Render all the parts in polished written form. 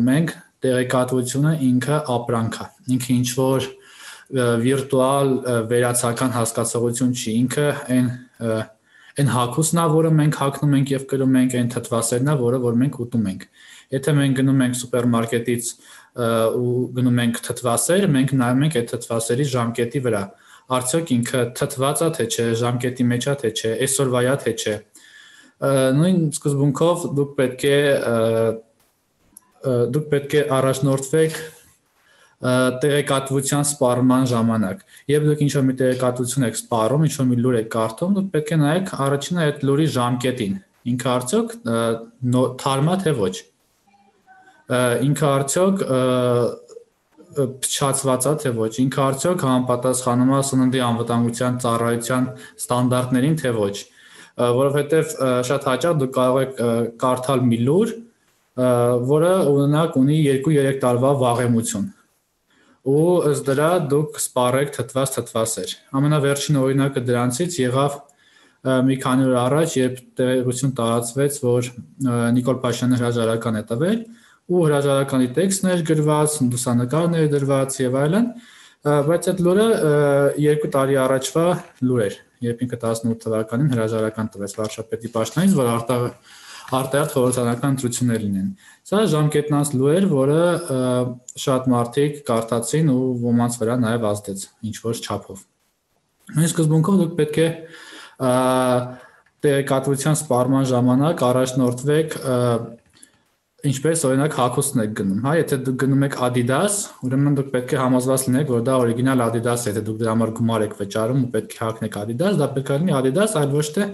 մենք տեղեկատվությունը ինքը ապրանք է, ինքը ինչ որ վիրտուալ վերացական հասկացողություն չի, ինքը այն հագուստն է, որը մենք հագնում ենք եւ կրում ենք, այն թթվասերն է, որ մենք ուտում ենք։ Եթե մենք գնում ենք սուպերմարկետից ու գնում ենք թթվասեր, մենք նայում ենք այդ թթվասերի ժամկետի վրա։ Արդյոք ինքը թթված է թե չէ, ժամկետի մեջ է թե չէ, այսօրվա է թե չէ։ Նույն սկզբունքով դուք պետք է առաջնորդվեք տեղեկատվության սպառման ժամանակ։ Երբ դուք ինչ-որ մի տեղեկատվություն եք սպառում, ինչ-որ մի լուր եք կարդում, դուք պետք է նայեք առաջինը այդ լուրի ժամկետին։ Ինքը արդյոք թարմ է թե ոչ։ Ինքը արդյոք փչացված է թե ոչ, ինքը արդյոք համապատասխանում է սննդի անվտանգության ծառայության ստանդարտներին թե ոչ, որովհետև շատ հաճախ դուք կարող եք կարդալ մի լուր, որը օրինակ ունի 2-3 տարվա վաղեմություն, ու ըստ դրա դուք սպառեք թթվասեր։ Ամենավերջին օրինակը դրանցից եղավ մի քանի օր առաջ, երբ տեղեկություն տարածվեց, որ Նիկոլ Փաշինյանը հրաժարական է տվել, ու հրաժարականի տեքստն էր գրված, լուսանկարներ դրված եւ այլն, բայց այդ լուրը 2 տարի առաջվա լուր էր, երբ ինքը 18 թվականին հրաժարական տվեց վարչապետի պաշտոնից, որ արտահերթ խորհրդարանական ընտրություններ լինեն։ Սա ժամկետնանց լուր էր, որը շատ մարդիկ կարդացին ու ոմանց վրա նաեւ ազդեց ինչ որ չափով։ Նույն սկզբունքով դուք պետք է տեղեկատվության սպառման ժամանակ առաջնորդվեք ինչպես օրինակ հագուստն եք գնում, հա, եթե դուք գնում եք Adidas, ուրեմն դուք պետք է համոզված լինեք, որ դա օրիգինալ Adidas է, եթե դուք դրա համար գումար եք վճարում ու պետք է հագնեք Adidas, դա պետք է լինի Adidas, այլ ոչ թե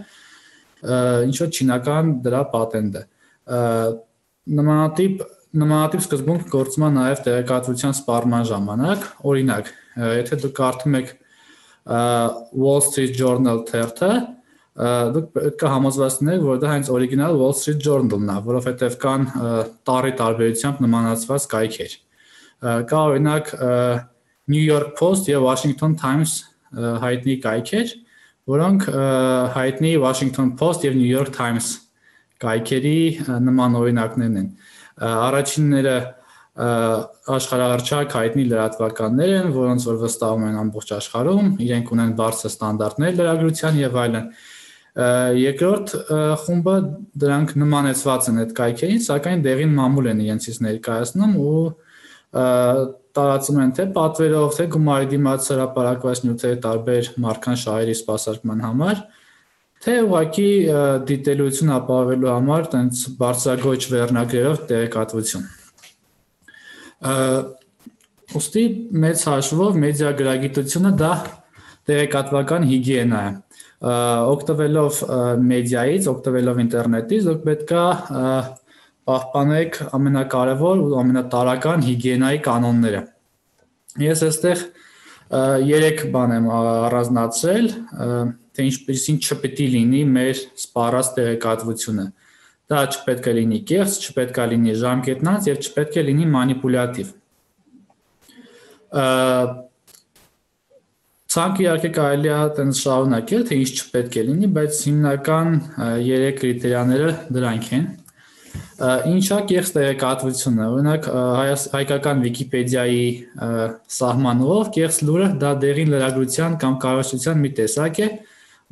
ինչ որ չինական դրա պատենտը։ Նմանատիպ սկզբունք գործում է նաև տեղեկատվության սպառման ժամանակ, օրինակ, եթե դուք կարդում եք Wall Street Journal թերթը, դուք պետք է համոզված լինեք, որ դա հենց օրիգինալ Wall Street Journal-ն է, որովհետև կան տարի տարբերությամբ նմանացված կայքեր։ Կա օրինակ New York Post եւ Washington Times հայտնի կայքեր, որոնք հայտնի Washington Post եւ New York Times կայքերի նման օրինակներն են։ Առաջինները աշխարհահռչակ հայտնի լրատվականներ են, որոնց որ վստահում են ամբողջ աշխարհում, իրենք ունեն բարձր ստանդարտներ լրագրության եւ այլն։ Երկրորդ խումբը դրանք նմանեցված են այդ կայքերին, սակայն դեղին մամուլ են իրենցից ներկայացնում ու տարածում են թե պատվերով, թե գումարի դիմաց հրապարակված նյութերի տարբեր մարքան շահերի սպասարկման համար, թե ուղղակի դիտելիություն ապահովելու համար տենց բարձրագույն վերնագրերով տեղեկատվություն։ Ուստի մեծ հաշվով մեդիա գրագիտությունը դա տեղեկատվական հիգիենա է։ Օգտվելով մեդիայից, օգտվելով ինտերնետից, դուք պետքա պահպանեք ամենակարևոր ու ամենատարրական հիգիենայի կանոնները։ Ես այստեղ 3 բան եմ առանձնացրել, թե ինչպեսին չպետք է լինի մեր սպառած տեղեկատվությունը։ Դա չպետք է լինի կեղծ, չպետք է լինի ժամկետնանց եւ չպետք է լինի մանիպուլյատիվ։ Ցանկը իհարկե կարելի է այտենց շարունակել, թե ինչ չպետք է լինի, բայց հիմնական 3 կրիտերիաները դրանք են։ Ինչա կեղծ տեղեկատվությունը։ Օրինակ հայկական Վիկիպեդիայի սահմանով կեղծ լուրը դա դեղին լրագրության կամ կարողացության մի տեսակ է,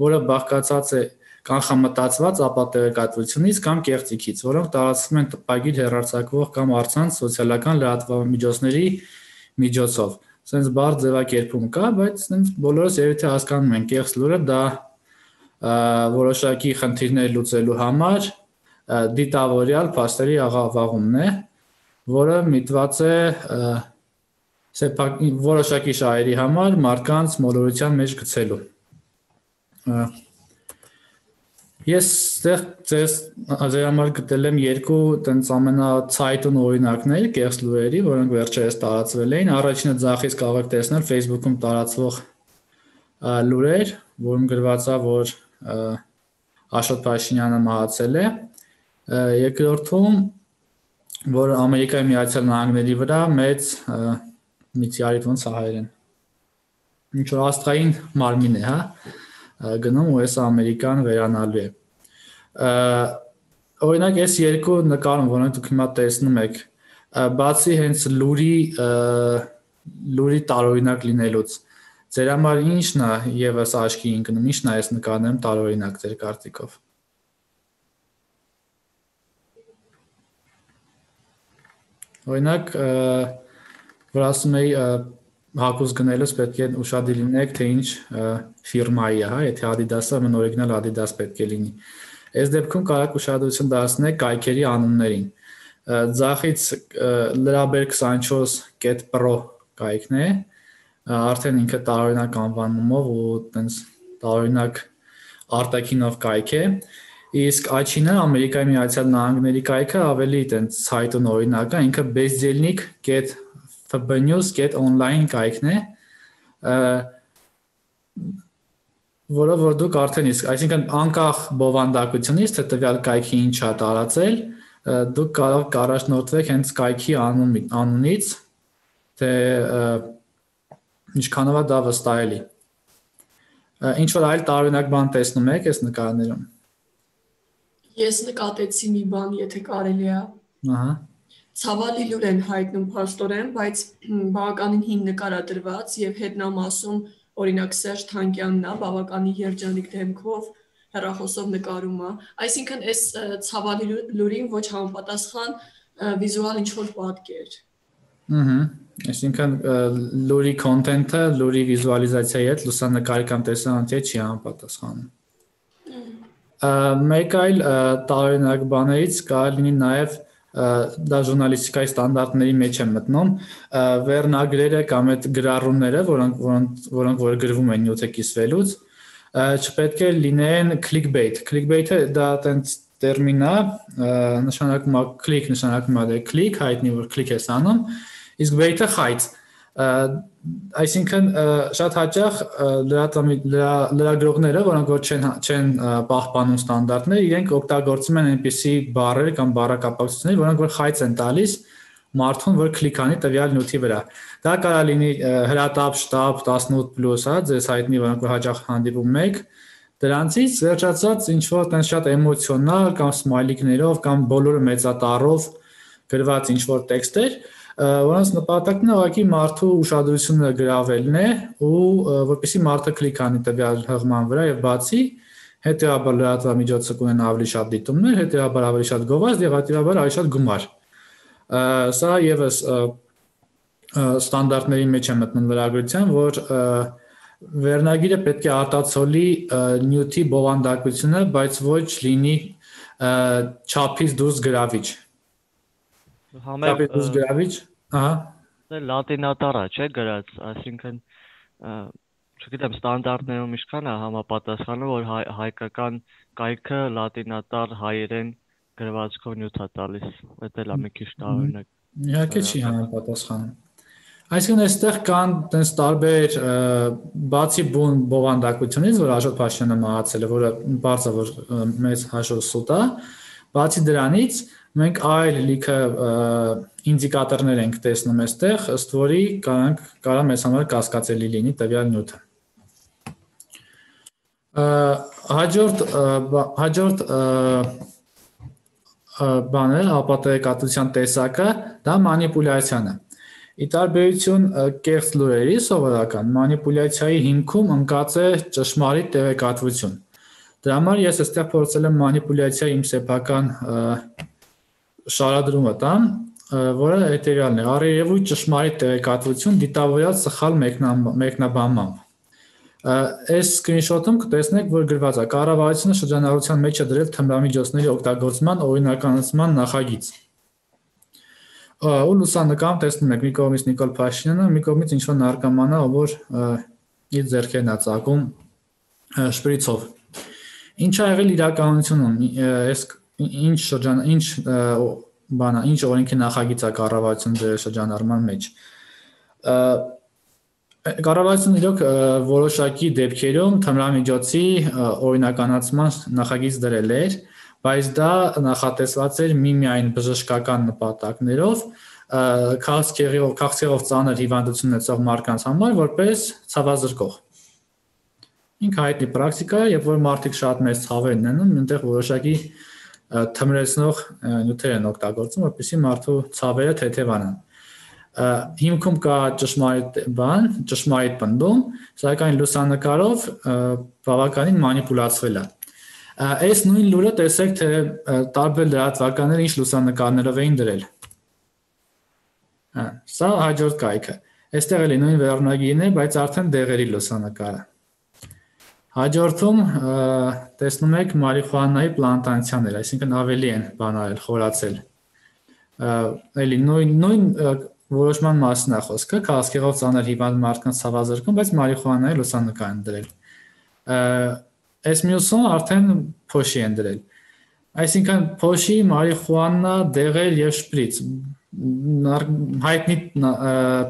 որը բաղկացած է կանխամտածված ապատեղեկատվությունից կամ կեղծիքից, որոնք տարածվում են տպագիր հեռարձակվող կամ առցանց սոցիալական լրատվամիջոցների միջոցով։ Սենց բարձ ձևակերպում կա, բայց սենց բոլորս երևի թե հասկանում են, կեղծ լուրը դա որոշակի խնդիրներ լուծելու համար դիտավորյալ փաստերի աղավաղումն է, որը միտված է որոշակի շահերի համար մարդկանց մոլորության մեջ գցելու։ Ես ձեզ համար գտել եմ 2 տենց ամենացայտուն օրինակներ կեղծ լուրերի, որոնք վերջերս տարածվել էին։ Առաջինը ձախից կարող եք տեսնել Facebook-ում տարածվող լուրեր, որում գրված է, որ Աշոտ Փաշինյանը մահացել է։ Երկրորդում, որ Ամերիկայի Միացյալ Նահանգների վրա մեծ միցիարիտ ոնց է հայերեն։ Ինչ որ աստղային մարմին է, հա, գնում ու այս Ամերիկան վերանալու է։ Օրինակ այս 2 նկարում, որոնք դուք հիմա տեսնում եք, բացի հենց լուրի տարօրինակ լինելուց ձեր համար ի՞նչն է եւս աչքի ընկնում, ի՞նչն է այս նկարներում տարօրինակ ձեր կարծիքով։ Օրինակ, որ ասում էի հագուստ գնելուց պետք է ուշադիր լինեք, թե ինչ ֆիրմայի է, հա, եթե Adidas-ը մն օրիգինալ Adidas պետք է լինի։ Այս դեպքում կարող ուշադրություն դարձնեք կայքերի անուններին։ Ձախից Լրաբեր 24.pro կայքն է, արդեն ինքը տարօրինակ անվանումով ու տենց տարօրինակ արտաքինով կայք է, իսկ աչինը Ամերիկայի Միացյալ Նահանգների կայքը ավելի տենց ցայտուն օրինակ է, ինքը bezdelnik.fbnews.online կայքն է, որը որ դուք արդեն իսկ, այսինքն անկախ բովանդակությունից, թե տվյալ կայքի ինչ է տարածել, դուք կարող կառաջնորդվեք հենց կայքի անունից, թե ինչքանով է դա վստահելի։ Ինչ որ այլ տարօրինակ բան տեսնում եք այս նկարներում։ Ես նկատեցի մի բան, եթե կարելի է։ Ահա։ Ցավալի լուր են հայտնում փաստորեն, բայց բավականին հին նկար է դրված եւ հետնամասում օրինակ Սերժ Թանկյանն է, բավականին երջանիկ դեմքով հեռախոսով նկարում է։ Այսինքն այս ցավալի լուրին ոչ համապատասխան վիզուալ ինչ-որ պատկեր։ Այսինքն լուրի կոնտենտը, լուրի վիզուալիզացիայի հետ լուսանկարի կամ տեսանյութի հետ չի համապատասխանում։ Մեկ այլ տարօրինակ բաներից կարող լինի նաև դա ժուրնալիստիկայի ստանդարտների մեջ է մտնում, վերնագրերը կամ այդ գրառումները, որոնք որ գրվում են նյութը կիսվելուց, չպետք է լինեն clickbait։ Clickbait-ը դա տենց տերմին է, նշանակում է click, նշանակում է click, հայտնի որ click ես անում, իսկ bait-ը խայծ։ Այսինքն շատ հաճախ լրագրողները, որոնք որ չեն պահպանում ստանդարտներ, իրենք օգտագործում են այնպիսի բառեր կամ բառակապակցություններ, որոնք որ խայծ են տալիս մարդուն, որ կլիկ անի տվյալ նյութի վրա։ Դա կարող լինի հրատապ, շտապ 18+, հա, ձեզ հայտնի, որոնք որ հաճախ հանդիպում եք, դրանցից վերջացած ինչ որ տենց շատ էմոցիոնալ կամ սմայլիկներով կամ բոլորը մեծատառով գրված ինչ որ տեքստեր, որոնց նպատակն է ուղղակի մարդու ուշադրությունը գրավելն է ու որպեսզի մարդը կլիկ անի տվյալ հղման վրա եւ բացի, հետեւաբար լրատվամիջոցը կունենա ավելի շատ դիտումներ, հետեւաբար ավելի շատ գովազդ եւ հետեւաբար ավելի շատ գումար։ Սա եւս ստանդարտների մեջ է մտնում լրագրության, որ վերնագիրը պետք է արտացոլի նյութի բովանդակությունը, բայց ոչ լինի չափից դուրս գրավիչ։ Չափից դուրս գրավիչ, ահա։ Դա լատինատար է, չէ՞ գրած, այսինքն չգիտեմ ստանդարտներում ինչքան է համապատասխանում, որ հայկական կայքը լատինատար հայերեն գրվածքով նյութ է տալիս, դա էլ է մի քիչ տարօրինակ։ Իհարկե չի համապատասխանում։ Այսինքն այստեղ կան տես տարբեր բացի բուն բովանդակությունից, որ Աշոտ Փաշինյանը մահացել է, որը բարձր որ մեծ հաշվով սուտ է, բացի դրանից մենք այլ լիքը ինդիկատորներ ենք տեսնում այստեղ, ըստ որի կարող մեզ համար կասկածելի լինի տվյալ նյութը։ Հաջորդ բանը, ապատեգատության տեսակը, դա մանիպուլյացիան է։ Ի տարբերություն կեղծ լուրերի սովորական մանիպուլյացիայի հիմքում ընկած է ճշմարիտ տեղեկատվություն։ Դրա համար ես այստեղ փորձել եմ մանիպուլյացիայի իմ սեփական շարադրումը տամ, որը հետևյալն է՝ առերևույթ ճշմարիտ տեղեկատվություն դիտավորյալ սխալ մեկնաբանմամբ։ Այս սկրինշոթում կտեսնեք, որ գրված է կառավարությունը շրջանառության մեջ է դրել թմրամիջոցների օգտագործման օրինականացման նախագիծ։ Ու լուսանկարում տեսնում եք մի կողմից Նիկոլ Փաշինյանը, մի կողմից ինչ-որ նարկոմանա, որ իր ձեռքերն է ծակում շպրիցով։ Ինչ ա եղել իրականությունում, ինչ օրենքի նախագիծ է կառավարությունը դրել շրջանառման մեջ։ Կառավարությունը իրոք որոշակի դեպքերում թմրամիջոցի օրինականացման նախագիծ դրել էր, բայց դա նախատեսված էր միմիայն բժշկական նպատակներով, քաղցկեղով ծանր հիվանդություն ունեցող մարդկանց համար, որպես ցավազրկող։ Ինքը հայտնի պրակտիկա է, երբ որ մարդիկ շատ մեծ ցավեր ունենում, այնտեղ որոշակի թմրեցնող նյութեր են օգտագործում, որպեսզի մարդու ցավերը թեթևանան։ Հիմքում կա ճշմարիտ պնդում, սակայն լուսանկարով բավականին մանիպուլացվել է։ Այս նույն լուրը տեսեք, թե տարբեր լրատվականներ ինչ լուսանկարներով էին դրել։ Սա հաջորդ կայքը։ Այստեղ էլի նույն վերնագիրն է, բայց արդեն դեղերի լուսանկարը։ Հաջորդում տեսնում եք մարիխուանայի պլանտացիաներ, այսինքն ավելի են բանարել, խորացել։ Էլի նույն որոշման մասին է խոսքը, քաղցկեղով ծանր հիվանդ մարդկանց ցավազրկում, բայց մարիխուանայի լուսանկար են դրել։ Այս մյուսում արդեն փոշի են դրել։ Այսինքն փոշի, մարիխուանա, դեղեր եւ շպրիծ հայտնի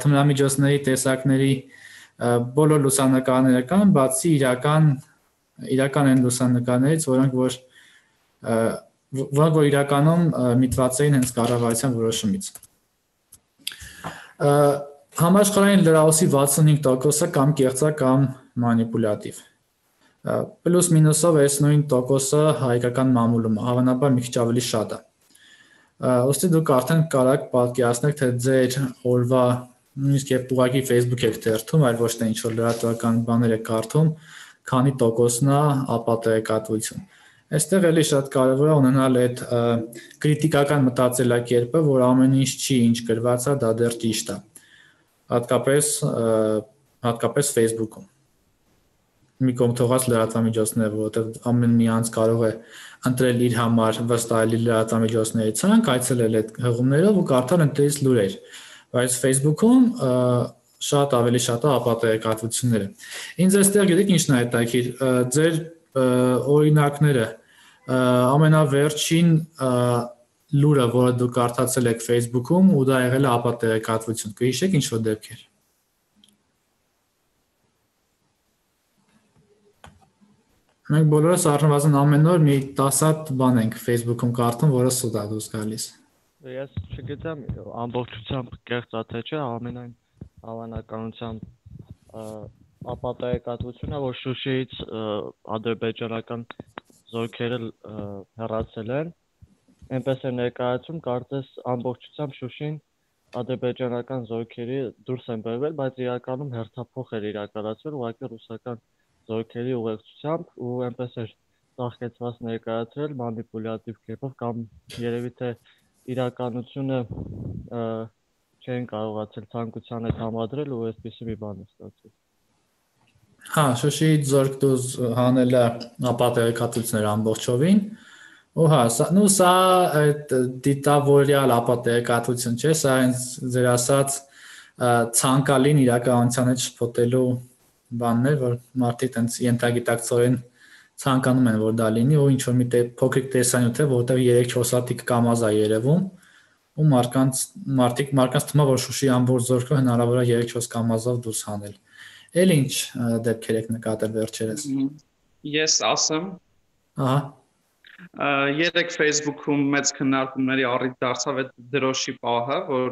թմրամիջոցների տեսակների բոլոր լուսանկարները կան, բացի իրական են լուսանկարներից, որոնք որ իրականում միտված էին հենց կառավարության որոշումից։ Համաշխարհային լրահոսի 65%-ը կամ կեղծա կամ մանիպուլատիվ։ Պլյուս մինուսով այս նույն տոկոսը հայկական մամուլում, հավանաբար մի քիչ ավելի շատ է։ Ոստի դուք արդեն կարաք պատկերացնեք, թե ձեր օրվա նույնիսկ երբ ուղղակի Facebook եք թերթում, այլ ոչ թե ինչ-որ լրատվական բաներ եք կարդում, քանի տոկոսն է ապատեգատվություն։ Այստեղ էլի շատ կարևոր է ունենալ այդ կրիտիկական մտածելակերպը, որ ամեն ինչ չի, ինչ գրված է, դա դեռ ճիշտ է։ Հատկապես Facebook-ում։ Մի կողմ թողած լրատվամիջոցները, որովհետև ամեն մի անձ կարող է ընտրել իր համար վստահելի լրատվամիջոցների ցանկ, այցելել այդ հղումներով ու կարդալ այնտեղից լուրեր, բայց Facebook-ում ավելի շատ է ապատեգատվությունները։ Ինձ այստեղ գիտեք ինչն է հետաքրքիր, ձեր օրինակները ամենավերջին լուրը, որը դուք կարդացել եք Facebook-ում ու դա եղել է ապատեգատվություն, կհիշեք ինչ-որ դեպքեր։ Մենք բոլորս առնվազն ամեն օր մի 10 հատ բան ենք Facebook-ում կարդում, որը սուտ է դուրս գալիս։ Ես չգիտեմ ամբողջությամբ կեղծ է թե չէ, ամենայն հավանականությամբ ապատեգատվությունն է, որ Շուշիից ադրբեջանական զորքերը հեռացել են, այնպես է ներկայացում, կարծես ամբողջությամբ Շուշին ադրբեջանական զորքերի դուրս են բերվել, բայց իրականում հերթափոխ էր իրականացվել ուղղակի ռուսական զորքերի ուղեկցությամբ ու այնպես էր ծաղկեցված ներկայացրել մանիպուլատիվ կերպով կամ երևի թե իրականությունը չեն կարողացել ցանկության հետ համադրել ու այսպիսի մի բան է ստացվել։ Հա, Շուշիից զորք դուրս հանելը ապատեգատվություններ ամբողջովին ու հա, սա այդ դիտավորյալ ապատեգատվություն չէ, սա ձեր ասած ցանկալին իրականության հետ շփոթելու բաններ, որ մարդիկ տենց ենթագիտակցորեն ցանկանում են, որ դա լինի, ու ինչ-որ մի փոքրիկ տեսանյութ է, որտեղ 3-4 հատիկ կամազ է երևում, ու մարդկանց թվում է, որ Շուշի ամբողջ զորքը հնարավոր է 3-4 կամազով դուրս հանել։ Էլ ինչ դեպքեր եք նկատել վերջերս։ Ես ասեմ։ Ահա։ Երեք Facebook-ում մեծ քննարկումների առիթ դարձավ այդ դրոշի պահը, որ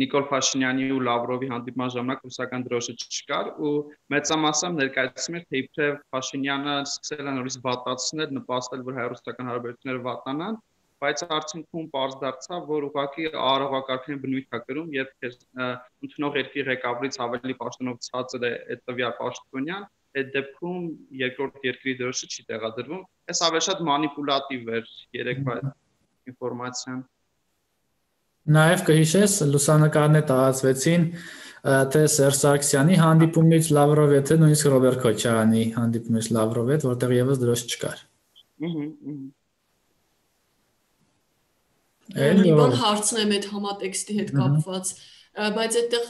Նիկոլ Փաշինյանի ու Լավրովի հանդիպման ժամանակ ռուսական դրոշը չկար ու մեծամասամբ ներկայացնում էր, թե իբրև Փաշինյանը սկսել է նորից վատացնել, նպաստել, որ հայ-ռուսական հարաբերությունները վատանան, բայց արդյունքում պարզ դարձավ, որ ուղղակի արարողակարգային բնույթ է կրում, երբ ընդունող երկրի ղեկավարից ավելի պաշտոնով ցածր է այդ տվյալ պաշտոնյան, այդ դեպքում երկրորդ երկրի դրոշը չի տեղադրվում։ Այս ավելի շատ մանիպուլատիվ էր երեկվա ինֆորմացիան։ Նաև կհիշես, լուսանկարներ տարածվեցին թե Սերժ Սարգսյանի հանդիպումից Լավրովի հետ, թե նույնիսկ Ռոբերտ Քոչարյանի հանդիպումից Լավրովի հետ, որտեղ եւս դրոշ չկար։ Մի բան հարցնեմ այդ համատեքստի հետ կապված, բայց այդտեղ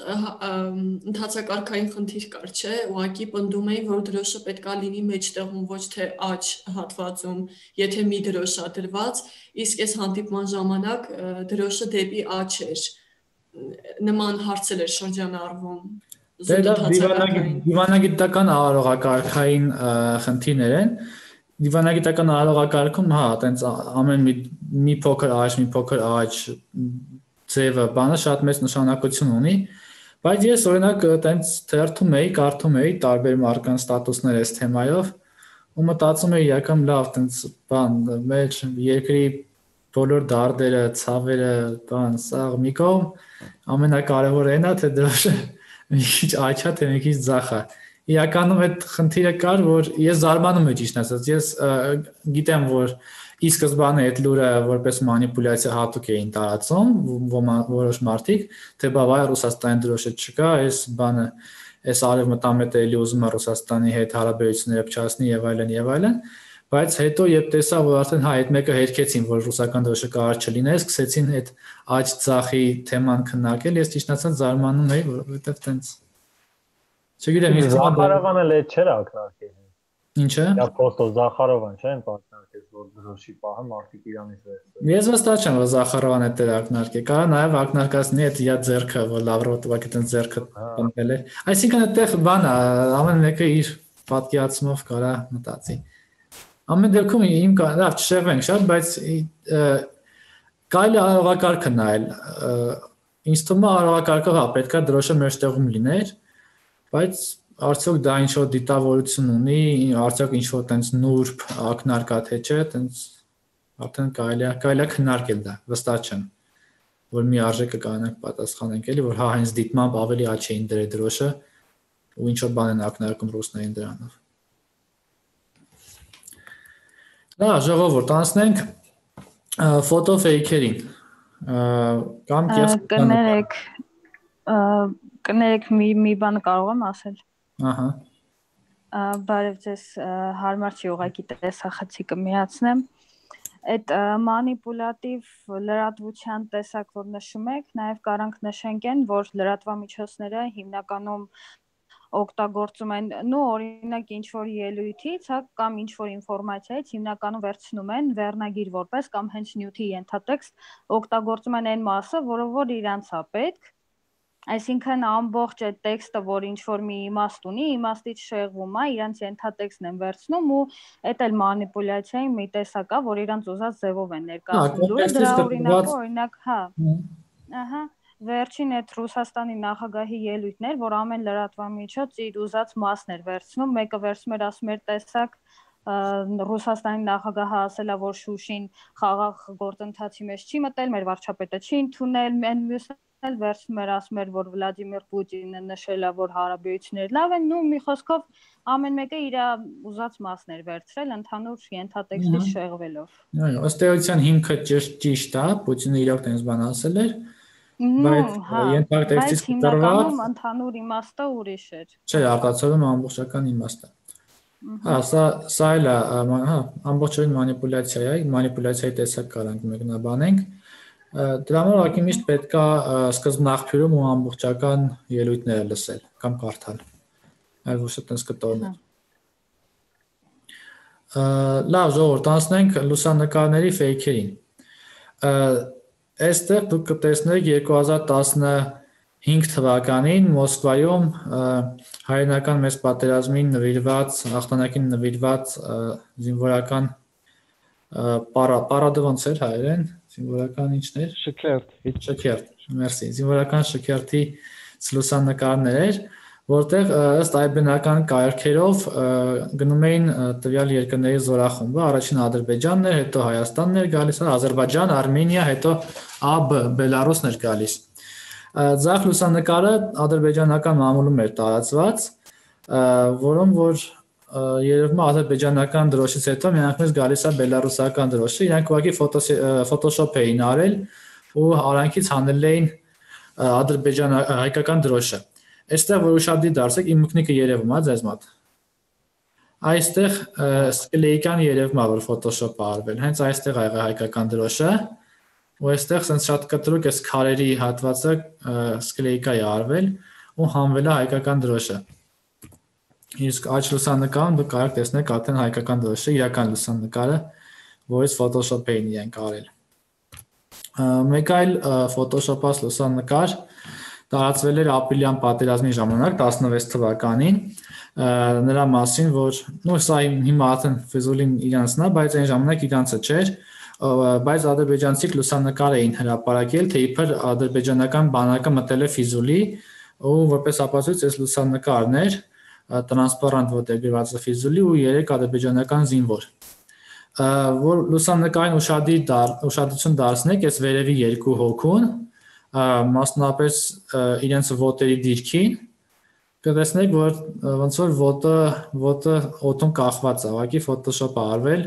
ընդհանցակարգային խնդիր կար, չէ՞, ուղղակի պնդում էին, որ դրոշը պետքա լինի մեջտեղում, ոչ թե աջ հատվածում, եթե մի դրոշ է դրված, իսկ այս հանդիպման ժամանակ դրոշը դեպի աջ էր։ Նման հարցեր էր շրջանառվում։ Դիվանագիտական արարողակարգային խնդիրներ են։ Դիվանագիտական արարողակարգում, հա, այտենց ամեն մի փոքր աջ ձևը բանը շատ մեծ նշանակություն ունի, բայց ես օրինակ այտենց թերթում էի, կարդում էի տարբեր մարդկանց ստատուսներ այս թեմայով ու մտածում էի իրական լավ տենց բան մեր երկրի բոլոր դարդերը, ցավերը, բան, սա մի կողմ ամենակարևորը այն է, թե դրոշը մի քիչ աչա, թե մի քիչ ձախա։ Իրականում այդ խնդիրը կար, որ ես զարմանում եմ ճիշտ ասած, ես գիտեմ, որ ի սկզբանե այդ լուրը որպես մանիպուլյացիա հատուկ էին տարածում որոշ մարդիկ, թե բավայ Ռուսաստանի դրոշը չկա, այս բանը, այս արևմտամետը էլի ուզում է Ռուսաստանի հետ հարաբերությունները փչացնի եւ այլն, բայց հետո երբ տեսա, որ արդեն հա այդ մեկը հերքեցին, որ ռուսական դրոշը կարող չլիներ, սկսեցին այդ աջ ցախի թեման քննարկել, ես ճիշտ ասած զարմանում էի, որովհետեւ տենց չգիտեմ, իսկ Զախարովանը լետ չէր ակնարկել։ Ինչը։ Ապոստոլ Զախարովան չէ՞, ակնարկել, որ դրոշի պահը մարդիկ Իրանից վերցրել։ Ես վստահ չեմ, որ Զախարովանը դեր ակնարկել։ Կարա նաև ակնարկածնի այդ իր ձեռքը, որ Լավրովը տվակ այդ ձեռքը պնդել է։ Այսինքն այդտեղ բան է, ամեն մեկը իր պատկերացումով կարա մտածի։ Ամեն դեպքում իմ լավ չշեղվենք շատ, բայց կարելի է արարողակարգը նայել։ Ինձ թվում է արարողակարգով հա պետքա դրոշը մեջտեղում լիներ, բայց արդյոք դա ինչ-որ դիտավորություն ունի, արդյոք ինչ-որ տենց նուրբ ակնարկա թե չէ, տենց արդեն կարելի է քննարկել դա, վստահ չեմ, որ մի արժեքը կանենք պատասխանենք էլի, որ հա հենց դիտմամբ ավելի աչ էին դրել դրոշը ու ինչ-որ բան են ակնարկում ռուսներին դրանով։ Լավ, ժողովուրդ, անցնենք ֆոտոֆեյքերին։ Կամ կներեք մի բան կարող եմ ասել։ Ահա։ Բարև ձեզ, հարմար չի ուղղակի տեսախցիկը միացնեմ։ Այդ մանիպուլատիվ լրատվության տեսակ, որ նշում եք, նաև կարանք նշենք են, որ լրատվամիջոցները հիմնականում օգտագործում են, օրինակ ինչ-որ ելույթից, կամ ինչ-որ ինֆորմացիայից հիմնականում վերցնում են վերնագիր որպես կամ հենց նյութի ենթատեքստ օգտագործում են այն մասը, որ իրանց է պետք, այսինքն ամբողջ այդ տեքստը, որ ինչ-որ մի իմաստ ունի, իմաստից շեղվում է, իրանց ենթատեքստն են վերցնում ու այդ էլ մանիպուլյացիայի մի տեսակ է, որ իրանց ուզած ձևով են ներկայացնում։ Դրա օրինակ, հա, ահա Վերջին այդ Ռուսաստանի նախագահի ելույթն էր, որ ամեն լրատվամիջոց իր ուզած մասն էր վերցնում, մեկը վերցնում էր ասում էր տեսակ Ռուսաստանի նախագահը ասել է, որ Շուշին խաղաղ գործընթացի մեջ չի մտել, մեր վարչապետը չի ընդունել, մյուսն էլ վերցնում էր ասում էր, որ Վլադիմիր Պուտինը նշել է, որ հարաբերությունները լավ են, մի խոսքով ամեն մեկը իր ուզած մասն էր վերցրել ընդհանուր ենթատեքստից շեղվելով։ Այո, ըստ էության հիմքը ճիշտ է, Պուտինը իրոք տենց բան ասել էր, բայց ենթատեքստից հիմնականում ընդհանուր իմաստը ուրիշ էր։ Չէ, արտացոլում ամբողջական իմաստը։ Հա, սա էլ է, հա, ամբողջովին մանիպուլյացիա է, մանիպուլյացիայի տեսակ կարանք մեկնաբանենք։ Դրա համար ուղղակի միշտ պետք է սկզբնաղբյուրում ու ամբողջական ելույթները լսել կամ կարդալ։ Այլ ոչ թե տես կտորներ։ Լավ, ժողովուրդ, անցնենք լուսանկարների ֆեյքերին։ Այստեղ դուք կտեսնեք 2015 թվականին Մոսկվայում հայրենական մեծ պատերազմին նվիրված, հաղթանակին նվիրված զինվորական պարադը ոնց էր հայերեն, զինվորական ինչն էր։ Շքերթ, մերսի, զինվորական շքերթի լուսանկարներ էր, որտեղ ըստ այբենական կարգերով գնում էին տվյալ երկրների զորախումբը, առաջին Ադրբեջանն էր, հետո Հայաստանն էր գալիս, Ադրբեջան, Արմենիա, հետո ԱԲ, Բելարուսն էր գալիս։ Ձախ լուսանկարը ադրբեջանական մամուլում էր տարածված, որում որ երևում է ադրբեջանական դրոշից հետո միանգամից գալիս է բելարուսական դրոշը, իրանք ուղղակի ֆոտոշոփ էին արել ու արանքից հանել էին հայկական դրոշը։ Այստեղ որ ուշադիր դարձեք, իմ մկնիկը երևում է ձեզ մոտ։ Այստեղ սկլեիկան երևում է, որ ֆոտոշոփ է արվել, հենց այստեղ ա եղել հայկական դրոշը, ու այստեղ sense շատ կտրուկ էս քարերի հատվածը սկլեիկա է արվել ու հանվել է հայկական դրոշը։ Իսկ աջ լուսանկարում դուք կարող տեսնեք արդեն հայկական դրոշը, իրական լուսանկարը, որից ֆոտոշոփ էին իրենք արել։ Մեկ այլ ֆոտոշոփած լուսանկար տարածվել էր ապրիլյան պատերազմի ժամանակ 16 թվականին, նրա մասին, որ սա հիմա արդեն Ֆիզուլին իրանցն է, բայց այն ժամանակ իրանցը չէր, բայց ադրբեջանցիք լուսանկար էին հրապարակել, թե իբր ադրբեջանական բանակը մտել է Ֆիզուլի ու որպես ապացույց այս լուսանկարներ տրանսպարանտ, որտեղ գրված է ֆիզուլի ու 3 ադրբեջանական զինվոր։ Որ լուսանկարին ուշադրություն դարձնեք այս վերևի 2 հոգուն, մասնավորապես իրենց ոտերի դիրքին, կտեսնեք, որ ոնց որ ոտը օդում կախված է, ուղղակի Photoshop-ը արվել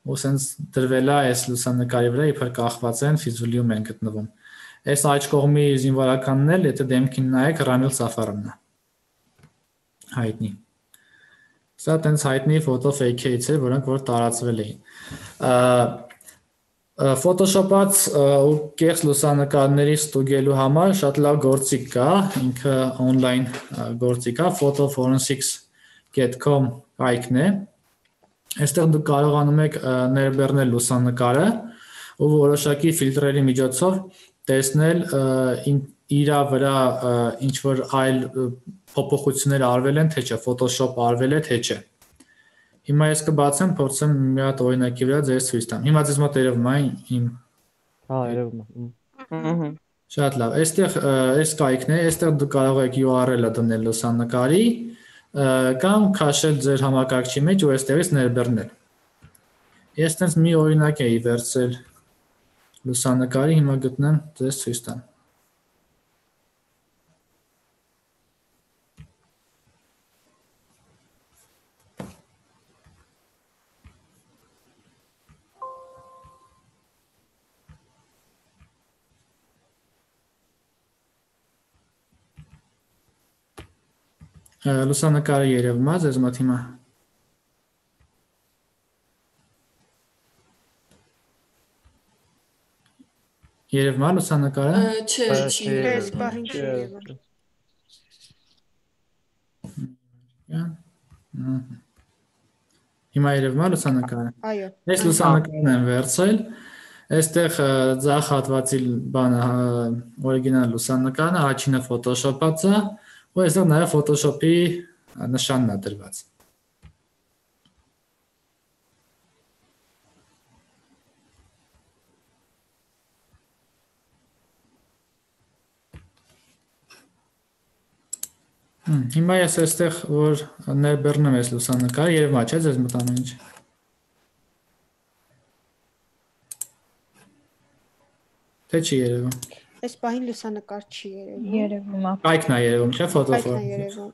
ու սենց դրվել է այս լուսանկարի վրա, իբր կախված են ֆիզուլիում են գտնվում։ Այս աջ կողմի զինվորականն էլ, եթե դեմքին նայեք, Ռամիլ Սաֆարովն է։ Հայտնի։ Սա տենց հայտնի ֆոտո ֆեյքերից է, որոնք որ տարածվել էին։ Photoshop-ած ու կեղծ լուսանկարների ստուգելու համար շատ լավ գործիք կա, ինքը on-line գործիք է, photoforensics.com կայքն է։ Այստեղ դուք կարողանում եք ներբեռնել լուսանկարը ու որոշակի ֆիլտրերի միջոցով տեսնել իր վրա ինչ որ այլ փոփոխություններ արվել են, թե չէ, Photoshop արվել է, թե չէ։ Հիմա ես կբացեմ, փորձեմ մի հատ օրինակի վրա ձեզ ցույց տամ։ Հիմա ձեզ մոտ երևում է իմ։ Հա, երևում է։ Շատ լավ։ Այստեղ այս կայքն է, այստեղ դուք կարող եք URL-ը դնել լուսանկարի կամ քաշել ձեր համակարգչի մեջ ու այստեղից ներբեռնել։ Ես տենց մի օրինակ էի վերցրել լուսանկարի, հիմա գտնեմ ձեզ ցույց տամ։ Լուսանկարը երևում է ձեզ մոտ հիմա։ Երևում է լուսանկարը։ Չէ, չի։ Ես բախին չի եղել։ Հիմա երևում է լուսանկարը։ Այո։ Այս լուսանկարն եմ վերցրել։ Այստեղ ձախ հատվածի բանը օրիգինալ լուսանկարն է, առաջինը Photoshop-ած է, ու այստեղ նաև Photoshop-ի նշանն է դրված։ Հիմա ես այստեղ որ ներբեռնեմ այս լուսանկարը, երևում է, չէ՞, ձեզ մոտ ամեն ինչ։ Թե չի երևում։ Այս պահին լուսանկար չի երևում։ Երևում է։ Կայքն է երևում, չէ՞, Կայքն է ֆոտոֆորմը։ երևում։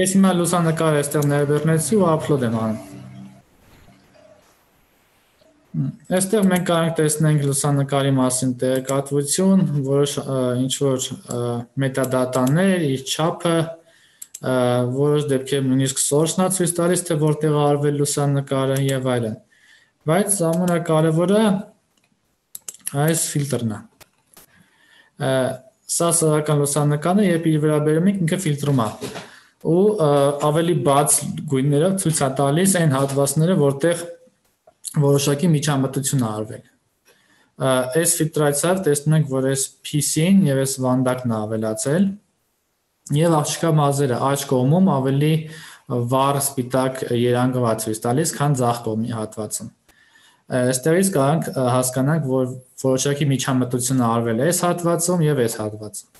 Ես հիմա լուսանկարը այստեղ ներբեռնեցի ու upload եմ անում։ Այստեղ մենք կարող ենք տեսնենք լուսանկարի մասին տեղեկատվություն, որոշ ինչ որ մետադատաներ, իր չափը, որոշ դեպքերում նույնիսկ source-ն է ցույց տալիս, թե որտեղ է արվել լուսանկարը եւ այլն։ Բայց ամենակարևորը այս ֆիլտրն է։ Սա սովորական լուսանկարն է, երբ իր վրա բերում ենք, ինքը ֆիլտրում է ու ավելի բաց գույներով ցույց է տալիս այն հատվածները, որտեղ որոշակի միջամտություն է արվել։ Այս ֆիլտրացիայով տեսնում ենք, որ այս PC-ին եւ այս վանդակն է ավելացել եւ աղջկա մազերը աջ կողմում ավելի վառ սպիտակ երանգով ցույց տալիս, քան ձախ կողմի հատվածում։ Այստեղից կարող հասկանանք, որ որոշակի միջամտություն արվել է այս հատվածում եւ այս հատվածում։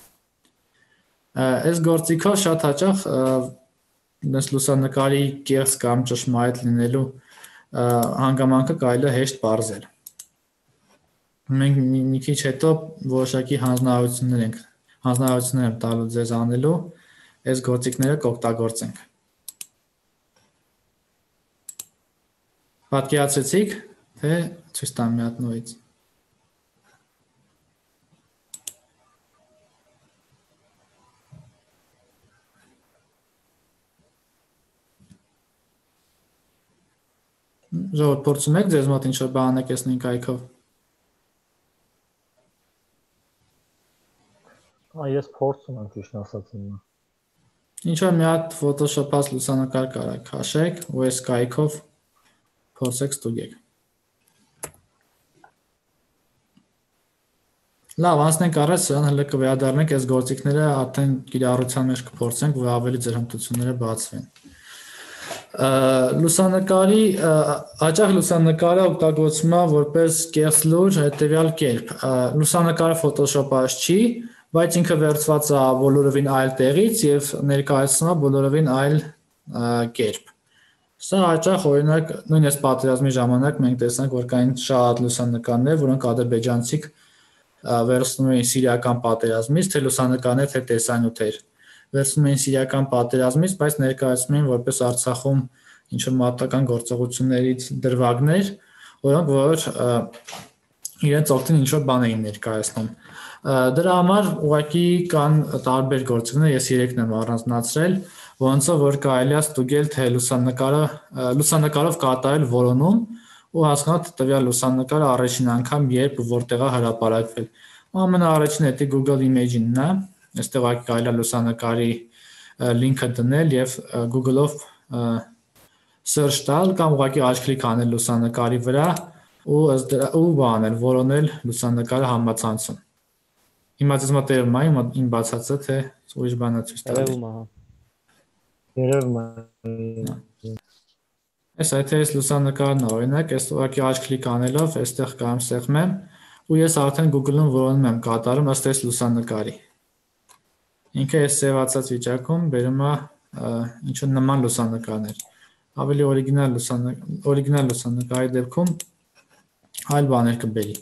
Այս գործիքով շատ հաճախ այս լուսանկարի կեղծ կամ ճշմարիտ լինելու հանգամանքը կարելի է հեշտ պարզել։ Մենք մի քիչ հետո որոշակի հանձնարարություններ եմ տալու ձեզ անելու, այս գործիքները կօգտագործենք։ Պատկերացրեցիք, թե ցույց տամ մի հատ նորից։ Ժողովուրդ, փորձում եք ձեզ մոտ ինչ-որ բան եք այս նույն կայքով։ Ես փորձում եմ ճիշտ ասած հիմա։ Ինչ-որ մի հատ Photoshop-ած լուսանկար կարակ քաշեք ու այս կայքով փորձեք ստուգեք։ Լավ, անցնենք առաջ, սրան հələ կվերադառնանք այս գործիքները արդեն կիրառության մեջ կփորձենք, որ ավելի ձեր հմտությունները բացվեն։ Լուսանկարի հաճախ լուսանկարը օգտագործվում է որպես կեղծ լուր հետևյալ կերպ։ Լուսանկարը Photoshop-ած չի, բայց ինքը վերցված է բոլորովին այլ տեղից եւ ներկայացնում է բոլորովին այլ կերպ։ Սա հաճախ օրինակ նույնիսկ պատերազմի ժամանակ մենք տեսանք, որ կային շատ լուսանկարներ, որոնք ադրբեջանցիք վերցնում էին սիրիական պատերազմից, թե լուսանկարներ, թե տեսանյութեր։ Վերցնում էին սիրիական պատերազմից, բայց ներկայացնում էին որպես Արցախում ինչ-որ մատական գործողություններից դրվագներ, որոնք որ իրենց օգտին ինչ-որ բան էին ներկայացնում։ Դրա համար ուղղակի կան տարբեր գործիքներ, ես 3-ն եմ առանձնացրել, որոնցով որ կարելի է ստուգել, թե լուսանկարով կատարել որոնում ու հասկանալ, թե տվյալ լուսանկարը առաջին անգամ երբ ու որտեղ է հրապարակվել։ Ամենաառաջին էդի Google Image-ն է, այստեղ կարելի է լուսանկարի լինքը դնել եւ Google-ով search տալ կամ ուղղակի աչքլիկ անել լուսանկարի վրա ու բանել, որոնել լուսանկարը համացանցում։ Հիմա ձեզ մտերում է իմ բացածը, թե ուրիշ բան է ցույց տալի։ Երևում է։ Այս այդ էս լուսանկարն օրինակ, այս ուղղակի աչքլիկ անելով, այստեղ կամ սեղմեմ ու ես արդեն Google-ում որոնում եմ կատարում ըստ այս լուսանկարի։ Ինքը այս սևացած վիճակում բերում է ինչ-որ նման լուսանկարներ։ Ավելի օրիգինալ լուսանկարի դեպքում այլ բաներ կբերի։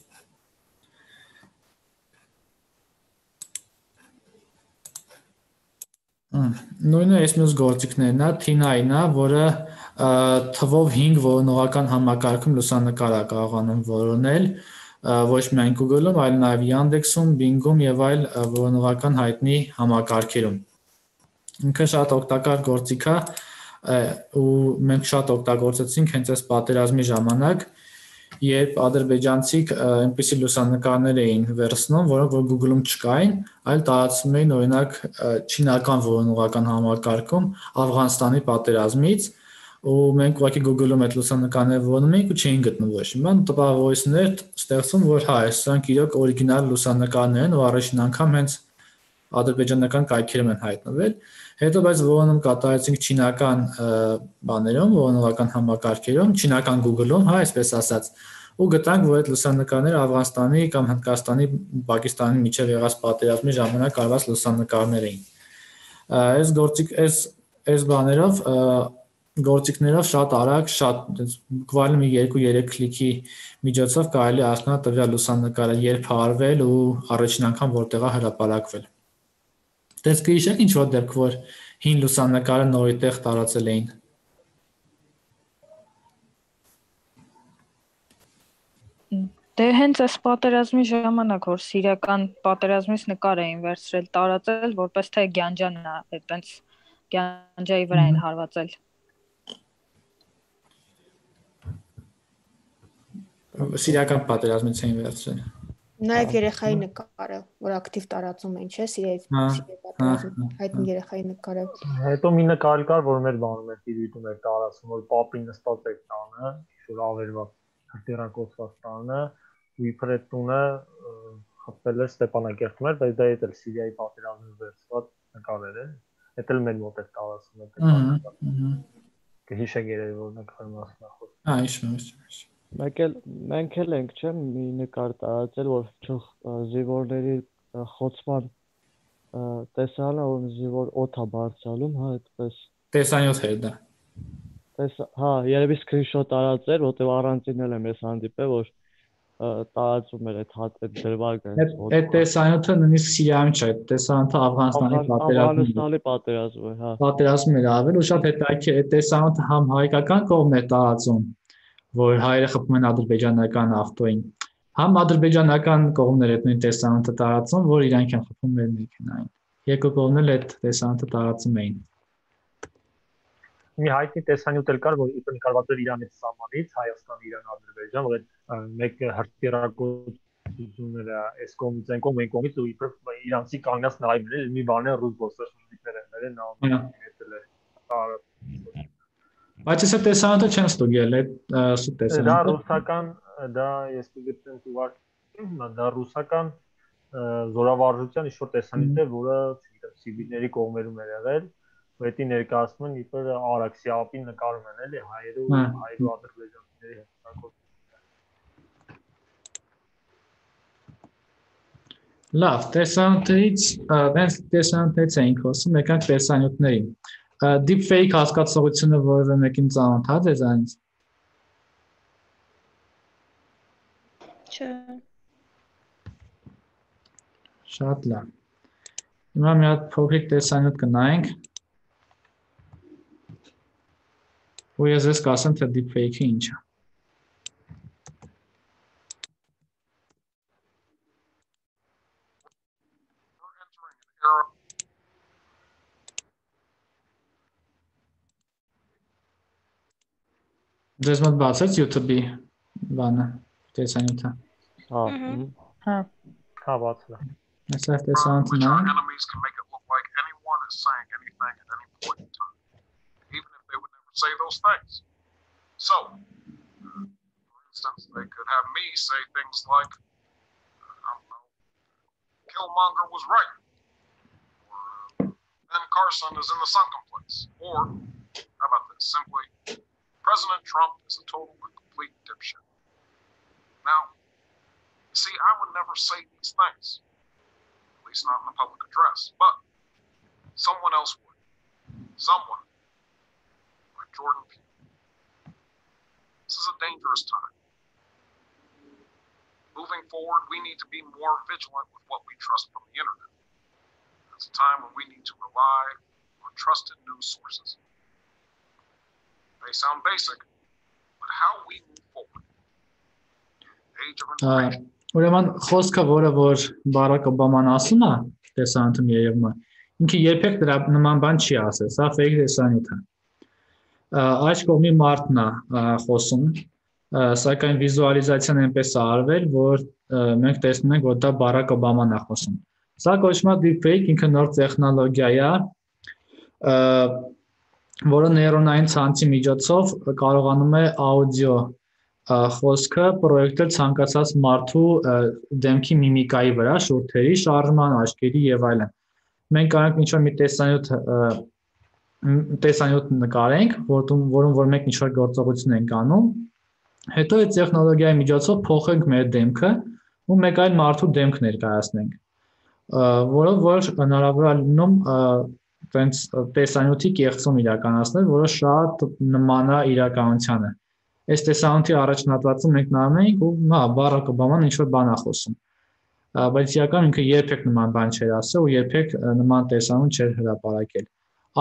Նույնը այս մյուս գործիքներն է, TINA-ն է, որը թվով 5 որոնողական համակարգում լուսանկար է կարողանում որոնել, ոչ միայն Google-ում, այլ նաև Yandex-ում, Bing-ում եւ այլ որոնողական հայտնի համակարգերում։ Ինքը շատ օգտակար գործիք է ու մենք շատ օգտագործեցինք հենց այս պատերազմի ժամանակ, երբ ադրբեջանցիք այնպիսի լուսանկարներ էին վերցնում, որոնք որ Google-ում չկային, այլ տարածում էին օրինակ չինական որոնողական համակարգում Աֆղանստանի պատերազմից ու մենք ուղղակի Google-ում այդ լուսանկարները որոնում էինք ու չէին գտնում ոչ մի բան, տպավորություններ ստեղծում, որ հա, սրանք իրոք օրիգինալ լուսանկարներ են ու առաջին անգամ հենց ադրբեջանական կայքերում են հայտնվել։ Հետո բայց որոնում կատարեցինք չինական բաներում, որոնողական համակարգերում, չինական Google-ում, հա, այսպես ասած, ու գտանք, որ այդ լուսանկարները Աֆղանստանի կամ Հնդկաստանի, Պակիստանի միջև եղած պատերազմի ժամանակ արված լուսանկարներ էին։ Այս բաներով գործիքներով շատ արագ, շատ բуквально 2-3 քլիքի միջոցով կարելի է հասկանալ տվյալ լուսանկարը երբ արվել ու առաջին անգամ որտեղ է հրապարակվել։ Դες կհիշեք ինչ-որ դեպք, որ հին լուսանկարը նորի տեղ տարածել էին։ Դե հենց այս պատերազմի ժամանակ, որ սիրիական պատերազմից նկար էին վերցրել, տարածել, որպես թե Գյանջան է, այտենց Գյանջայի վրա են հարվածել։ Սիրիական պատերազմից էին վերցրել։ Նաև երեխայի նկարը, որ ակտիվ տարածում են, չէ՞, Սիրիայի պատերազմի հայտնի երեխայի նկարը։ Հետո մի նկար կար, որ մեր բանում էր դիտում էր տարածում, որ պապին նստած էր տանը, ինչ-որ ավերված հրտիռակոծված տանը, ու իբր այդ տունը խփվել էր Ստեփանակերտում էր, բայց դա էլ Սիրիայի պատերազմից վերցված նկարներ են։ Դա էլ մեր մոտ է տարածում է։ Կհիշեք երևի որ նկարի մասին է խոսքը։ Հա, հիշում։ Մենք էլ ենք, չէ՞, մի նկար տարածել, որ զինվորների խոցման տեսանը, որ զինվոր օդ է բարձրանում, հա, այդպես։ Տեսանյութ էր դա։ Հա, երևի սկրինշոտ տարածել, որտեղ առանցին էլ եմ ես հանդիպել, որ տարածում էր այդ դրվագը։ Այդ տեսանյութը նույնիսկ Սիրիայում չէ, տեսանյութը Աֆղանստանի պատերազմում է, հա։ Պատերազմում էր արվել ու շատ հետաքրքիր է տեսանյութը համ հայկական կողմն է տարածում, որ հայերը խփում են ադրբեջանական ավտոյին, համ ադրբեջանական կողմներ այդ նույն տեսանյութը տարածում, որ իրանք են խփում մեր մեքենային։ Երկու կողմն էլ այդ տեսանյութը տարածում էին։ Մի հայտնի տեսանյութ էլ կար, որ իբր նկարված էր Իրանից սահմանից, Հայաստան, Իրան, Ադրբեջան, որ այդ մեկ հրթիռակոծությունները այս կողմից այն կողմ, այն կողմից ու իբր իրանցի կանգնած նայում էր, մի բան է ռուս ոստաշնիկներ են նայում։ Բայց այս տեսանյութը չեն ստուգել, այդ տեսանյութը։ Դա ռուսական, դա ես կգտնեմ թվարկում, դա ռուսական զորավարժության ինչ-որ տեսանյութ է, որը, չգիտեմ, սիվիլների կողմերում էր եղել, Պետի ներկայացնում են իբր Արաքսի ափին նկարում են էլի հայերու ադրբեջանցիների հետ։ Լավ, տեսանյութերից, դες տեսանյութերից էինք խոսում, եկանք տեսանյութներին։ deepfake հասկացողությունը որևէ մեկին ծանոթ է ձեզանից։ Չէ։ Շատ լավ։ Հիմա մի հատ փոքրիկ տեսանյութ կնայենք։ Ու ես ես կասեմ, թե deepfake-ը ինչ է։ Ձեզ մոտ բացեց YouTube-ի բանը, տեսանյութը։ Հա, բացել է։ Այսպես տեսանյութը նայենք։ Enemies can make it look like anyone is saying anything at any point in time, even if they would never say those things. So, for instance, they could have me say things like, I don't know, Killmonger was right, or Ben Carson is in the sunken place, or how about this? Simply, President Trump is a total and complete dipshit. Now, see, I would never say these things. At least not in a public address, but someone else would. Someone like Jordan Peele. This is a dangerous time. Moving forward, we need to be more vigilant with what we trust from the internet. It's a time when we need to rely on trusted news sources. They sound basic, but how we move forward. Age of information. Ուրեմն խոսքը, որ Բարակ Օբաման ասում է, տեսանյութում երևում է, ինքը երբեք դրա նման բան չի ասել, սա fake տեսանյութ է։ Այս կողմի մարդն է խոսում, սակայն վիզուալիզացիան այնպես է արվել, որ մենք տեսնում ենք, որ դա Բարակ Օբաման է խոսում։ Սա կոչվում է deepfake, ինքը նոր տեխնոլոգիա է, որը նեյրոնային ցանցի միջոցով կարողանում է աուդիո խոսքը պրոյեկտել ցանկացած մարդու դեմքի միմիկայի վրա, շուրթերի, շարժման, աչքերի եւ այլն։ Մենք կարող ենք ինչ-որ մի տեսանյութ նկարենք, որում որ մենք ինչ-որ գործողություն ենք անում, հետո այդ տեխնոլոգիայի միջոցով փոխենք մեր դեմքը ու մեկ այլ մարդու դեմք ներկայացնենք, որով որ հնարավոր է լինում տենց տեսանյութի կեղծում իրականացնել, որը շատ նման է իրականությանը։ Այս տեսանյութի առաջնատվածում մենք նայում ենք ու Բարակ Օբաման ինչ-որ բան է խոսում, բայց իրական ինքը երբեք նման բան չէր ասել ու երբեք նման տեսանյութ չէր հրապարակել։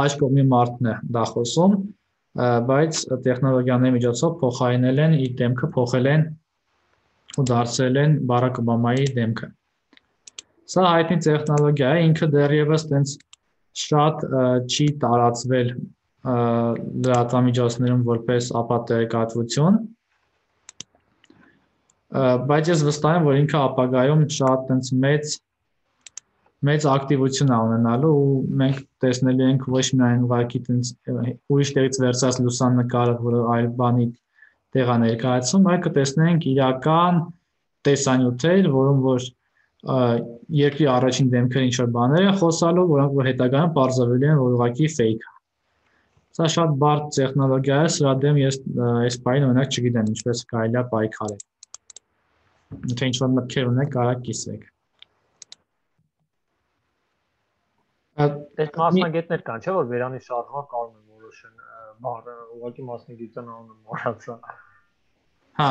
Այս կողմի մարդն է դա խոսում, բայց տեխնոլոգիաների միջոցով փոխարինել են իր դեմքը, փոխել են ու դարձրել են Բարակ Օբամայի դեմքը։ Սա հայտնի տեխնոլոգիա է, ինքը դեռևս տենց շատ չի տարածվել լրատվամիջոցներում որպես ապատերեկատվություն, բայց ես վստահ եմ, որ ինքը ապագայում շատ տենց մեծ ակտիվություն է ունենալու ու մենք տեսնելու ենք ոչ միայն ուղղակի տենց ուրիշ տեղից վերցած լուսանկարը, որը այլ բանի տեղ է ներկայացում, այլ կտեսնենք իրական տեսանյութեր, որում որ երկրի առաջին դեմքերը ինչ-որ բաներ են խոսալու, որոնք որ հետագայում պարզվելու են, որ ուղղակի fake է։ Սա շատ բարդ տեխնոլոգիա է, սրա դեմ ես այս պահին օրինակ չգիտեմ ինչպես կարելի է պայքարել։ Եթե ինչ-որ մտքեր ունեք, կարա կիսվեք։ Այս մասնագետներ կան, չէ՞ որ Վերանի շարժման կարող են որոշեն բառը, ուղղակի մասնագիտության անունը մոռացա։ Հա,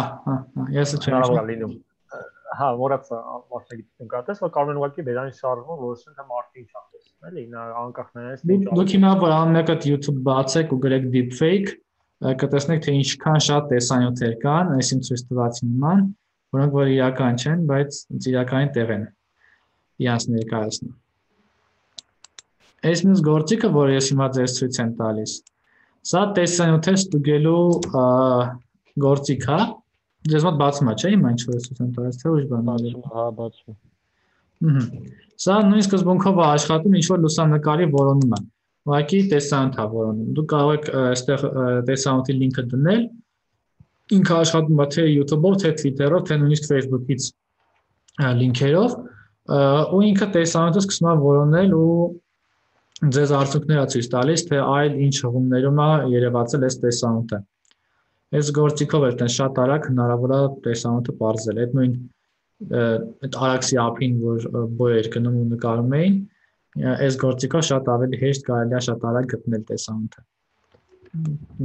ես չեմ։ Հա, մոռացա մասնագիտություն կատես, որ կարող են ուղղակի Վերանի շարժման որոշեն թե մարդը ինչ ասես, էլի, նա անկախ նրանից թե ինչ։ Դուք հիմա որ ամենը YouTube բացեք ու գրեք deepfake, կտեսնեք թե ինչքան շատ տեսանյութեր կան, այսինքն ցույց տվեցին նման, որոնք որ իրական չեն, բայց իրականի տեղ են իրանց ներկայացնում։ Այս մյուս գործիքը, որ ես հիմա ձեզ ցույց եմ տալիս, սա տեսանյութեր ստուգելու գործիք է։ Ձեզ մոտ բացում է, չէ՞, հիմա ինչ որ ես ցույց եմ տալիս, թե ուրիշ բան է։ Հա, բացում։ Սա նույն սկզբունքով է աշխատում ինչ-որ լուսանկարի որոնումը։ Ուղղակի տեսանյութ է որոնում։ Դուք կարող եք այստեղ տեսանյութի լինքը դնել։ Ինքը աշխատում է թե YouTube-ով, թե Twitter-ով, թե նույնիսկ Facebook-ից լինքերով, ու ինքը տեսանյութը սկսում է որոնել ու ձեզ արդյունքներ է ցույց տալիս, թե այլ ինչ հղումներում է երևացել այս տեսանյութը։ Այս գործիքով էլ տեն շատ արագ հնարավոր է տեսանյութը պարզել։ Այդ նույն այդ Արաքսի ափին, որ բոյեր գնում ու նկարում էին, այս գործիքով շատ ավելի հեշտ կարելի է շատ արագ գտնել տեսանյութը։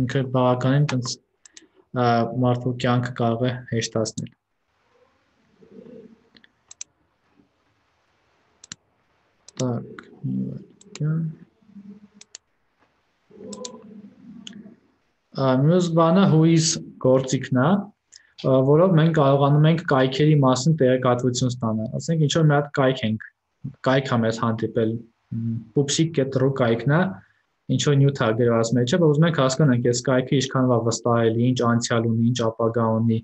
Ինքը բավականին տենց մարդու կյանքը կարող է հեշտացնել։ Так, մյուս բանը whois գործիքն է, որով մենք կարողանում ենք կայքերի մասին տեղեկատվություն ստանալ։ Ասենք ինչ որ մի հատ կայք ենք, կայք է մեզ հանդիպել, pupsik.ru կայքն է, ինչ որ նյութ է գրված մեջը, որ ուզում ենք հասկանանք այս կայքը ինչքան է վստահելի, ինչ անցյալ ունի, ինչ ապագա ունի,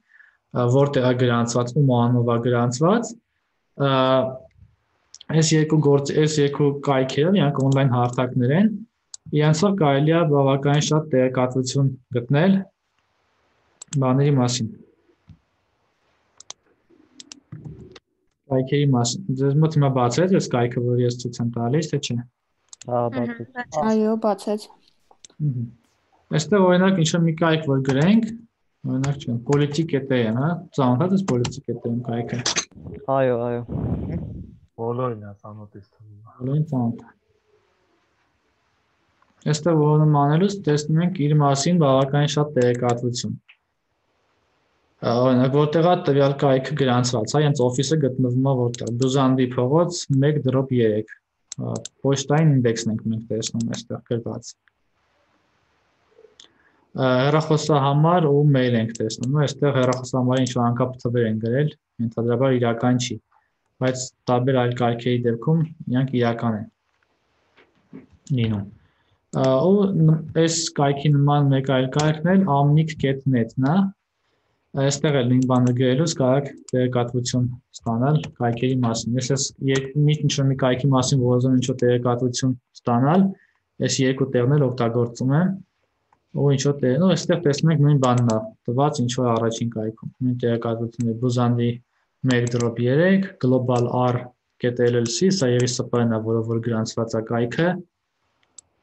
որտեղ է գրանցված, ում անունով է գրանցված։ Այս երկու կայքերը, իրանք on-line հարթակներ են, իրանցով կարելի է բավականին շատ տեղեկատվություն գտնել բաների մասին։ Կայքերի մասին։ Ձեզ մոտ հիմա բացեց այս կայքը, որ ես ցույց եմ տալիս, թե չէ։ Հա, բացեց։ Այո, բացեց։ Այստեղ օրինակ ինչ-որ մի կայք որ գրենք, օրինակ չեմ, politik.am, հա, ծանոթ ես politik.am կայքը։ Այո։ Բոլորին է ծանոթ ես թվում։ Բոլորին ծանոթ է։ Այստեղ որոնում անելուց տեսնում ենք իր մասին բավականին շատ տեղեկատվություն։ Օրինակ որտեղ է տվյալ կայքը գրանցված, հա, հենց օֆիսը գտնվում է որտեղ, Բյուզանդի փողոց 1/3, պոչտային ինդեքսն ենք մենք տեսնում այստեղ գրված։ Հեռախոսահամար ու մեյլ ենք տեսնում, այստեղ հեռախոսահամարի ինչ-որ անկապ թվեր են գրել, ենթադրաբար իրական չի, բայց տարբեր այլ կայքերի դեպքում իրանք իրական են լինում։ Ու այս կայքի նման մեկ այլ կայքն էլ amnik.net-ն է, այստեղ էլ նույն բանը գրելուց կարող եք տեղեկատվություն ստանալ կայքերի մասին։ Ես ինչ-որ մի կայքի մասին որ ուզում ինչ-որ տեղեկատվություն ստանալ, այս երկու տեղն էլ օգտագործում եմ, ու ինչ-որ տեղն, ու այստեղ տեսնում եք նույն բանն է տված ինչ-որ առաջին կայքում։ Նույն տեղեկատվությունը Բյուզանդի 1/3, Global R.LLC, սա ԵՍՊ-ն է, որով որ գրանցված է կայքը,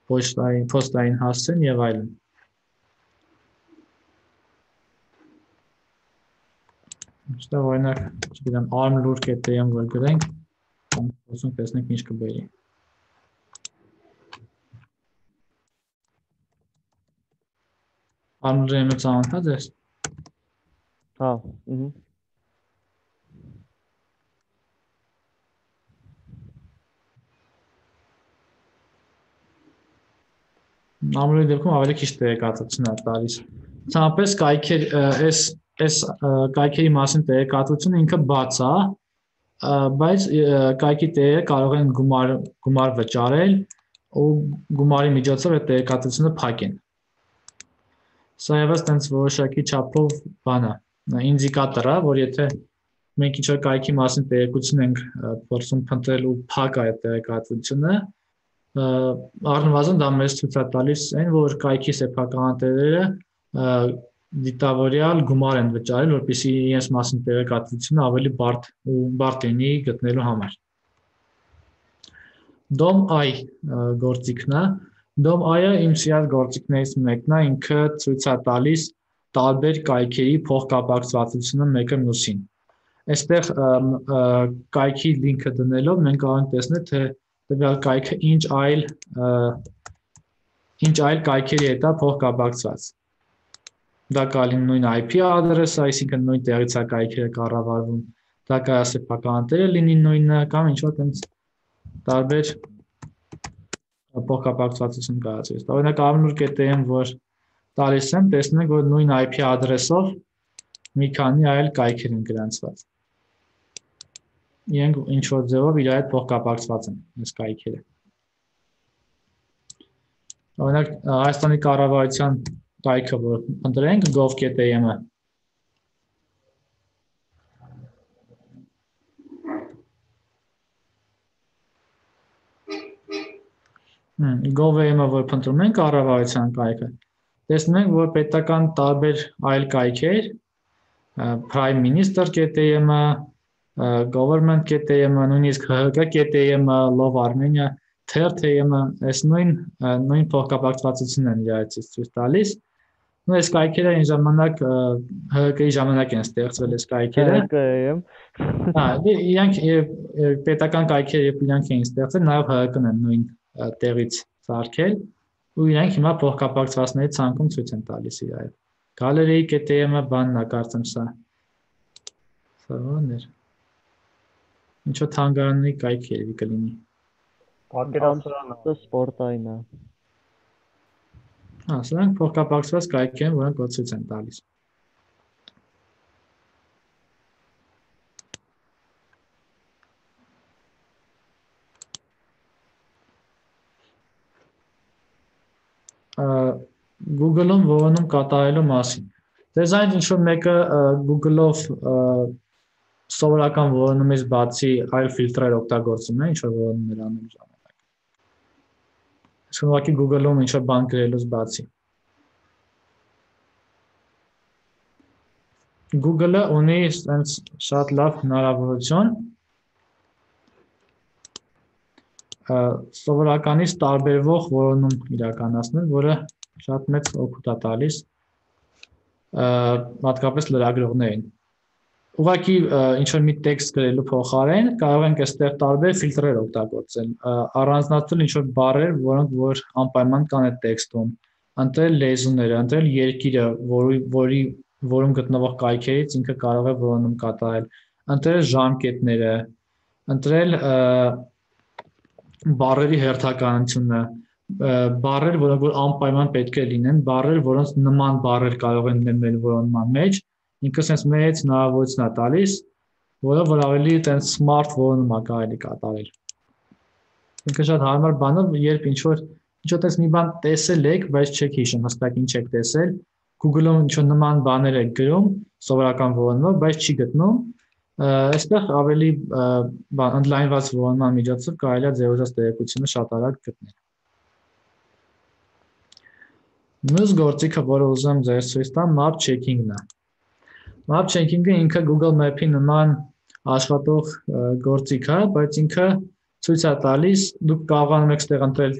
փոստային հասցեն եւ այլն։ Այստեղ օրինակ, չգիտեմ, armlur.am որ գրենք, ուսում տեսնենք ինչ կբերի։ Armlur-ը ծանոթ ես։ Հա, Ամրոյի դեպքում ավելի քիչ տեղեկատվություն է տալիս։ Ցանապես այս կայքերի մասին տեղեկատվությունը ինքը բաց է, բայց կայքի տեղերը կարող են գումար վճարել ու գումարի միջոցով այդ տեղեկատվությունը փակեն։ Սա ևս տենց որոշակի չափով բան է, ինդիկատոր է, որ եթե մենք ինչ-որ կայքի մասին տեղեկություն ենք փորձում փնտրել ու փակ է այդ տեղեկատվությունը, առնվազն դա մեզ ցույց է տալիս այն, որ կայքի սեփականատերերը դիտավորյալ գումար են վճարել, որպեսզի իրենց մասին տեղեկատվությունը ավելի բարդ լինի գտնելու համար։ DOM-I գործիքն է, DOM-I-ը իմ սիրած գործիքներից մեկն է, ինքը ցույց է տալիս տարբեր կայքերի փոխկապակցվածությունը մեկը մյուսին։ Այստեղ կայքի լինքը դնելով մենք կարող ենք տեսնել, թե տվյալ կայքը ինչ այլ կայքերի հետ է փոխկապակցված։ Դա կալին նույն IP ադրեսը, այսինքն նույն տեղից է կայքերը կառավարվում, դա կարող է սեփականատերը լինի նույնը կամ ինչ-որ տենց տարբեր փոխկապակցվածություն կայացվի։ Օրինակ armlur.am որ տալիս եմ, տեսնում եք, որ նույն IP ադրեսով մի քանի այլ կայքեր են գրանցված։ Իրենք ինչ-որ ձևով իր հետ փոխկապակցված են այս կայքերը։ Օրինակ Հայաստանի կառավարության կայքը, որ ընտրենք gov.am-ը։ Gov.am-ը, որ փնտրում ենք կառավարության կայքը, տեսնում ենք, որ պետական տարբեր այլ կայքեր, Prime Minister.am-ը, Government.am-ը, նույնիսկ ՀՀԿ.am-ը, Love Armenia, Թերթ.am-ը, այս նույն փոխկապակցվածությունն են իրարից ցույց տալիս, Այս կայքերը այն ժամանակ ՀԿ-ի ժամանակ են ստեղծվել այս կայքերը։ ՀԿ-ը։ Իրանք պետական կայքերը երբ իրանք էին ստեղծել, նաև ՀԿ-ն են նույն տեղից սարքել ու իրանք հիմա փոխկապակցվածների ցանկում ցույց են տալիս իրար։ Գալերեի KTM-ը բանն է կարծեմ սա։ Սա ո՞ն էր։ Ինչո թանգարանի կայք երևի կլինի։ Պատկերասրահը սպորտային է։ Սրանք փոխկապակցված կայք են, որոնք ցույց են տալիս։ Google-ում որոնում կատարելու մասին։ Դες այն ինչ որ մեկը Google-ով սովորական որոնումից բացի այլ ֆիլտրեր օգտագործում է, ինչ որ որոնումներ անում ժամանակ։ Ուղղակի Google-ում ինչ որ բան գրելուց բացի։ Google-ը ունի այնց շատ լավ հնարավորություն սովորականից տարբերվող որոնում իրականացնել, որը շատ մեծ օգուտ է տալիս հատկապես լրագրողներին։ Ուղղակի ինչ որ մի տեքստ գրելու փոխարեն կարող ենք այստեղ տարբեր ֆիլտրեր օգտագործել, առանձնացնել ինչ որ բառեր, որ անպայման կան այդ տեքստում, ընտրել լեզուները, ընտրել երկիրը, որում գտնվող կայքերից ինքը կարող է որոնում կատարել, ընտրել ժամկետները, ընտրել բառերի հերթականությունը, բառեր, որոնք որ անպայման պետք է լինեն, բառեր, որոնց նման բառեր կարող են լինել մեր որոնման մեջ, ինքը sense մեծ հնարավորություն է տալիս, որ ավելի այտենց smart որոնում է կարելի կատարել։ Ինքը շատ հարմար բան է, երբ ինչ որ այտենց մի բան տեսել եք, բայց չեք հիշում հստակ ինչ եք տեսել, Google-ում ինչ որ նման բաներ եք գրում, սովորական որոնումով, բայց չի գտնում, այստեղ ավելի ընդլայնված որոնման միջոցով կարելի է ձեր ուզած տեղեկությունը շատ արագ գտնել։ Մյուս գործիքը, որը ուզում եմ ձեզ ցույց տամ, map checking-ն է։ Map checking-ը ինքը Google Map-ի նման աշխատող գործիք է, բայց ինքը ցույց է տալիս, դուք կարողանում եք ստեղ ընտրել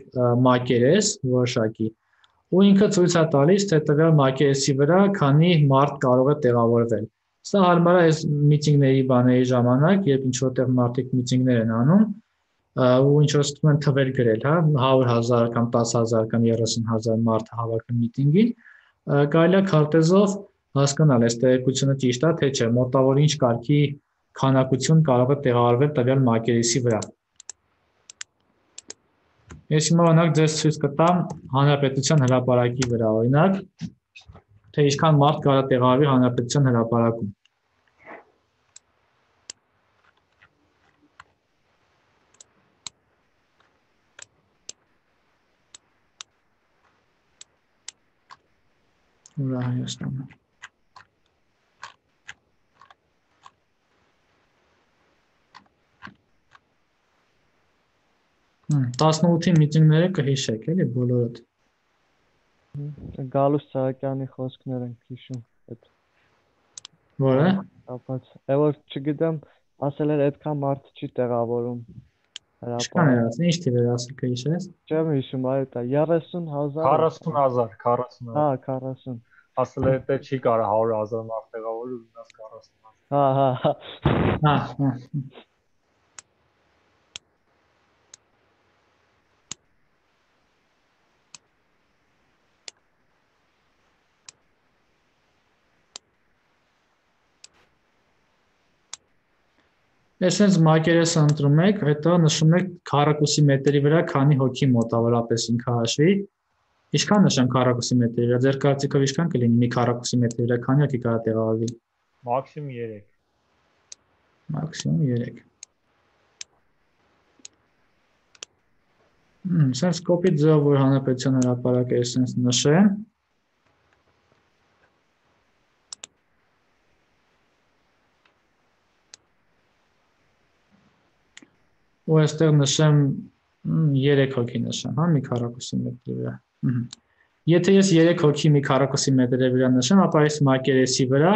մակերես որոշակի, ու ինքը ցույց է տալիս, թե տվյալ մակերեսի վրա քանի մարդ կարող է տեղավորվել։ Սա հարմար է այս միտինգների բաների ժամանակ, երբ ինչ որտեղ մարդիկ միտինգներ են անում, ու ինչ որ ստում են թվեր գրել, հա, 100,000 կամ 10,000 կամ 30,000 մարդ հավաքվում միտինգին, կարելի է քարտեզով հասկանալ այս տեղեկությունը ճիշտ է, թե չէ, մոտավոր ինչ կարգի քանակություն կարող է տեղավորվել տվյալ մակերեսի վրա։ Ես հիմա օրինակ ձեզ ցույց կտամ Հանրապետության հրապարակի վրա, օրինակ, թե ինչքան մարդ կարող է տեղավորվի Հանրապետության հրապարակում։ Ուրա Հայաստանը։ 18-ի միտինգները կհիշեք, էլի բոլորդ։ Գալուս Սահակյանի խոսքներ են հիշում այդ։ Որը։ Ապաց, որ չգիտեմ, ասել էր այդքան մարդ չի տեղավորում։ Ինչքան էր ասել, ինչ թիվ էր ասել կհիշես։ Չեմ հիշում, այո, 30,000։ 40,000։ Հա, 40։ Ասել է թե չի կարա 100,000 մարդ տեղավորել ու մնաց 40,000։ Հա։ Այսպես մակերեսը ընտրում եք, հետո նշում եք քառակուսի մետրի վրա քանի հոգի մոտավորապես ինքը հաշվի։ Ինչքան նշեմ քառակուսի մետրի վրա, ձեր կարծիքով ինչքան կլինի մի քառակուսի մետրի վրա, քանի հոգի կարող տեղավորվի։ Մաքսիմում 3։ Մաքսիմում 3։ Sense կոպիտ ձև որ Հանրապետության հրապարակը է sense նշեմ։ Ու այստեղ նշեմ 3 հոգի նշեմ, հա, մի քառակուսի մետրի վրա։ Եթե ես 3 հոգի մի քառակուսի մետրի վրա նշեմ, ապա այս մակերեսի վրա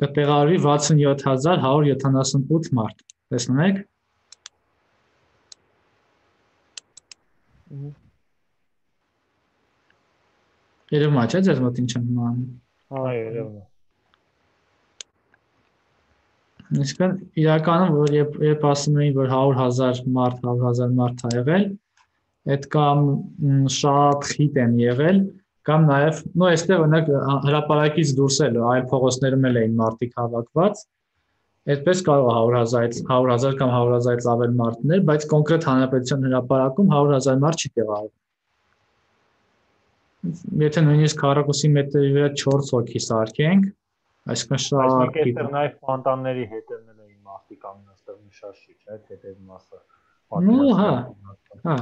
կտեղավորվի 67,178 մարդ։ Տեսնում եք։ Երևում է, չէ՞, ձեզ մոտ ինչ եմ անում։ Հա, երևում է։ Իսկական իրականում որ երբ ասում էին որ 100,000 մարդ ա եղել, այդ կամ շատ խիտ են եղել, կամ նաև նո այստեղ օրինակ հրապարակից դուրս էլ այլ փողոցներում էլ էին մարդիկ հավաքված, այդպես կարող է 100,000 կամ 100,000-ից ավել մարդներ, բայց կոնկրետ հանրապետության հրապարակում 100,000 մարդ չի տեղավորվում։ Եթե նույնիսկ քառակուսի մետրի վրա 4 հոգի սարքենք, այսինքն շատ քիչ։ Այստեղ նաև ֆոնտանների հետևներ էին մարդիկ անում, այստեղ նշաշի, չէ՞, հետև մասը։ Ну, հա։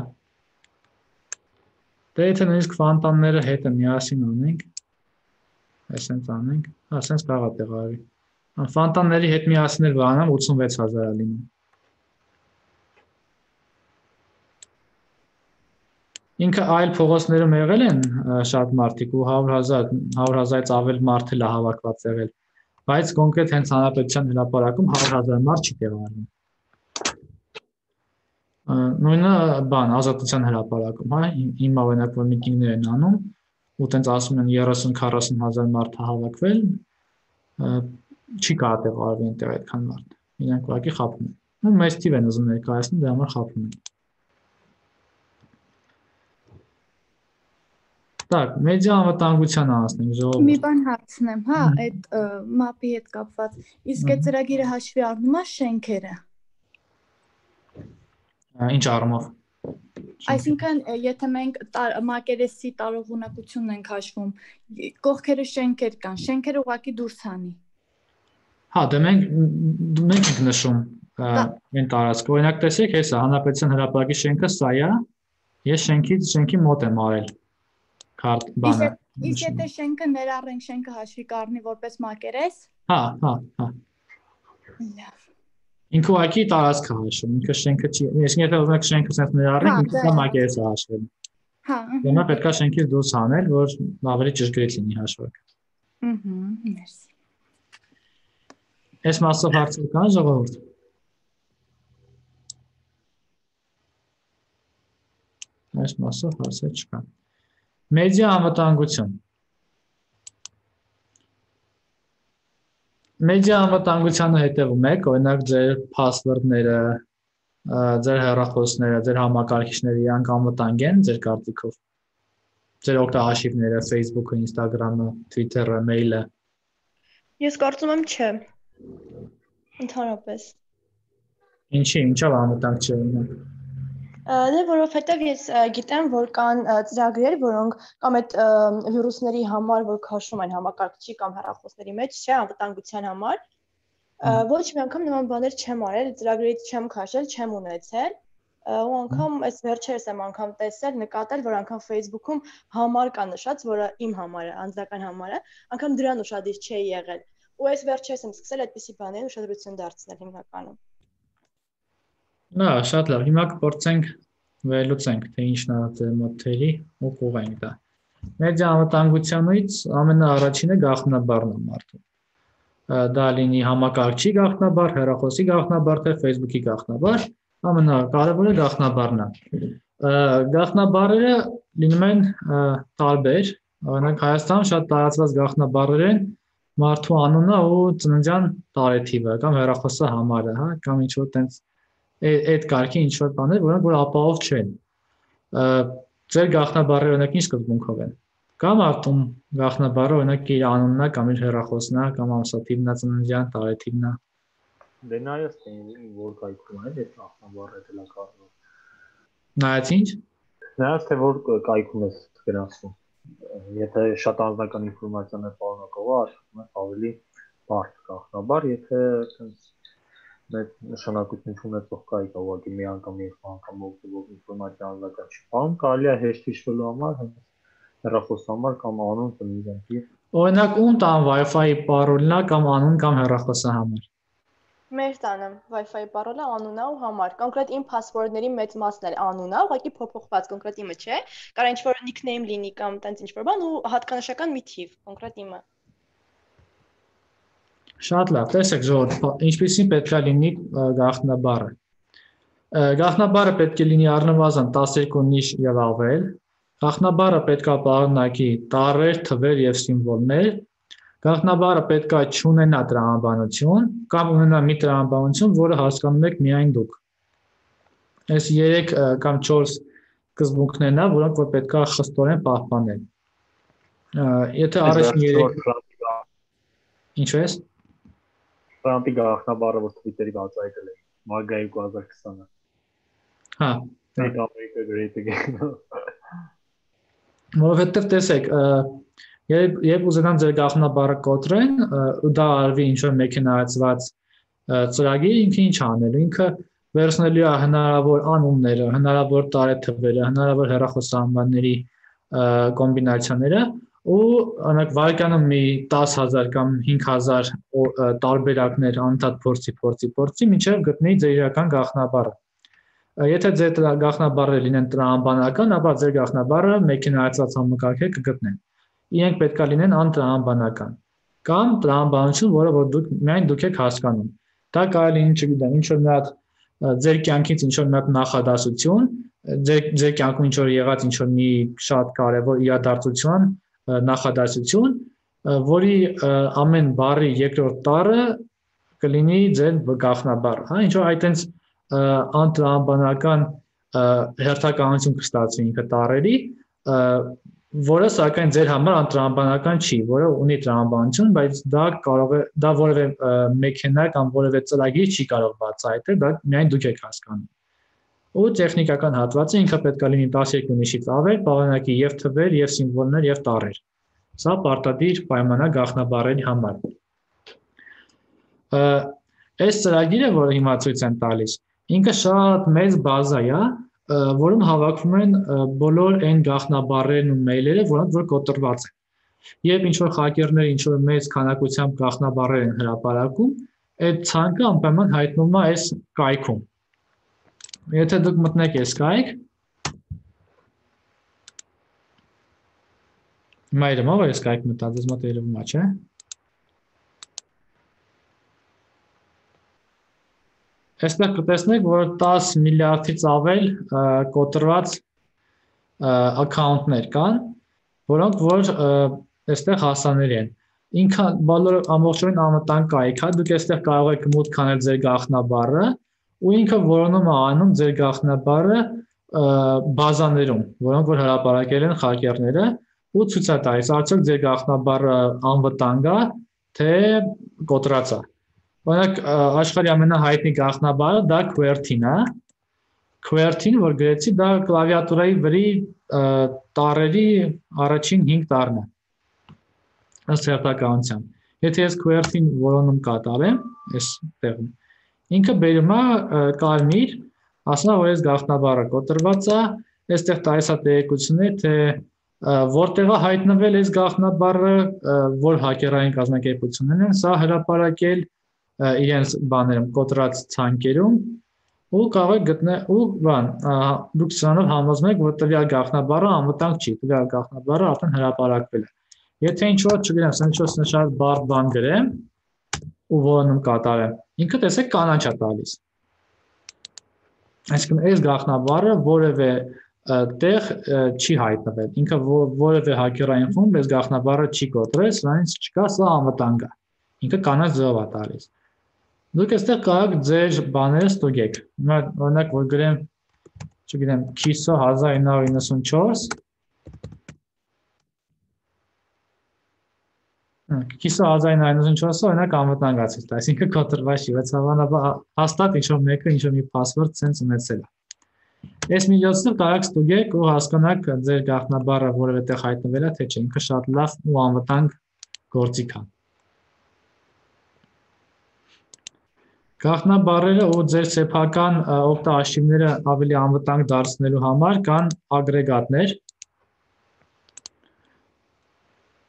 Դե եթե նույնիսկ ֆոնտանները հետը միասին անենք, այսպես անենք, հա, այսպես կարող է տեղավորվի։ Ֆոնտանների հետ միասին էլ բանամ 86,000 է լինում։ Ինքը այլ փողոցներում եղել են շատ մարդիկ ու 100,000-ից ավել մարդ էլ հավաքված եղել, բայց կոնկրետ հենց հանրապետության հրապարակում 100,000 մարդ չի տեղավորվում։ Նույնը բան ազատության հրապարակում, հա, հիմա օրինակ որ միտինգներ են անում, ու տենց ասում են 30-40,000 մարդ հավաքվել, չի կարող տեղավորվի այնտեղ այդքան մարդ։ Իրենք ուղղակի խաբում են։ Ու մեծ թիվ են ուզում ներկայացնել, դրա համար խաբում են։ Так, մեդիա անվտանգության անցնենք ժողովուրդ։ Մի բան հարցնեմ, հա, այդ մապի հետ կապված։ Իսկ այդ ծրագիրը հաշվի առնում է շենքերը։ Ինչ առումով։ Այսինքն, եթե մենք մակերեսի տարողունակությունն ենք հաշվում, կողքերը շենքեր կան, շենքերը ուղղակի դուրս անի։ Հա, դե մենք ենք նշում այն տարածքը։ Օրինակ տեսեք, հեսա հանրապետության հրապարակի շենքը սա է, ես շենքի մոտ եմ արել։ Քարտ բանը։ Իսկ եթե շենքը ներառենք, շենքը հաշվի կառնի որպես մակերես։ Հա։ Լավ։ Ինքը ուղղակի տարածքը հաշվում, ինքը շենքը չի, այսինքն եթե ուզում եք շենքը sense ներառենք, ինքը դա մակերեսը հաշվելու։ Հա։ Դեմա պետք է շենքից դուրս անել, որ ավելի ճշգրիտ լինի հաշվարկը։ Մերսի։ Այս մասով հարցեր կան ժողովուրդ։ Այս մասով հարցեր չկան։ Մեդիա անվտանգություն։ Մեդիա անվտանգությանը հետևում եք, օրինակ ձեր password-ները, ձեր հեռախոսները, ձեր համակարգիչները իրանք անվտանգ են ձեր կարծիքով։ Ձեր օգտահաշիվները, Facebook-ը, Instagram-ը, Twitter-ը, mail-ը։ Ես կարծում եմ չէ։ Ընդհանրապես։ Ինչով անվտանգ չէ ունենալ։ Դե որովհետև ես գիտեմ, որ կան ծրագրեր, որոնք կամ այդ վիրուսների համար, որ քաշում են համակարգչի կամ հեռախոսների մեջ, չէ, անվտանգության համար, ոչ մի անգամ նման բաներ չեմ արել, ծրագրերից չեմ քաշել, չեմ ունեցել, ու անգամ այս վերջերս եմ անգամ տեսել, նկատել, որ անգամ Facebook-ում համար կա նշած, որը իմ համարը, անձնական համարը, անգամ դրան ուշադիր չի եղել, ու այս վերջերս եմ սկսել այդպիսի բաներին ուշադրություն դարձնել հիմնականում։ Նա շատ լավ, հիմա կփորձենք վերլուծենք, թե ինչն է ձեր մոդելի ու կուղենք դա։ Մեդիա անվտանգությունից ամենաառաջինը գաղտնաբառն է մարդու։ Դա լինի համակարգչի գաղտնաբառ, հեռախոսի գաղտնաբառ, թե Facebook-ի գաղտնաբառ, ամենակարևորը գաղտնաբառն է։ Գաղտնաբառերը լինում են տարբեր, օրինակ Հայաստանում շատ տարածված գաղտնաբառեր են մարդու անունը ու ծննդյան տարեթիվը կամ հեռախոսի համարը, հա, կամ ինչ որ տենց այդ կարգի ինչ որ բաներ, որոնք որ ապահով չեն։ Ձեր գաղտնաբառերը օրինակ ինչ սկզբունքով են։ Կամ արտում գաղտնաբառը օրինակ իր անունն է կամ իր հեռախոսն է կամ ամսաթիվն է, ծննդյան տարեթիվն է։ Դե նայած թե որ կայքում է այդ գաղտնաբառը դելա կարող։ Նայած ինչ։ Նայած թե որ կայքում է գրանցում։ Եթե շատ անձնական ինֆորմացիան է պարունակող, աշխատում է ավելի բարդ գաղտնաբառ, եթե այդ նշանակություն ունեցող կայք ուղղակի մի անգամ երկու անգամ օգտվող ինֆորմացիա անձնական չի բան, կարելի է հեշտ հիշվելու համար հեռախոսի համար կամ անուն ծննդյան թիվ։ Օրինակ ում տան Wi-Fi պարոլն է կամ անուն կամ հեռախոսի համար։ Մեր տանը Wi-Fi պարոլը անունն է ու համար։ Կոնկրետ իմ password-ների մեծ մասն էլ անունն է, ուղղակի փոփոխված կոնկրետ իմը չէ։ Կարող ինչ-որ nickname լինի կամ տենց ինչ-որ բան ու հատկանշական մի թիվ, կոնկրետ իմը։ Շատ լավ, տեսեք ժողովուրդ, ինչպեսին պետք է լինի գաղտնաբառը։ Գաղտնաբառը պետք է լինի առնվազն 12 նիշ եւ ավել, Գաղտնաբառը պետք է պարունակի տառեր, թվեր եւ սիմվոլներ։ Գաղտնաբառը պետք է չունենա տրամաբանություն կամ ունենա մի տրամաբանություն, որը հասկանում եք միայն դուք։ Այս 3 կամ 4 սկզբունքներն են, որոնք որ պետք է խստորեն պահպանել։ Եթե առաջին 3 Ինչ է՞ս։ Ֆրանտի գաղտնաբառը, որ Twitter-ի բացահայտել է, Մագայի 2020-ը։ Հա, Make America Great Again։ Որովհետև տեսեք, երբ ուզենան ձեր գաղտնաբառը կոտրեն, ու դա արվի ինչ-որ մեքենայացված ծրագիր, ինքը ինչ անելու, ինքը վերցնելու է հնարավոր անունները, հնարավոր տարեթվերը, հնարավոր հեռախոսահամարների կոմբինացիաները ու օրինակ վարկյանում մի 10,000 կամ 5,000 տարբերակներ անընդհատ փորձի, մինչև գտնի ձեր իրական գաղտնաբառը։ Եթե ձեր գաղտնաբառերը լինեն տրամաբանական, ապա ձեր գաղտնաբառը մեքենայացված համակարգեր կգտնեն։ Իրենք պետք է լինեն անտրամաբանական կամ տրամաբանություն, որը միայն դուք եք հասկանում։ Դա կարելի է, չգիտեմ, ինչ-որ մի հատ ձեր կյանքից ինչ-որ մի հատ նախադասություն, ձեր կյանքում ինչ-որ եղած ինչ-որ մի շատ կարևոր իրադարձություն, նախադասություն, որի ամեն բառի երկրորդ տառը կլինի ձեր գաղտնաբառը, հա, ինչ-որ այտենց անտրամաբանական հերթականություն կստացվի ինքը տառերի, որը սակայն ձեր համար անտրամաբանական չի, որը ունի տրամաբանություն, բայց դա որևէ մեքենա կամ որևէ ծրագիր չի կարող բացահայտել, դա միայն դուք եք հասկանում։ Ու տեխնիկական հատվածը ինքը պետք է լինի 12 նիշից ավել, պարունակի եւ թվեր, եւ սիմվոլներ, եւ տառեր։ Սա պարտադիր պայման է գաղտնաբառերի համար։ Այս ծրագիրը, որը հիմա ցույց եմ տալիս, ինքը շատ մեծ բազա է, որում հավաքվում են բոլոր այն գաղտնաբառերն ու մեյլերը, որոնք որ կոտրված են։ Երբ ինչ-որ հակերները ինչ-որ մեծ քանակությամբ գաղտնաբառեր են հրապարակում, այդ ցանկը անպայման հայտնվում է այս կայքում։ Եթե դուք մտնեք այս կայք, մայրը ով է այս կայք մտած, ես մոտ երևում է, չէ՞։ Այստեղ կտեսնեք, որ 10 միլիարդից ավել կոտրված ակաունտներ կան, որոնք որ այստեղ հասանելի են։ Ինքը բոլորը ամբողջովին անվտանգ կայք է, դուք այստեղ կարող եք մուտք անել ձեր գաղտնաբառը, ու ինքը որոնում է անում ձեր գաղտնաբառը բազաներում, որոնք որ հրապարակել են հակերները, ու ցույց է տալիս, արդյոք ձեր գաղտնաբառը անվտանգ է, թե կոտրած է։ Օրինակ աշխարհի ամենահայտնի գաղտնաբառը դա QWERTY-ն է։ QWERTY-ն, որ գրեցի, դա կլավիատուրայի վրի տառերի առաջին 5 տառն է։ Ըստ հերթականության։ Եթե ես QWERTY-ն որոնում կատարեմ, այս տեղում, ինքը բերում է կարմիր, ասում է, որ այս գաղտնաբառը կոտրված է, այստեղ տալիս է տեղեկություններ, թե որտեղ է հայտնվել այս գաղտնաբառը, որ հակերային կազմակերպություններն են սա հրապարակել իրենց բաներում կոտրած ցանկերում ու կարող եք գտնել ու դուք սրանով համոզում եք, որ տվյալ գաղտնաբառը անվտանգ չի, տվյալ գաղտնաբառը արդեն հրապարակվել է։ Եթե ինչ-որ, չգիտեմ, ինչ-որ շատ բարդ բան գրեմ ու որոնում կատարեմ, ինքը տեսեք կանաչ է տալիս։ Այսինքն այս գաղտնաբառը որևէ տեղ չի հայտնվել, ինքը որևէ հակերային խումբ այս գաղտնաբառը չի կոտրել, սրանից չկա, սա անվտանգ է։ Ինքը կանաչ ձևով է տալիս։ Դուք այստեղ կարող եք ձեր բաները ստուգեք։ Օրինակ, որ գրեմ, չգիտեմ, KISO 1994 KISO 1994-ը օրինակ անվտանգ է ցույց տալիս, այսինքն կոտրված չի, բայց հավանաբար հաստատ ինչ-որ մեկը ինչ-որ մի password sense ունեցել է։ Այս միջոցով կարող եք ստուգեք ու հասկանաք ձեր գաղտնաբառը որևէ տեղ հայտնվել է, թե չէ, ինքը շատ լավ ու անվտանգ գործիք է։ Գաղտնաբառերը ու ձեր սեփական օգտաարշիվները ավելի անվտանգ դարձնելու համար կան ագրեգատներ,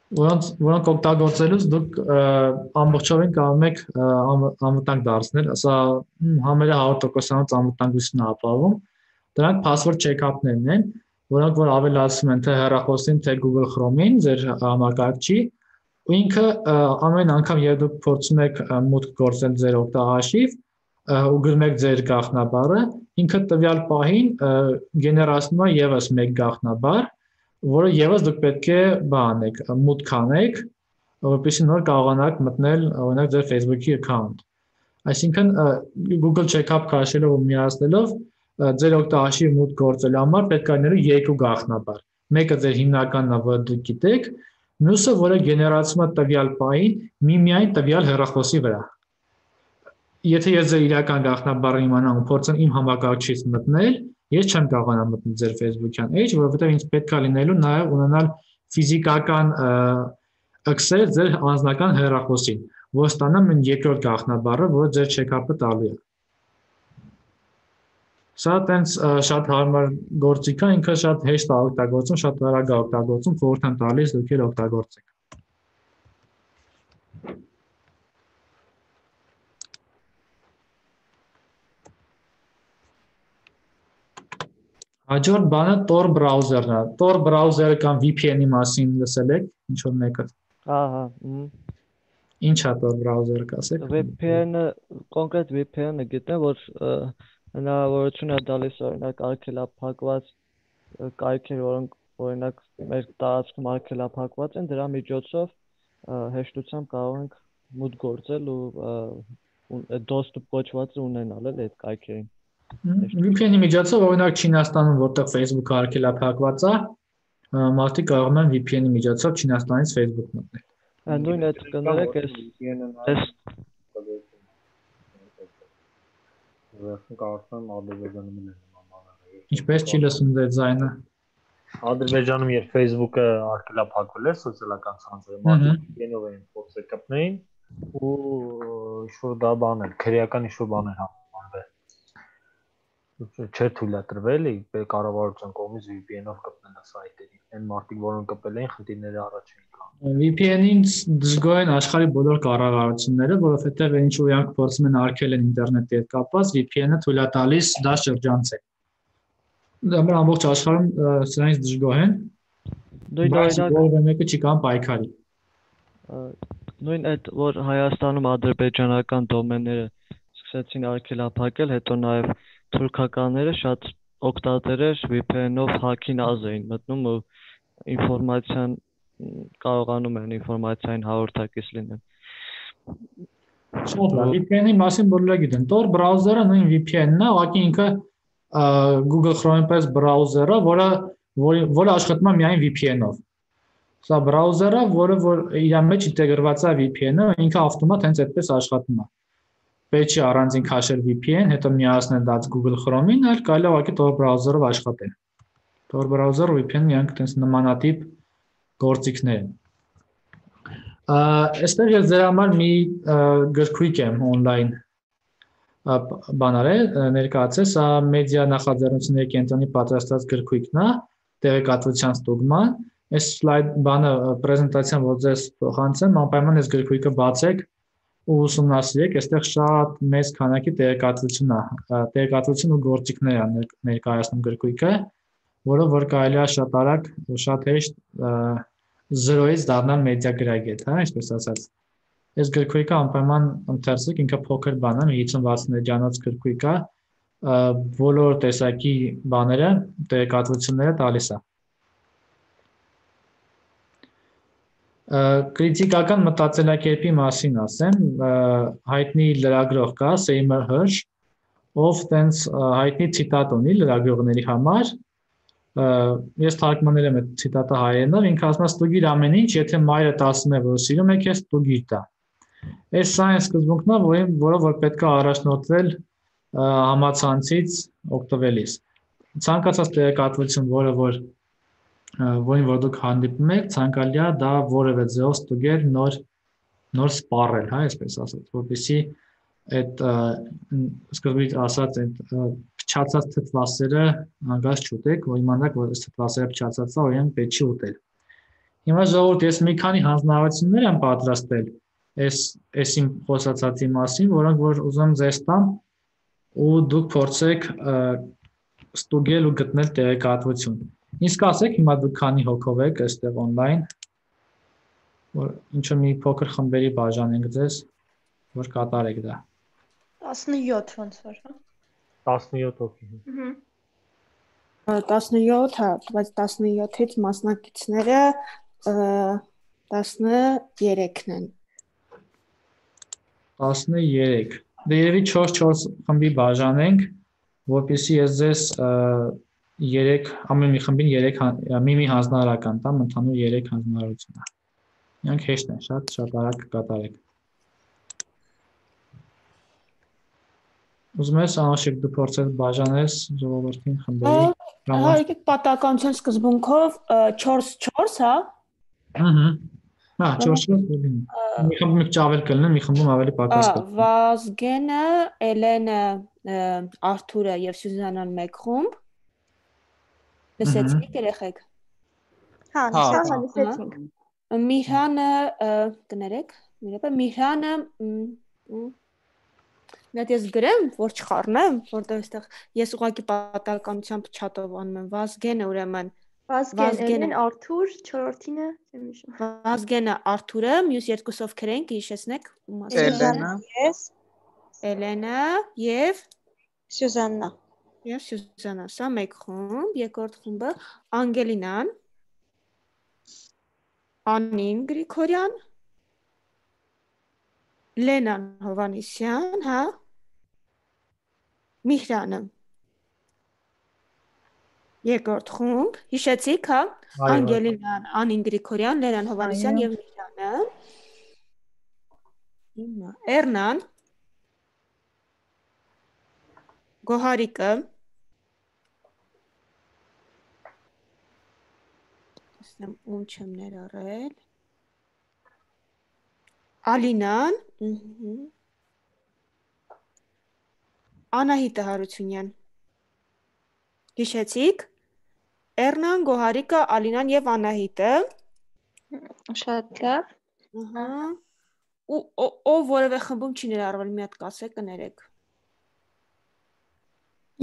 որոնք օգտագործելուց դուք ամբողջովին կարող եք անվտանգ դարձնել, սա համարյա 100%-ից անվտանգություն է ապահովում։ Դրանք password check-up-ներն են, որոնք որ ավելացնում են թե հեռախոսին, թե Google Chrome-ին, ձեր համակարգչի, ու ինքը ամեն անգամ երբ դուք փորձում եք մուտք գործել ձեր օգտահաշիվ ու գրում եք ձեր գաղտնաբառը, ինքը տվյալ պահին գեներացնում է եւս մեկ գաղտնաբառ, որը եւս դուք պետք է բանեք, մուտք անեք, որպեսզի նոր կարողանաք մտնել օրինակ ձեր Facebook-ի account։ Այսինքն Google Checkup քաշելով ու միացնելով ձեր օգտագործի մուտք գործելու համար պետք է լինելու երկու գաղտնաբար։ Մեկը ձեր հիմնականն է, որը դուք գիտեք, մյուսը, որը գեներացվում է տվյալ պահին միմիայն տվյալ հեռախոսի վրա։ Եթե ես ձեր իրական գաղտնաբառը իմանամ ու փորձեմ իմ համակարգչից մտնել, ես չեմ կարողանա մտնել ձեր Facebook-յան էջ, որովհետև ինձ պետք է լինելու նաև ունենալ ֆիզիկական access ձեր անձնական հեռախոսին, որ ստանամ այն երկրորդ գաղտնաբառը, որը ձեր check-up-ը տալու է։ Սա տենց շատ հարմար գործիք է, ինքը շատ հեշտ է օգտագործում, շատ արագ է օգտագործում, խորհուրդ եմ տալիս դուք էլ օգտագործեք։ Հաջորդ բանը Tor browser-ն է։ Tor browser-ը կամ VPN-ի մասին լսել եք, ինչ որ մեկը։ Ահա։ Ինչ է Tor browser-ը, կասեք։ VPN-ը, կոնկրետ VPN-ը գիտեմ, որ հնարավորություն է տալիս օրինակ արգելափակված կայքեր, որոնք օրինակ մեր տարածքում արգելափակված են, դրա միջոցով հեշտությամբ կարող ենք մուտք գործել ու доступ կոչվածը ունենալ էլ այդ կայքերին։ VPN-ի միջոցով օրինակ Չինաստանում, որտեղ Facebook-ը արգելափակված է, մարդիկ կարող են VPN-ի միջոցով Չինաստանից Facebook մտնել։ Նույն այդ կներեք այս Կարծում Ադրբեջանում էլ նման։ Ինչպես չի լսում ձեր ձայնը։ Ադրբեջանում երբ Facebook-ը արգելափակվել էր սոցիալական ցանցերում, մարդիկ VPN-ով էին փորձել կպնեին ու ինչ-որ դա բան էր, քրեական ինչ-որ բան էր համարվել։ Չէր թույլատրվել կառավարության կողմից VPN-ով կպնել սայթերին։ Այն մարդիկ, որոնք կպել էին, խնդիրները առաջ էին գալու։ VPN-ին դժգոհ են աշխարհի բոլոր կառավարությունները, որովհետև ինչ որ իրանք փորձում են արգելել ինտերնետի հետ կապված, VPN-ը թույլ է տալիս դա շրջանցել։ Դա ամբողջ աշխարհում սրանից դժգոհ են։ Նույն մեկը չի կան պայքարի։ Նույն այդ որ Հայաստանում ադրբեջանական դոմենները սկսեցին արգելափակել, հետո նաև թուրքականները շատ օգտատերեր VPN-ով հակին ազ էին մտնում ու ինֆորմացիան կարողանում են ինֆորմացիային հաղորդակից լինել։ Շատ լավ, VPN-ի մասին բոլորը գիտեն։ Tor browser-ը նույն VPN-ն է, ուղղակի ինքը Google Chrome-ի պես browser-ը, որը աշխատում է միայն VPN-ով։ Սա browser-ը, որը իր մեջ ինտեգրված է VPN-ը, ինքը ավտոմատ հենց այդպես աշխատում է։ Պետք չի առանձին քաշել VPN, հետո միացնել դա Google Chrome-ին, այլ կարելի է ուղղակի Tor browser-ով աշխատել։ Tor browser-ը VPN-ը իրանք տես նմանատիպ գործիքներ են։ Այստեղ ես ձեր համար մի գրքույկ եմ on-line բանարել, ներկայացել, սա մեդիա նախաձեռնությունների կենտրոնի պատրաստած գրքույկն է, տեղեկատվության ստուգման։ Այս սլայդ բանը պրեզենտացիան, որ ձեզ փոխանցեմ, անպայման այս գրքույկը բացեք ու ուսումնասիրեք, այստեղ շատ մեծ քանակի տեղեկատվություն է, տեղեկատվություն ու գործիքներ է ներկայացնում գրքույկը, որը որ կարելի է շատ արագ ու շատ հեշտ զրոյից դառնալ մեդիա գրագետ, հա, այսպես ասած։ Այս գրքույկը անպայման ընթերցեք, ինքը փոքր բան է, 50-60 էջանոց գրքույկ է, բոլոր տեսակի բաները, տեղեկատվությունները տալիս է։ Կրիտիկական մտածելակերպի մասին ասեմ, հայտնի լրագրող կա Seymour Hersh, ով տենց հայտնի ցիտատ ունի լրագրողների համար։ Ես թարգմանել եմ այդ ցիտատը հայերենով, ինքը ասում է ստուգիր ամեն ինչ, եթե մայրդ ասում է, որ սիրում է քեզ, ստուգիր դա։ Այս սա այն սկզբունքն է, որը որ պետք է առաջնորդվել համացանցից օգտվելիս։ Ցանկացած տեղեկատվություն, որին որ դուք հանդիպում եք, ցանկալի է դա որևէ ձեւով ստուգել, նոր սպառել, հա, այսպես ասած, որպեսզի այդ սկզբից ասած այդ փչացած թթվասերը հանգած չուտեք, որ իմանաք, որ այս թթվասերը փչացած է, օրինակ պետք չի ուտել։ Հիմա ժողովուրդ, ես մի քանի հանձնարարություններ եմ պատրաստել այս իմ խոսածածի մասին, որոնք որ ուզում եմ ձեզ տամ ու դուք փորձեք ստուգել ու գտնել տեղեկատվություն։ Իսկ ասեք, հիմա դուք քանի հոգով եք այստեղ on-line, որ ինչ-որ մի փոքր խմբերի բաժանենք ձեզ, որ կատարեք դա։ 17 ոնց որ, հա։ 17 հոգի։ 17, հա, բայց 17-ից մասնակիցները 13-ն են։ 13։ Դե երևի 4-4 խմբի բաժանենք, որպեսզի ես ձեզ 3 ամեն մի խմբին 3 մի հանձնարարական տամ, ընդհանուր 3 հանձնարարություն է։ Իրանք հեշտ են, շատ արագ կկատարեք։ Ուզում ես Անաշիկ դու փորձես բաժանես ժողովրդին խմբերի։ Հա, եկեք պատահականության սկզբունքով 4-4, հա։ Հա, 4-4 մի խմբում ճավել կլինեն, մի խմբում ավելի պակաս կլինեն։ Վազգենը, Էլենը, Արթուրը եւ Սյուզանան մեկ խումբ։ Լսեցիք երեխեք։ Հա, լսեցինք։ Միհրանը, կներեք, Միհրանը Նայ ես գրեմ, որ չխառնեմ, որտեղ այստեղ ես ուղղակի պատահականությամբ չաթով անում եմ Վազգենը, ուրեմն Վազգենը Արթուր, 4-ինը չեմ հիշում։ Վազգենը Արթուրը, մյուս երկուսը ովքեր են, կհիշեցնեք։ Էլենա, ես, Էլենա եւ Սյուզաննա։ Եվ Սյուզաննա, սա մեկ խումբ, երկրորդ խումբը Անգելինան, Անին Գրիգորյան, Լենան Հովանեսյան, հա, Միհրանը։ Երկրորդ խումբ, հիշեցիք, հա, Անգելինան, Անին Գրիգորյան, Լենան Հովանեսյան եւ Միհրանը։ Հիմա Էրնան, Գոհարիկը, ում չեմ ներառել, Ալինան, Անահիտը Հարությունյան։ Հիշեցիք, Էրնան, Գոհարիկը, Ալինան եւ Անահիտը։ Շատ լավ։ Ով որևէ խմբում չի ներառվել, մի հատ կասեք, կներեք։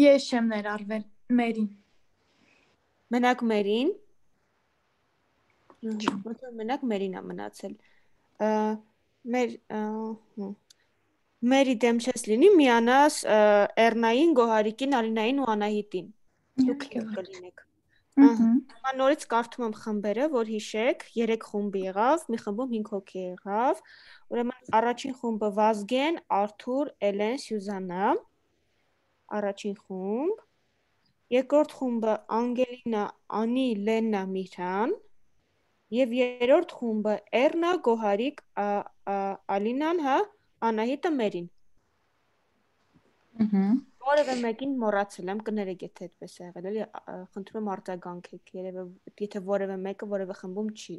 Ես չեմ ներառվել, Մերին։ Մենակ Մերին։ Մենակ Մերին է մնացել։ Մերի դեմ չես լինի, միանաս Էրնային, Գոհարիկին, Ալինային ու Անահիտին։ Դուք կլինեք։ Հիմա նորից կարդում եմ խմբերը, որ հիշեք, 3 խումբ եղավ, մի խմբում 5 հոգի եղավ։ Ուրեմն առաջին խումբը Վազգեն, Արթուր, Էլեն, Սյուզաննա։ Առաջին խումբ։ Երկրորդ խումբը Անգելինա, Անի, Լեննա, Միհրան։ Եվ երրորդ խումբը Էրնա, Գոհարիկ, Ալինան, հա, Անահիտը, Մերին։ Որևէ մեկին մոռացել եմ, կներեք, եթե այդպես է եղել, էլի խնդրում եմ արձագանքեք, եթե որևէ մեկը որևէ խմբում չի։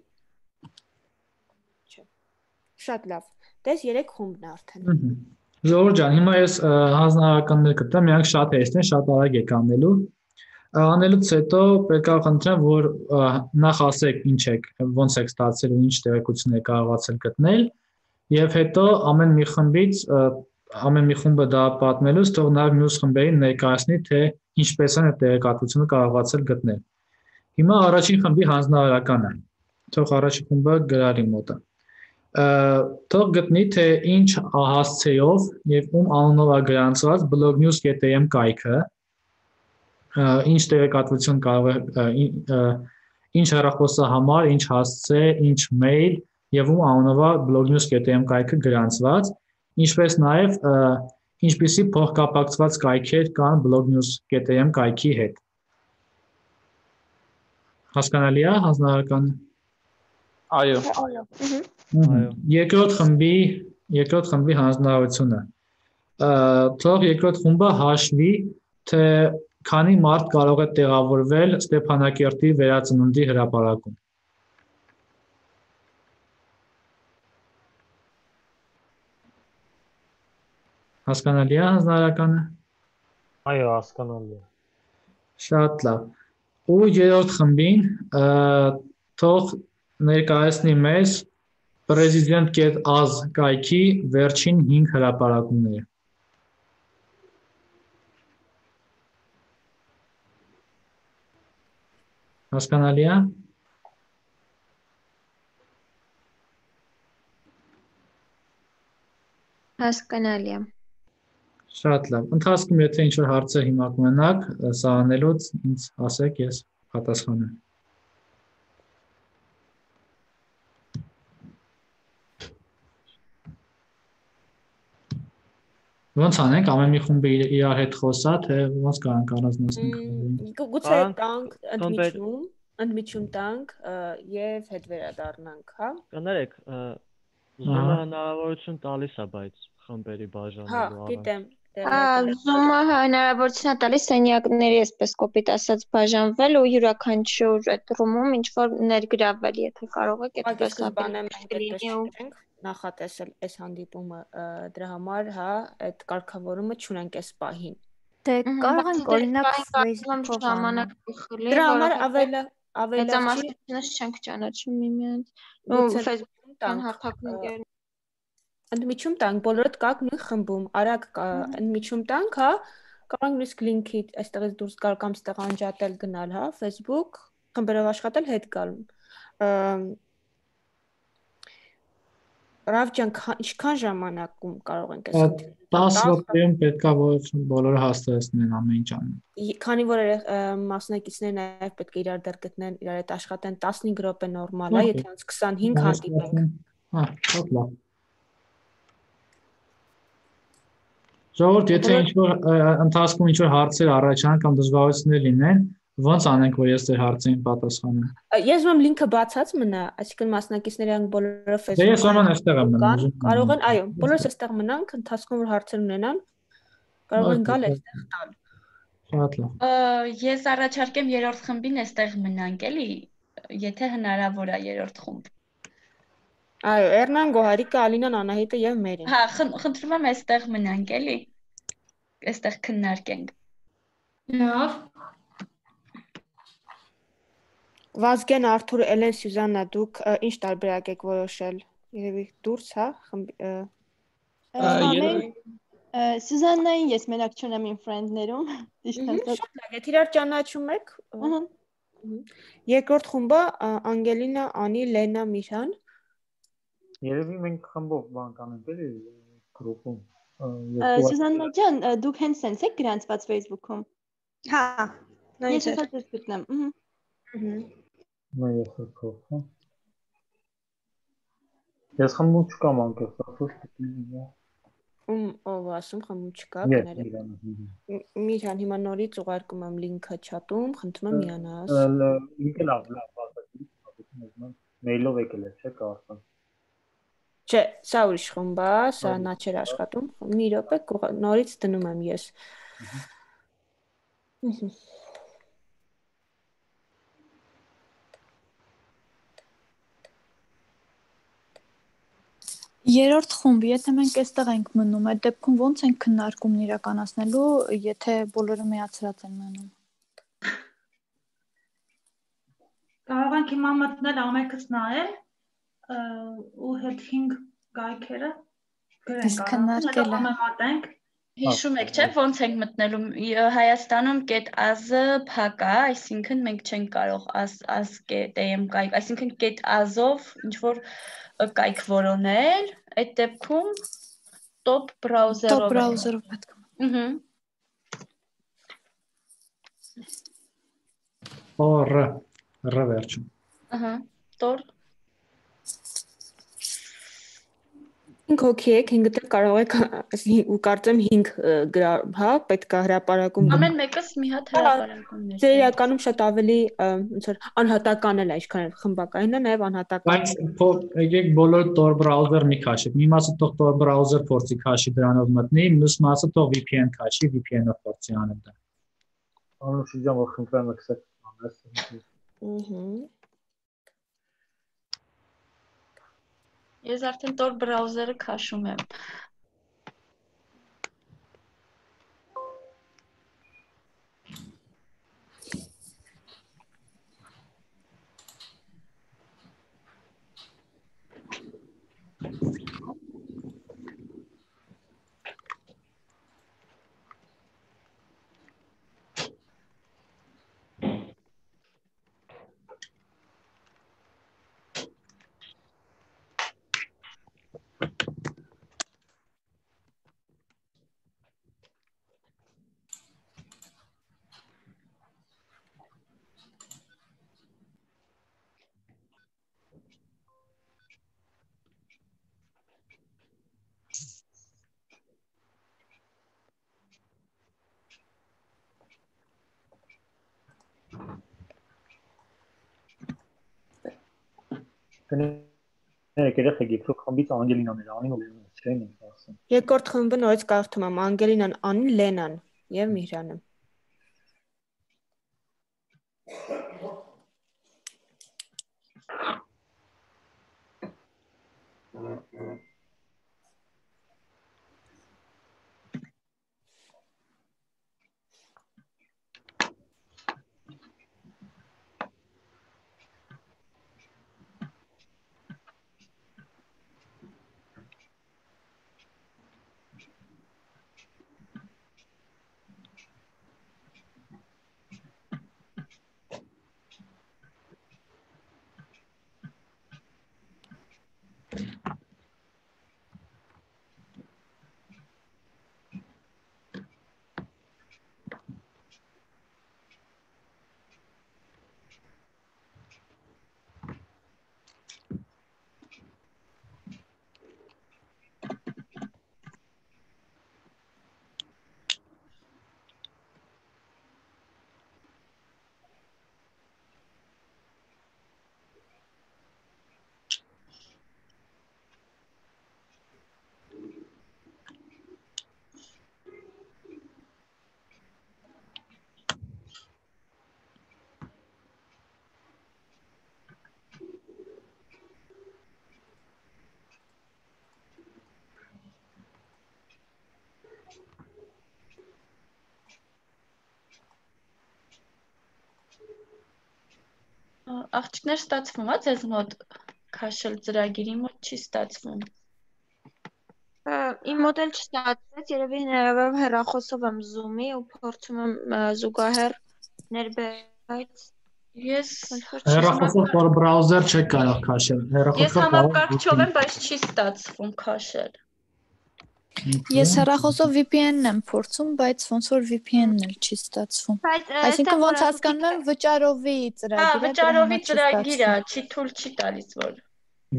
Չէ։ Շատ լավ։ Դες 3 խումբն է արդեն։ Ժողովուրդ ջան, հիմա ես հանձնարարականներ կտամ, իրանք շատ հեշտ են, շատ արագ եք անելու։ Անելուց հետո պետք է խնդրեմ, որ նախ ասեք ինչ եք, ոնց եք ստացել ու ինչ տեղեկություն եք կարողացել գտնել, եւ հետո ամեն մի խումբը դա պատմելուց թող նաեւ մյուս խմբերին ներկայացնի, թե ինչպես են այդ տեղեկատվությունը կարողացել գտնել։ Հիմա առաջին խմբի հանձնարարականը։ Թող առաջին խումբը գրարի մոտը։ Թող գտնի, թե ինչ հասցեով եւ ում անունով է գրանցված blognews.am կայքը, ինչ տեղեկատվություն կարող է, ինչ հեռախոսահամար, ինչ հասցե, ինչ մեյլ եւ ում անունով է blognews.am կայքը գրանցված, ինչպես նաեւ ինչպիսի փոխկապակցված կայքեր կան blognews.am կայքի հետ։ Հասկանալի է հանձնարարականը։ Այո։ Երկրորդ խմբի հանձնարարությունը։ Թող երկրորդ խումբը հաշվի, թե քանի մարդ կարող է տեղավորվել Ստեփանակերտի վերածննդի հրապարակում։ Հասկանալի է հանձնարարականը։ Այո, հասկանալի է։ Շատ լավ։ Ու երրորդ խմբին թող ներկայացնի մեզ president.az կայքի վերջին 5 հրապարակումները։ Հասկանալի է։ Հասկանալի է։ Շատ լավ։ Ընթացքում եթե ինչ-որ հարցեր հիմա կունենաք, սա անելուց ինձ ասեք, ես պատասխանեմ։ Ոնց անենք, ամեն մի խումբը իր հետ խոսա, թե ոնց կարանք առանձնացնենք։ Գուցե տանք ընդմիջում տանք եւ հետ վերադառնանք, հա։ Կներեք, Zoom-ը հնարավորություն տալիս է, բայց խմբերի բաժանելու Հա, գիտեմ։ Zoom-ը հնարավորություն է տալիս սենյակների, այսպես կոպիտ ասած, բաժանվել ու յուրաքանչյուր այդ ռումում ինչ որ ներգրավել, եթե կարող եք այդպես ապել նախատեսել այս հանդիպումը դրա համար, հա, այդ կարգավորումը չունենք այս պահին։ Դե կարող ենք օրինակ Facebook-ով ժամանակ խլի, դրա համար ավելի մեծամասնությունը չենք ճանաչում միմյանց։ Ու Facebook-ում տան հարթակներ ընդմիջում տանք, բոլորդ կաք նույն խմբում, արագ ընդմիջում տանք, հա, կարող ենք նույնիսկ լինքի այստեղից դուրս գալ կամ ստեղ անջատել գնալ, հա, Facebook, խմբերով աշխատել, հետ գալ։ Ռավ ջան, ինչքան ժամանակում կարող ենք այս 10 րոպեում պետքա որ բոլորը հաստատեցնեն ամեն ինչ անեն։ Քանի որ մասնակիցները նաև պետք է իրար դեռ գտնեն, իրար հետ աշխատեն 15 րոպե նորմալ է, եթե անց 25 հանդիպենք։ Հա, շատ լավ։ Ժողովուրդ, եթե ինչ-որ ընթացքում ինչ-որ հարցեր առաջանան կամ դժվարություններ լինեն, ոնց անենք, որ ես ձեր հարցերին պատասխանեմ։ Ես ում լինքը բացած մնա, այսինքն մասնակիցները անք բոլորը Facebook-ում։ Ես ուրեմն այստեղ եմ մնում։ Կարող են, այո, բոլորս այստեղ մնանք, ընթացքում որ հարցեր ունենան, կարող են գալ այստեղ տալ։ Շատ լավ։ Ես առաջարկեմ երրորդ խմբին այստեղ մնանք, էլի, եթե հնարավոր է երրորդ խումբ։ Այո, Էրնան, Գոհարիկը, Ալինան, Անահիտը եւ Մերին։ Հա, խնդրում եմ այստեղ մնանք, էլի։ Այստեղ քննարկենք։ Լավ։ Վազգեն, Արթուր, Էլեն, Սյուզաննա, դուք ինչ տարբերակ եք որոշել։ Երևի դուրս, հա, Սյուզաննային ես մենակ չունեմ իմ ֆրենդներում։ Շատ լավ, եթե իրար ճանաչում եք։ Երկրորդ խումբը Անգելինա, Անի, Լենա, Միրան։ Երևի մենք խմբով բան կանենք էլի գրուպում։ Սյուզաննա ջան, դուք հենց sense եք գրանցված Facebook-ում։ Հա, ես հա դες գտնեմ։ Ես փոխեմ։ Ես խմբում չկամ անկեղծ ասած։ Ով ասում խմբում չկա, կներեք։ Միրան, հիմա նորից ուղարկում եմ լինքը չաթում, խնդրում եմ միանաս։ Ինքը լավ, ասացի, մեյլով եկել է, չէ՞ կարծեմ։ Չէ, սա ուրիշ խումբ է, սա նա չէր աշխատում։ Մի րոպե, նորից դնում եմ ես։ Երրորդ խումբ, եթե մենք այստեղ ենք մնում, այդ դեպքում ո՞նց ենք քննարկումն իրականացնելու, եթե բոլորը միացրած են մնում։ Կարող ենք հիմա մտնել ամենքս նայել ու հետ 5 գայքերը գրենք, համեմատենք։ Հիշում եք, չէ՞, ոնց ենք մտնելու Հայաստանում .az-ը փակ է, այսինքն մենք չենք կարող az.am կայք, այսինքն .az-ով ինչ որ կայք որոնել, այդ դեպքում top browser-ով պետք է։ Ռ վերջում։ Ահա, Tor 5 հոգի եք, 5-ը դեռ կարող եք ու կարծեմ 5 հա, պետք է հրապարակում։ Ամեն մեկս մի հատ հրապարակումներ։ Դե իրականում շատ ավելի ոնց որ անհատական էլ է, ինչքան խմբակային է, նաև անհատական։ Բայց եկեք բոլոր Tor browser մի քաշեք։ Մի մասը թող Tor browser փորձի քաշի դրանով մտնի, մյուս մասը թող VPN քաշի, VPN-ով փորձի անել դա։ Անուշի ջան, որ խնդրեմ accept անես։ Ես արդեն Tor browser-ը քաշում եմ։ Կներեք երեխեք եփրոք խմբից Անգելինան էր անին ու Լենան չէին ասում։ Երկրորդ խմբը նորից կարդում եմ Անգելինան, Անին, Լենան եւ Միհրանը։ Աղջիկներ ստացվում է ձեզ մոտ քաշել ծրագիրի մոտ չի ստացվում։ Իմ մոտ էլ չստացվեց, երևի հնարավոր հեռախոսով եմ Zoom-ի ու փորձում եմ զուգահեռ ներբերած Ես Հեռախոսով որ բրաուզեր չեք կարող քաշել։ Ես համակարգչով եմ, բայց չի ստացվում քաշել։ Ես հեռախոսով VPN-ն եմ փորձում, բայց ոնց որ VPN-ն էլ չի ստացվում։ Այսինքն ոնց հասկանում եմ վճարովի ծրագիրը։ Վճարովի ծրագիր է, չի թույլ չի տալիս որ։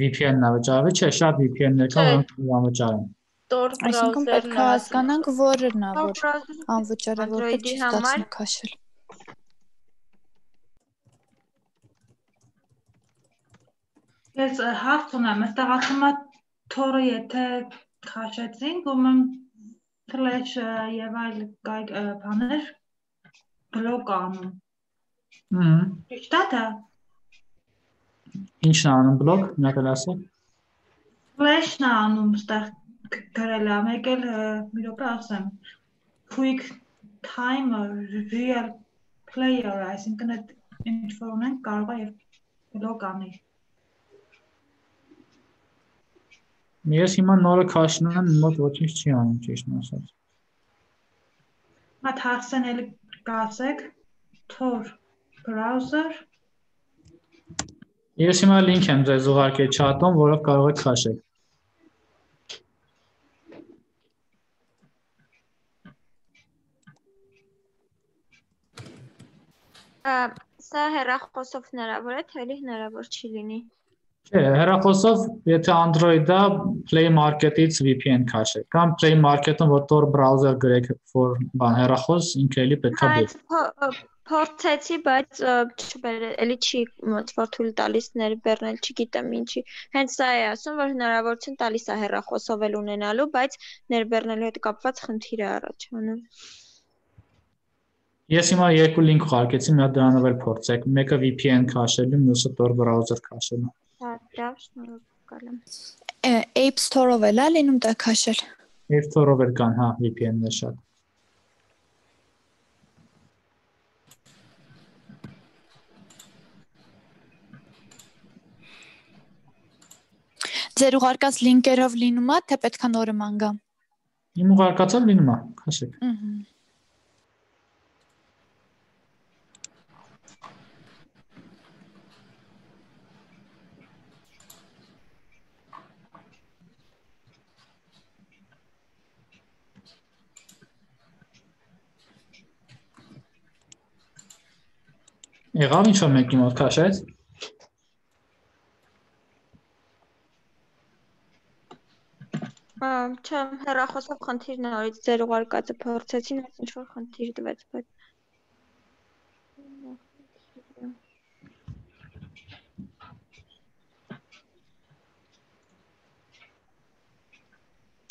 VPN-ն է վճարովի, չէ, շատ VPN-ներ կան, որոնք անվճար են։ Tor Այսինքն պետք է հասկանանք որն է, որ անվճար է, որտեղ չի ստացվում քաշել։ Ես հարց ունեմ, այստեղ ասում է Tor-ը եթե քաշեցինք, ում Flash եւ այլ բաներ բլոկ անում։ Ճիշտ է դա։ Ինչն է անում բլոկ, մի հատ ասեք։ Flash-ն է անում այստեղ գրել է, մեկ էլ մի րոպե ասեմ։ Quick timer real player, այսինքն այդ ինչ որ ունենք կարող է եւ բլոկ անի։ Ես հիմա նորը քաշնում եմ, մոտ ոչինչ չի անում, ճիշտն ասած։ Մատ հարցն էլ կասեք Tor browser։ Ես հիմա link եմ ձեզ ուղարկել chat-ում, որով կարող եք քաշել։ Սա հեռախոսով հնարավոր է, թե էլի հնարավոր չի լինի։ Չէ, հեռախոսով, եթե Android-ը Play Market-ից VPN քաշեք, կամ Play Market-ում որ Tor browser գրեք for բան հեռախոս, ինքը էլի պետքա բեր։ Փորձեցի, բայց էլի չի ոնց որ թույլ տալիս ներբեռնել, չգիտեմ ինչի։ Հենց սա է ասում, որ հնարավորություն տալիս է հեռախոսով էլ ունենալու, բայց ներբեռնելու հետ կապված խնդիր է առաջանում։ Ես հիմա երկու link ուղարկեցի, մի հատ դրանով էլ փորձեք, մեկը VPN քաշելու, մյուսը Tor browser քաշելու։ Դա շնորհակալ եմ։ App Store-ով էլ է լինում դա քաշել։ App Store-ով էլ կան, հա, VPN-ներ շատ։ Ձեր ուղարկած լինկերով լինում է, թե պետք է նորը մանգամ։ Իմ ուղարկածով լինում է, քաշեք։ Եղավ ինչ-որ մեկի մոտ քաշեց։ Չէ, հեռախոսով խնդիր նորից ձեր ուղարկածը փորձեցին, ինչ որ խնդիր տվեց, բայց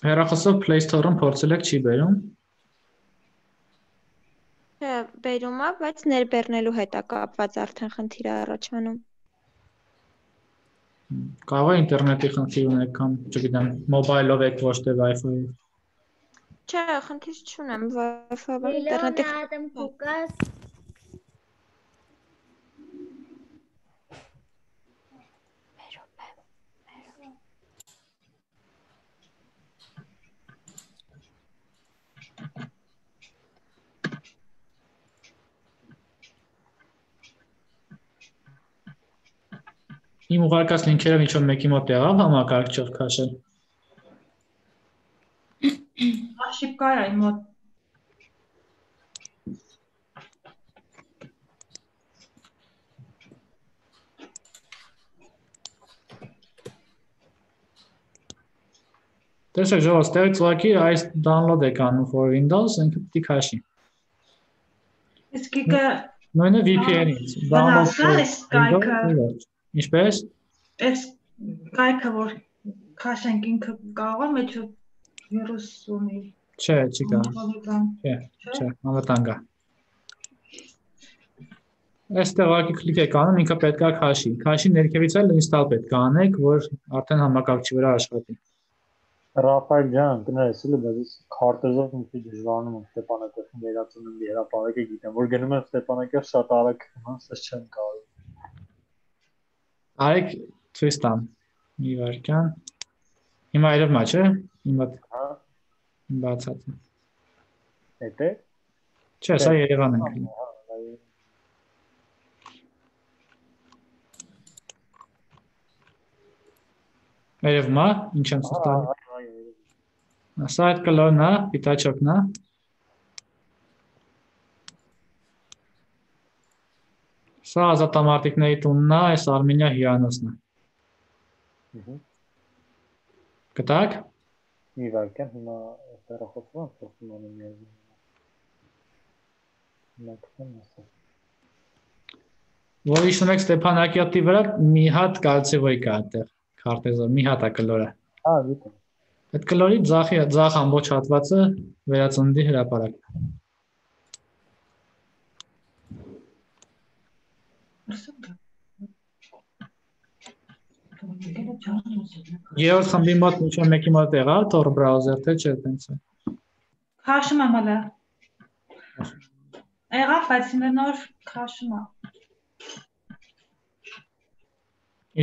Հեռախոսով Play Store-ում փորձել եք չի բերում։ Չէ, բերում է, բայց ներբեռնելու հետ է կապված արդեն խնդիր առաջանում։ Կարող է ինտերնետի խնդիր ունեք կամ, չգիտեմ, մոբայլով եք ոչ թե Wi-Fi-ով։ Չէ, խնդիր չունեմ, Wi-Fi-ով ինտերնետի Իմ ուղարկած լինքերը ինչ-որ մեկի մոտ եղավ համակարգչով քաշել։ Արշիվ կար այն մոտ։ Տեսեք, ժողով, ստեղից ուղղակի այս download եք անում for Windows, ինքը պիտի քաշի։ Իսկ ինքը նույնը VPN-ից download կայքը։ Ինչպես։ Այս կայքը որ քաշենք ինքը կարող է մեջ վիրուս ունի։ Չէ, չի կարող։ Չէ, անվտանգ է։ Այստեղ ուղղակի կլիկ եք անում, ինքը պետք է քաշի։ Քաշի ներքևից էլ install պետք է անեք, որ արդեն համակարգչի վրա աշխատի։ Ռաֆայել ջան, կներես, բայց քարտեզով մի քիչ դժվարանում եմ Ստեփանակերտին վերածննդի հրապարակը գիտեմ, որ գնում եմ Ստեփանակերտ շատ արագ մասը չեմ կարող։ Արեք ցույց տամ։ Մի վարքան։ Հիմա երևում է, չէ՞։ Հիմա բացած է։ Էդ է։ Չէ, սա Երևանն է։ Երևում է, ինչ եմ ստանում։ Սա այդ կլորն է, պիտաչոկն է։ Սա ազատամարտիկների տունն է, այս Արմենիա հյուրանոցն է։ Գտաք։ Մի վարքան, հիմա հեռախոսով եմ փոխում անում միաժամանակ։ Որ հիշում եք Ստեփանակերտի վրա մի հատ կալցեվոյ կա այդտեղ, քարտեզով, մի հատ է կլորը։ Հա, գիտեմ։ Այդ կլորի ձախ ամբողջ հատվածը վերածննդի հրապարակն է։ Երրորդ խմբի մոտ ինչ-որ մեկի մոտ եղավ Tor browser, թե չէ, տենց է։ Քաշում եմ հələ։ Եղավ, բայց նոր քաշում է։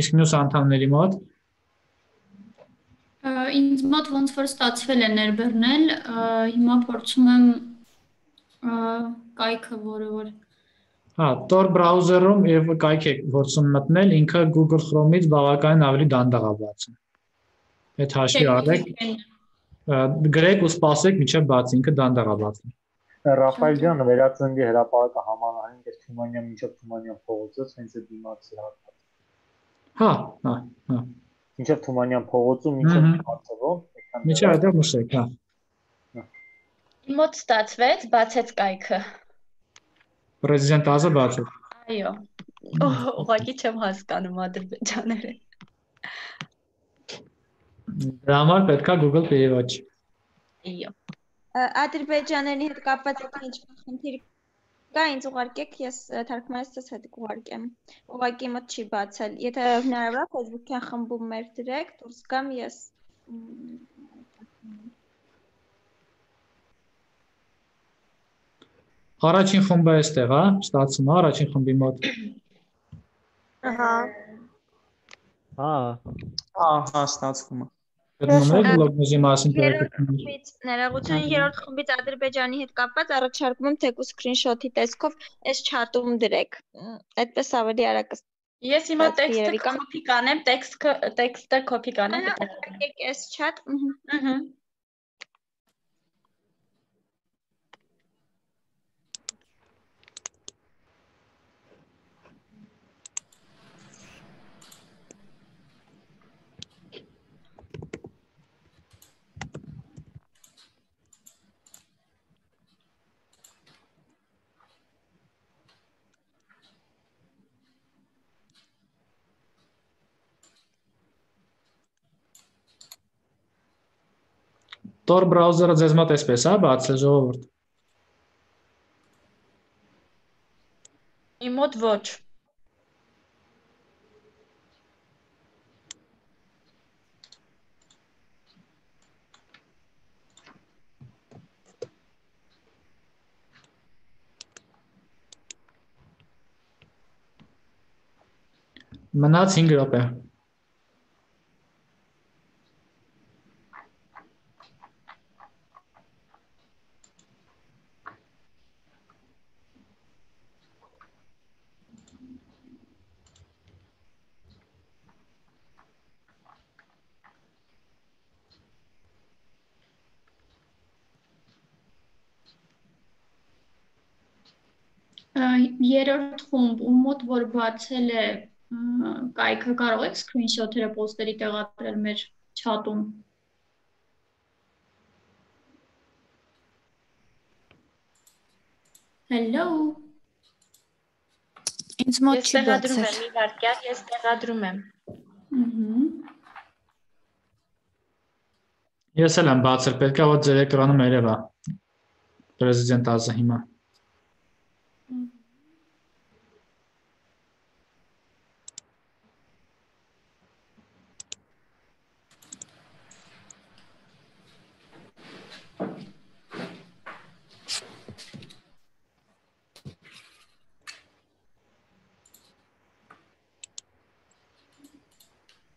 Իսկ մյուս անդամների մոտ Ինձ մոտ ոնց որ ստացվել է ներբեռնել, հիմա փորձում եմ կայքը, որը որ Հա, Tor browser-ում եւ կայք եք փորձում մտնել, ինքը Google Chrome-ից բավականին ավելի դանդաղ է բացում։ Այդ հաշվի առեք, գրեք ու սպասեք մինչև բացի, ինքը դանդաղ է բացում։ Ռաֆայել ջան, վերածննդի հրապարակը համանային այս Թումանյան մինչև Թումանյան փողոցից, հենց այդ դիմացի հատված։ Հա։ Մինչև Թումանյան փողոցում, մինչև Քարտեզով, մինչև այդտեղ նշեք, հա։ Իմ մոտ ստացվեց, բացեց կայքը։ Պրեզիդենտ Ազը բացեց։ Այո։ Ուղղակի չեմ հասկանում ադրբեջաները։ Դրա համար պետքա Google переводчик։ Այո։ Ադրբեջաների հետ կապված ինչ-որ խնդիր կա, ինձ ուղարկեք, ես թարգմանիչս հետ կուղարկեմ։ Ուղղակի մոտ չի բացել։ Եթե հնարավոր է Facebook-յան խմբում մեր դրեք, դուրս գամ ես։ Առաջին խումբը էստեղ է, ստացվում է առաջին խմբի մոտ։ Ահա։ Հա, ստացվում է։ Գտնում եք լոգոզի մասին Ներողություն, երրորդ խմբից Ադրբեջանի հետ կապված առաջարկում եմ թեկուզ սկրինշոթի տեսքով այս չաթում դրեք։ Այդպես ավելի արագ։ Ես հիմա տեքստը կոպի կանեմ, տեքստը կոպի կանեմ։ Այս չաթ։ Tor browser-ը ձեզ մոտ էսպես է, բացել ժողովուրդ։ Իմ մոտ ոչ։ Մնաց 5 րոպե։ Երրորդ խումբ, ում մոտ որ բացել է կայքը, կարող եք screenshot-երը post-երի տեղադրել մեր chat-ում։ Hello։ Ինձ մոտ չի բացել։ Ես տեղադրում եմ, մի վարքյան, ես տեղադրում եմ։ Ես էլ եմ բացել, պետք է որ ձեր էկրանում երևա։ Պրեզիդենտ Ազը հիմա։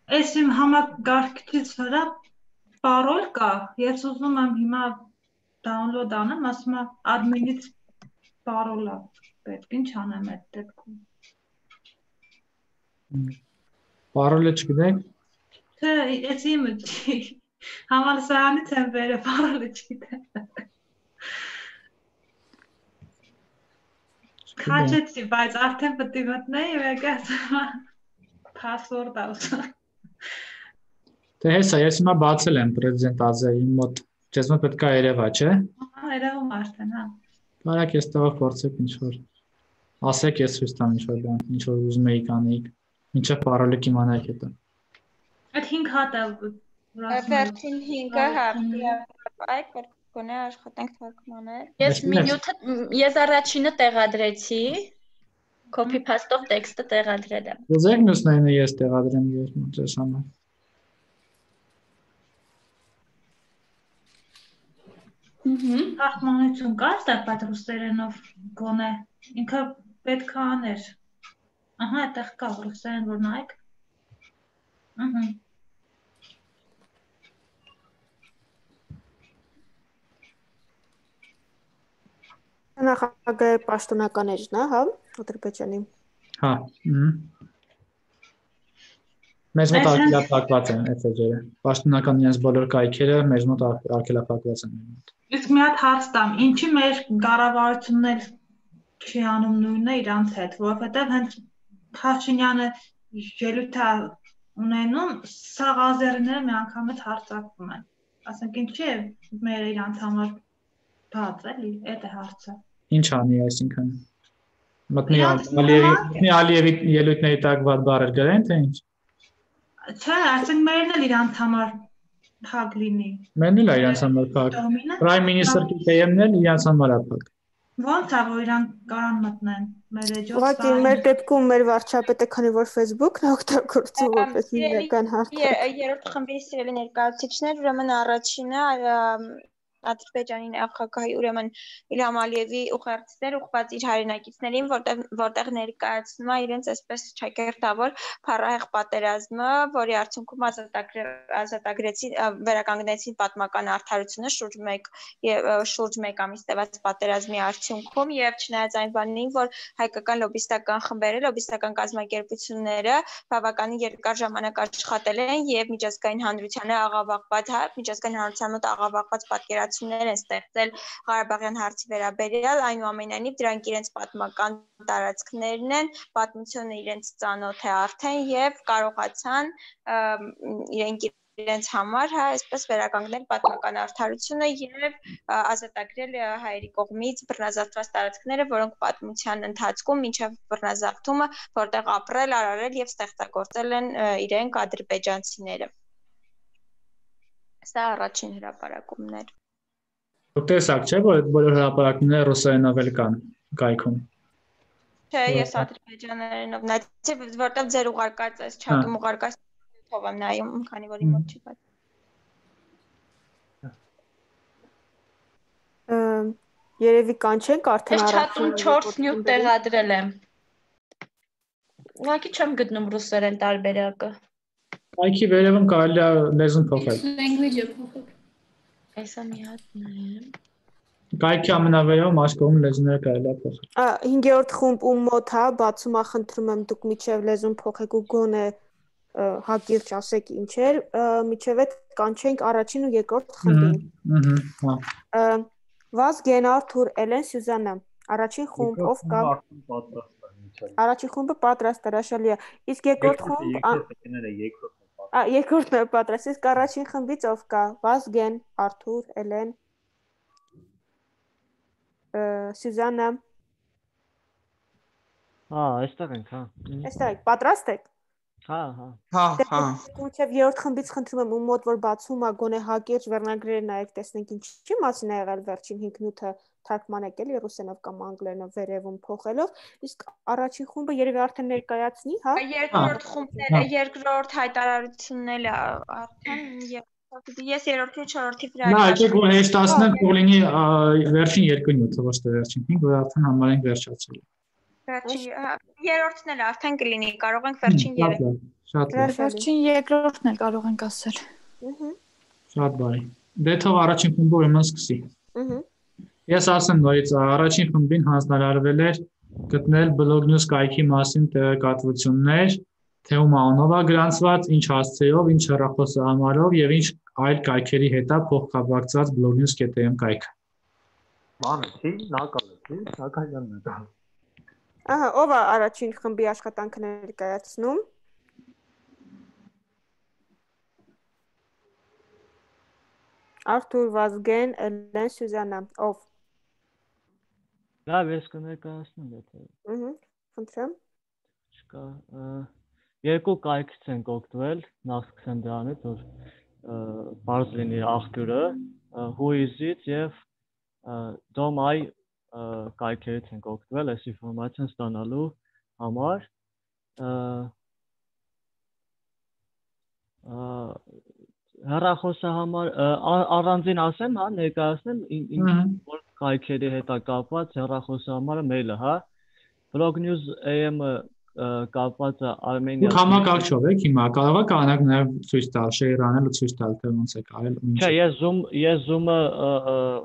Ես իմ համակարգչից վրա parol կա, ես ուզում եմ հիմա download անեմ, ասում եմ admin-ից parol-ը պետք, ինչ անեմ այդ դեպքում։ Parol-ը չգիտեք։ Թե ես իմը չի, համալսարանից եմ վերել, parol-ը չգիտեմ։ Քաչեցի, բայց արդեն պետք է մտնեի, մեկ ասում password-ը ուզում։ Թե հեսա, ես հիմա բացել եմ պրեզիդենտ Ազեի մոտ, ձեզ մոտ պետք է երևա, չէ։ Երևում արդեն, հա։ Կարակ ես տղա փորձեք ինչ-որ, ասեք ես ցույց տամ ինչ-որ բան, ինչ-որ ուզում եք անեիք, մինչև parol-ը կիմանայիք հետո։ Այդ 5 հատ է Վերջին 5-ը հա, այ կրկոնե աշխատենք թարգմանել։ Ես առաջինը տեղադրեցի, copy paste-ով տեքստը տեղադրել եմ։ Ուզեք մյուսներինը ես տեղադրեմ ձեզ համար։ Թարգմանություն կա ստեղծած ռուսերենով գոնե, ինքը պետք է աներ։ Ահա, այդտեղ կա ռուսերեն, որ նայեք։ Նախագահի պաշտոնականերն է, հա, Ադրբեջանի։ Հա։ Մեզ մոտ արգելափակված են այդ էջերը։ Պաշտոնական իրենց բոլոր կայքերը մեզ մոտ արգելափակված են։ Իսկ մի հատ հարց տամ, ինչի մեր կառավարությունն էլ չի անում նույնը իրանց հետ, որովհետև հենց Փաշինյանը ելույթ է ունենում, սաղ ազերիները մի անգամից հարձակվում են։ Ասենք ինչի է մեր իրանց համար բաց էլի, այդ է հարցը։ Ինչ անի այսինքն։ Մտնի Ալիևի ելույթների տակ վատ բառեր գրեն, թե ինչ։ Չէ, ասենք մերն էլ իրանց համար փակ լինի։ Մերն էլ իրանց համար փակ։ Prime Minister KM-ն էլ իրանց համար է փակ։ Ոնց է որ իրանք կարան մտնեն մեր էջով։ Ուղղակի մեր դեպքում մեր վարչապետը, քանի որ Facebook-ն է օգտագործում որպես հիմնական հարթակ։ Երրորդ խմբի սիրելի ներկայացուցիչներ, ուրեմն առաջինը Ադրբեջանի նախագահի ուրեմն Իլհամ Ալիևի ուղերձներ ուղղված իր հայրենակիցներին, որտեղ ներկայացնում է իրենց այսպես ճակերտավոր փառահեղ պատերազմը, որի արդյունքում վերականգնեցին պատմական արդարությունը շուրջ 1 ամիս տևած պատերազմի արդյունքում եւ չնայած այն բանին, որ հայկական լոբիստական խմբերը, լոբիստական կազմակերպությունները բավականին երկար ժամանակ աշխատել են եւ միջազգային հանրությանը մոտ աղավաղված պատկերացումներ են ստեղծել Ղարաբաղյան հարցի վերաբերյալ, այնուամենայնիվ դրանք իրենց պատմական տարածքներն են, պատմությունը իրենց ծանոթ է արդեն եւ կարողացան իրենց համար, հա, այսպես վերականգնել պատմական արդարությունը եւ ազատագրել հայերի կողմից բռնազավթված տարածքները, որոնք պատմության ընթացքում մինչեւ բռնազավթումը որտեղ ապրել, արարել եւ ստեղծագործել են իրենք ադրբեջանցիները։ Սա առաջին հրապարակումն էր։ Դուք տեսաք չէ, որ այդ բոլոր հրապարակումները ռուսերենով էլ կան կայքում։ Չէ, ես ադրբեջաներենով նայեցի, որտեղ ձեր ուղարկած այս չաթում ուղարկած թող եմ նայում, քանի որ իմ մոտ չի բաց։ Երևի կանչենք արդեն Ես չաթում 4 նյութ տեղադրել եմ։ Ուղղակի չեմ գտնում ռուսերեն տարբերակը։ Կայքի վերևում կարելի է լեզուն փոխել։ Language-ը փոխել։ Այսա մի հատ նայեմ։ Կայքի ամենավերևում աշխողում լեզուները կարելի է փոխել։ 5-րդ խումբ ում մոտ հա, բացում է, խնդրում եմ դուք միջև լեզուն փոխեք ու գոնե հակիրճ ասեք ինչ էր, միջև այդ կանչենք առաջին ու երկրորդ խմբին։ Վազգեն, Արթուր, Էլեն, Սյուզաննա։ Առաջին խումբ ով կա։ Առաջին խումբը պատրաստ է, հրաշալի է։ Իսկ երկրորդ խումբ երկրորդն է պատրաստ։ Իսկ առաջին խմբից ով կա։ Վազգեն, Արթուր, Էլեն, Սյուզաննա։ Այստեղ ենք, հա։ Այստեղ եք, պատրաստ եք։ Հա։ Մինչև երրորդ խմբից խնդրում եմ ում մոտ որ բացում է գոնե հակիրճ վերնագրերը նայեք, տեսնենք ինչի մասին է եղել վերջին 5 նյութը թարգմանեք էլի ռուսերենով կամ անգլերենով վերևում փոխելով, իսկ առաջին խումբը երևի արդեն ներկայացնի, հա։ Երկրորդ խումբները, երկրորդ հայտարարությունն էլ արդեն ես երրորդի ու չորրորդի վրա։ Նա եկեք որ հեշտացնենք որ լինի վերջին երկու նյութը, ոչ թե վերջին 5, որ արդեն համարենք վերջացել։ Երրորդն էլ արդեն կլինի, կարող ենք վերջին 3։ Շատ լավ։ Վերջին երկրորդն էլ կարող ենք ասել։ Շատ բարի։ Դե թող առաջին խումբը ուրեմն սկսի։ Ես ասեմ նորից առաջին խմբին հանձնարարվել էր գտնել Blog News կայքի մասին տեղեկատվություններ, թե ում անունով է գրանցված, ինչ հասցեով, ինչ հեռախոսահամարով եւ ինչ այլ կայքերի հետ է փոխկապակցված blognews.am կայքը։ Ման չի, նակալի, Սակայանն է դա։ Ահա, ով է առաջին խմբի աշխատանքը ներկայացնում։ Արթուր, Վազգեն, Էլեն, Սյուզաննա, ով։ Լավ, ես կներկայացնեմ եթե։ Խնդրեմ։ Չկա, երկու կայքից ենք օգտվել, նախ սկսեմ դրանից, որ բարձ լինի աղբյուրը, who is it եւ dom.ai կայքերից ենք օգտվել այս ինֆորմացիան ստանալու համար։ Հեռախոսահամար առանձին ասեմ, հա, ներկայացնեմ ինչ կայքերի հետ է կապված հեռախոսահամարը մեյլը, հա։ Blog News AM-ը կապված է Արմենիա։ Դուք համակարգչով եք հիմա, կարող եք անակ նաև ցույց տալ, share անել ու ցույց տալ, թե ոնց է կարել։ Չէ, ես Zoom-ը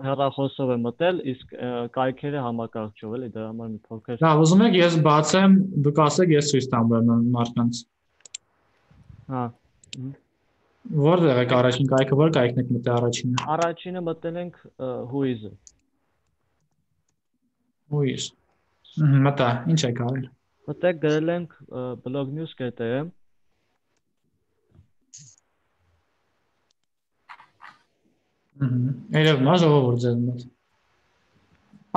հեռախոսով եմ մտել, իսկ կայքերը համակարգչով էլի, դրա համար մի փոքր։ Լավ, ուզում եք ես բացեմ, դուք ասեք ես ցույց տամ մարդկանց։ Հա։ Որտեղ եք առաջին կայքը, որ կայքն եք մտել առաջինը։ Առաջինը մտել ենք who is-ը։ Who is։ Մտա, ինչ եք արել։ Մտեք գրել ենք blognews.am։ Երևում է ժողովուրդ ձեզ մոտ։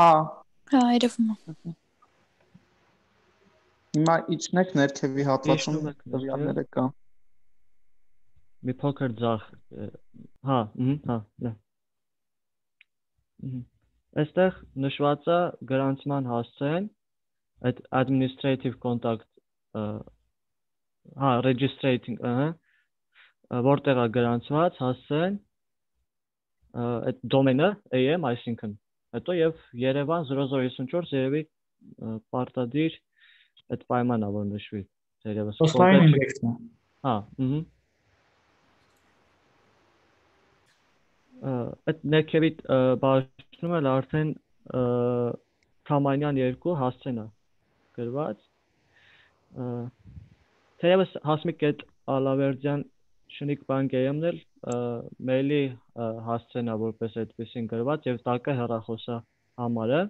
Հա, երևում է։ Հիմա իջնեք ներքևի հատվածում տվյալները կա։ Մի փոքր ձախ, հա, հա, լավ։ Այստեղ նշված է գրանցման հասցեն, այդ administrative contact, հա, registrating, որտեղ է գրանցված հասցեն, այդ domain-ը am, այսինքն, հետո եւ Երևան 0054 երևի պարտադիր այդ պայմանն է որ նշվի, երևս։ Offline index-ն է։ Հա, այդ ներքևի բաժնում էլ արդեն Թամանյան 2 հասցեն է գրված։ Թեևս Հասմիկ այդ Ալավերդյան շնիկ բանկերն էլ մեյլի հասցեն է որպես այդպեսին գրված եւ տակը հեռախոսա համարը։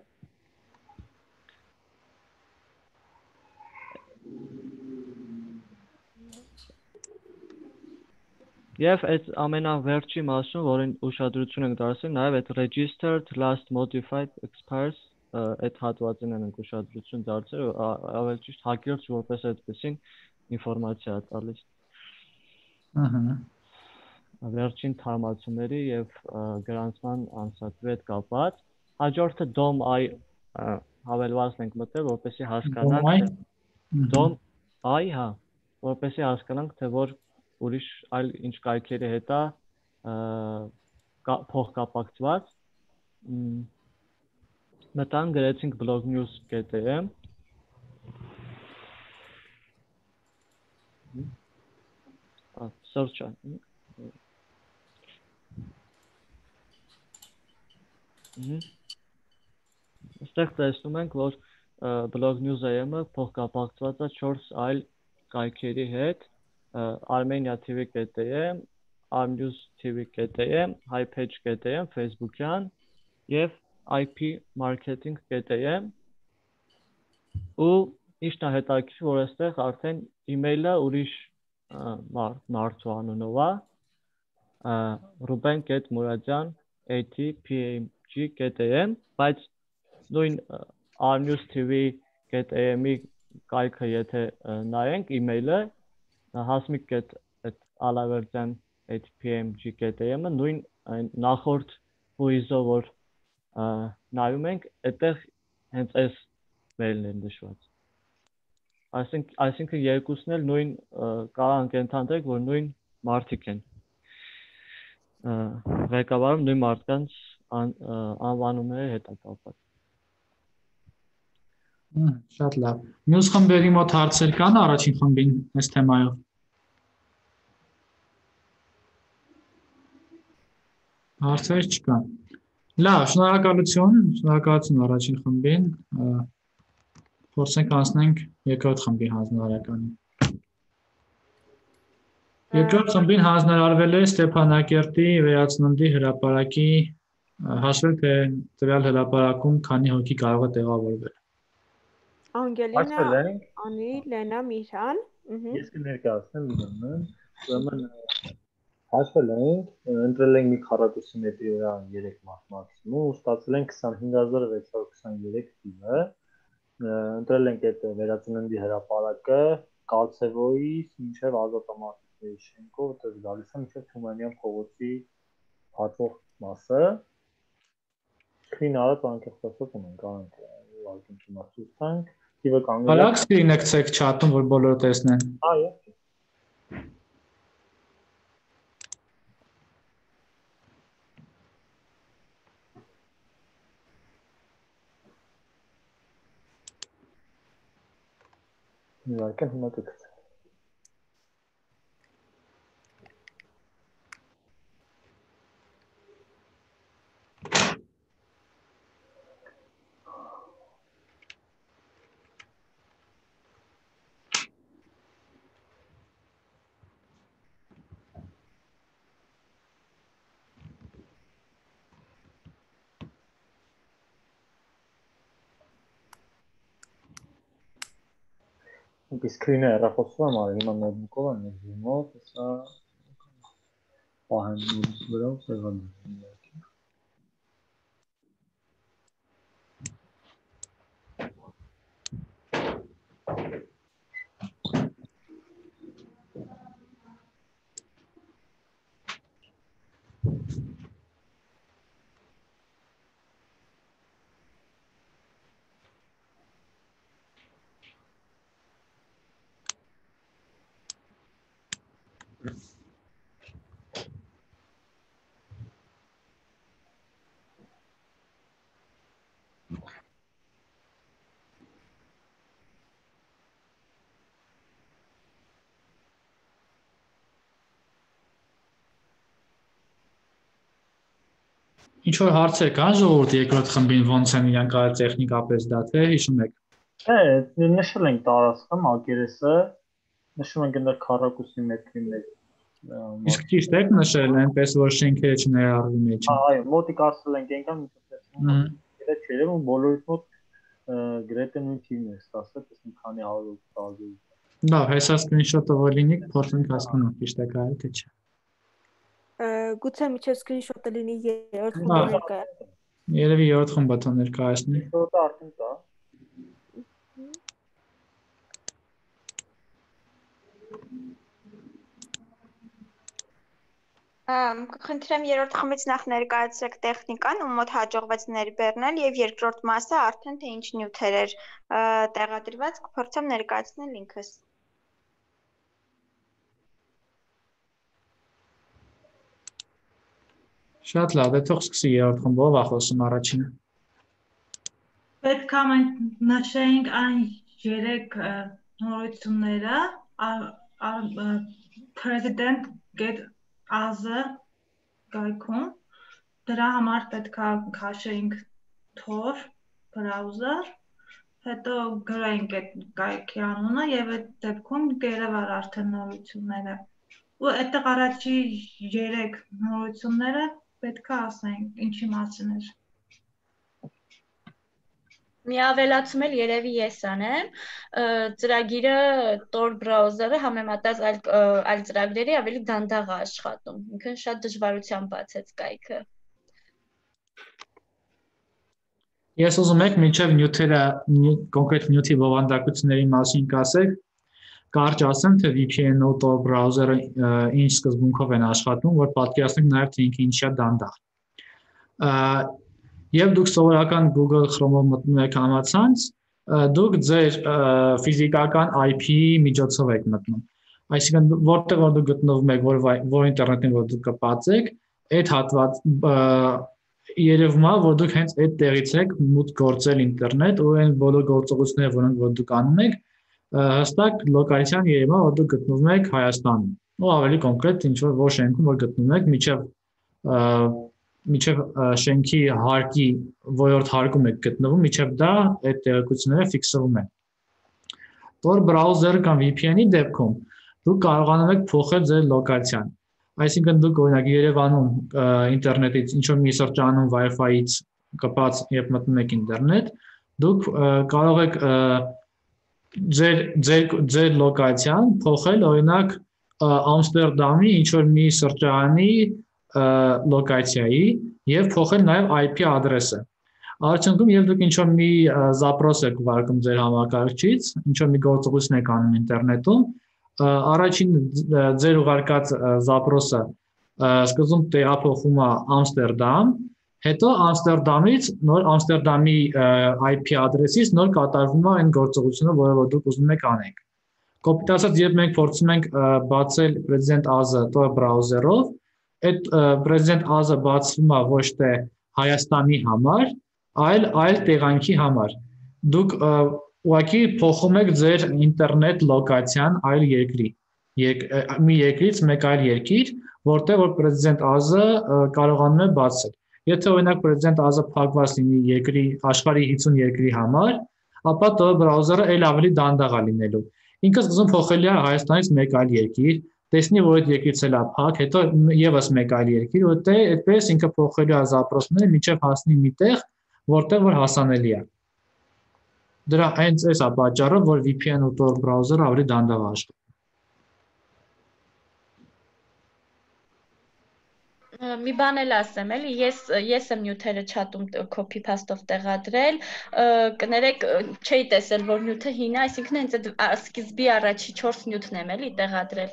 Եվ այդ ամենավերջի մասում, որին ուշադրություն ենք դարձել, նաև այդ registered last modified expires այդ հատվածին ենք ուշադրություն դարձել, ավելի ճիշտ հակիրճ որպես այդպեսին ինֆորմացիա է տալիս։ վերջին թարմացումների եւ գրանցման անցածի հետ կապված։ Հաջորդը DOM I հավելվածն ենք մտել, որպեսզի հասկանանք DOM I, հա, որպեսզի հասկանանք, թե որ ուրիշ այլ ինչ կայքերի հետ է փոխկապակցված։ Մտան գրեցինք blognews.am search Այստեղ տեսնում ենք, որ blognews.am-ը փոխկապակցված է 4 այլ կայքերի հետ, armenia.tv.am, armnews.tv.am, highpage.am, Facebook-յան եւ ipmarketing.am ու ինչն է հետաքրքիր, որ այստեղ արդեն email-ը ուրիշ մարդու անունով է, ruben.muradyan@pmg.am, բայց նույն armnews.tv.am-ի կայքը եթե նայենք email-ը hasmik.alaverdyan@pmg.am-ը նույն նախորդ հույզով որ նայում ենք, այդտեղ հենց այս mail-ն է նշված։ Այսինքն երկուսն էլ նույն կարող ընդհանրենք, որ նույն մարդիկ են ղեկավարում նույն մարդկանց անվանումների հետ կապված։ Շատ լավ։ Մյուս խմբերի մոտ հարցեր կան առաջին խմբին այս թեմայով։ Հարցեր չկան։ Լավ, շնորհակալություն առաջին խմբին։ Փորձենք անցնենք երկրորդ խմբի հանձնարարականին։ Երկրորդ խմբին հանձնարարվել է Ստեփանակերտի վերածննդի հրապարակի հաշվել թե տվյալ հրապարակում քանի հոգի կարող է տեղավորվել։ Անգելինա, Անի, Լենա, Միրհան։ Ես կներկայացնեմ Լենան, ուրեմն հաշվել ենք, ընտրել ենք մի քառակուսի մետրի վրա 3 մարդ մաքսիմում, ու ստացել ենք 25623 թիվը։ Ընտրել ենք այդ վերածննդի հրապարակը Կալցևոյից մինչև Ազատամարտիկների շենքով, այդպես գալիս է մինչև Թումանյան փողոցի հատվող մասը։ Screen արած անկեղծված ունենք, անենք ուղղակի իմացույց տանք։ Թիվը կանգնել է։ Հալակ screen եկցեք chat-ում, որ բոլորը տեսնեն։ Այո։ Իհարկե հիմա կգցեմ։ Ինքը սկրինը հեռախոսում եմ արել, հիմա նոթբուքով եմ նետվիմով, հեսա պահեմ վրով տեղադրում իհարկե։ Ինչ որ հարցեր կան ժողովուրդ երկրորդ խմբին ոնց են իրանք արել տեխնիկապես դա թե հիշում եք։ Նշել ենք տարածքը, մակերեսը, նշում ենք այնտեղ քառակուսի մետրի մեջ։ Իսկ ճիշտ եք նշել, այնպես որ շենքերը չներառվի մեջ։ Այո, մոտիկ ասել ենք այնքան մինչև տեսնում։ Դա չէ, ու բոլորից մոտ գրեթե նույն թիմն է ստացել, տեսնենք քանի 100 տարբեր։ Լավ, հեսա սկրինշոթը որ լինի, փորձենք հասկանալ ճիշտ է կարել թե չէ։ Գուցե միջև սկրինշոթը լինի երրորդ խմբը ներկայացնի։ Երևի երրորդ խումբը թող ներկայացնի։ Դա արդեն կա։ Խնդրեմ երրորդ խմբից նախ ներկայացրեք տեխնիկան, ում մոտ հաջողվեց ներբեռնել եւ երկրորդ մասը արդեն թե ինչ նյութեր էր տեղադրված, կփորձեմ ներկայացնել ինքս։ Շատ լավ է, թող սկսի երրորդ խմբով ախոսում առաջինը։ Պետք է մենք նշենք այն 3 նորությունները, President get as-ը գայքում, դրա համար պետք է քաշենք Tor browser, հետո գրենք այդ գայքի անունը եւ այդ դեպքում կերևար արդեն նորությունները։ Ու այդտեղ առաջի 3 նորությունները պետք է ասենք ինչի մասին էր։ Մի ավելացում էլ երևի ես անեմ, ծրագիրը Tor browser-ը համեմատած այլ ծրագրերի ավելի դանդաղ է աշխատում, ինքն շատ դժվարությամբ բացեց կայքը։ Ես ուզում եք մինչև նյութերը, կոնկրետ նյութի բովանդակությունների մասին կասեք, կարճ ասեմ, թե VPN-ը ու Tor browser-ը ինչ սկզբունքով են աշխատում, որ պատկերացնենք նաև թե ինքը ինչի է դանդաղ։ Եվ դուք սովորական Google Chrome-ով մտնում եք համացանց, դուք ձեր ֆիզիկական IP-ի միջոցով եք մտնում։ Այսինքն որտեղ որ դուք գտնվում եք, որ ինտերնետին որ դուք կպածեք, այդ հատված երևում է, որ դուք հենց այդ տեղից եք մուտք գործել ինտերնետ ու այն բոլոր գործողությունները, որոնք որ դուք անում եք, հստակ լոկալիզացիան երևում է, որ դուք գտնվում եք Հայաստանում։ Ու ավելի կոնկրետ ինչ որ շենքում որ գտնվում եք, միջև շենքի հարկի որորդ հարկում եք գտնվում, միջև դա այդ տեղեկությունները ֆիքսվում են։ Tor browser կամ VPN-ի դեպքում դուք կարողանում եք փոխել ձեր լոկացիան։ Այսինքն դուք օրինակ Երևանում ինտերնետից ինչ որ մի սրճարանում Wi-Fi-ից կպած երբ մտնում եք ինտերնետ, դուք կարող եք ձեր լոկացիան փոխել օրինակ Ամստերդամի ինչ որ մի սրճարանի լոկացիայի եւ փոխել նաեւ IP ադրեսը։ Արդյունքում եւ դուք ինչ որ մի զապրոս եք վարկում ձեր համակարգչից, ինչ որ մի գործողություն եք անում ինտերնետում, առաջին ձեր ուղարկած զապրոսը սկզբում տեղափոխվում է Ամստերդամ, հետո Ամստերդամից նոր Ամստերդամի IP ադրեսից նոր կատարվում է այն գործողությունը, որը դուք ուզում եք անեք։ Կոպիտ ասած, երբ մենք փորձում ենք բացել President AZ-ը Tor browser-ով, այդ President AZ-ը բացվում է ոչ թե Հայաստանի համար, այլ տեղանքի համար։ Դուք ուղղակի փոխում եք ձեր ինտերնետ լոկացիան այլ երկրի, մի երկրից մեկ այլ երկիր, որտեղ որ President AZ-ը կարողանում է բացել։ Եթե օրինակ President AZ-ը փակված լինի երկրի աշխարհի 50 երկրի համար, ապա Tor browser-ը այլ ավելի դանդաղ է լինելու։ Ինքը սկզբում փոխելի է Հայաստանից մեկ այլ երկիր, տեսնի որ այդ երկրից էլ է փակ, հետո եւս մեկ այլ երկիր, որտեղ այդպես ինքը փոխելու է զապրոսները մինչև հասնի մի տեղ, որտեղ որ հասանելի է։ Դրա հենց այս է պատճառը, որ VPN ու Tor browser-ը ավելի դանդաղ է աշխատում։ Մի բան էլ ասեմ, էլի, ես եմ նյութերը չաթում copy paste-ով տեղադրել, կներեք, չէի տեսել, որ նյութը հին է, այսինքն հենց այդ սկիզբի առաջի 4 նյութն եմ էլի տեղադրել։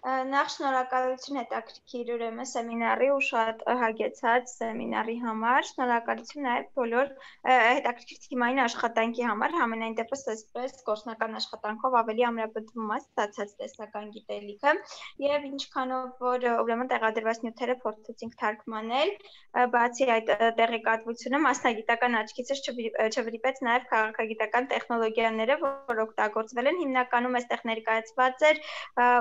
Նախ շնորհակալություն հետաքրքիր ուրեմն սեմինարի ու շատ հագեցած սեմինարի համար, շնորհակալություն նաև բոլոր հետաքրքիր թիմային աշխատանքի համար, համենայն դեպս այսպես գործնական աշխատանքով ավելի ամրապնդվում է ստացած տեսական գիտելիքը եւ ինչքանով որ ուրեմն տեղադրված նյութերը փորձեցինք թարգմանել, բացի այդ տեղեկատվությունը մասնագիտական աչքից չվրիպեց նաև քաղաքագիտական տեխնոլոգիաները, որ օգտագործվել են, հիմնականում այստեղ ներկայացված էր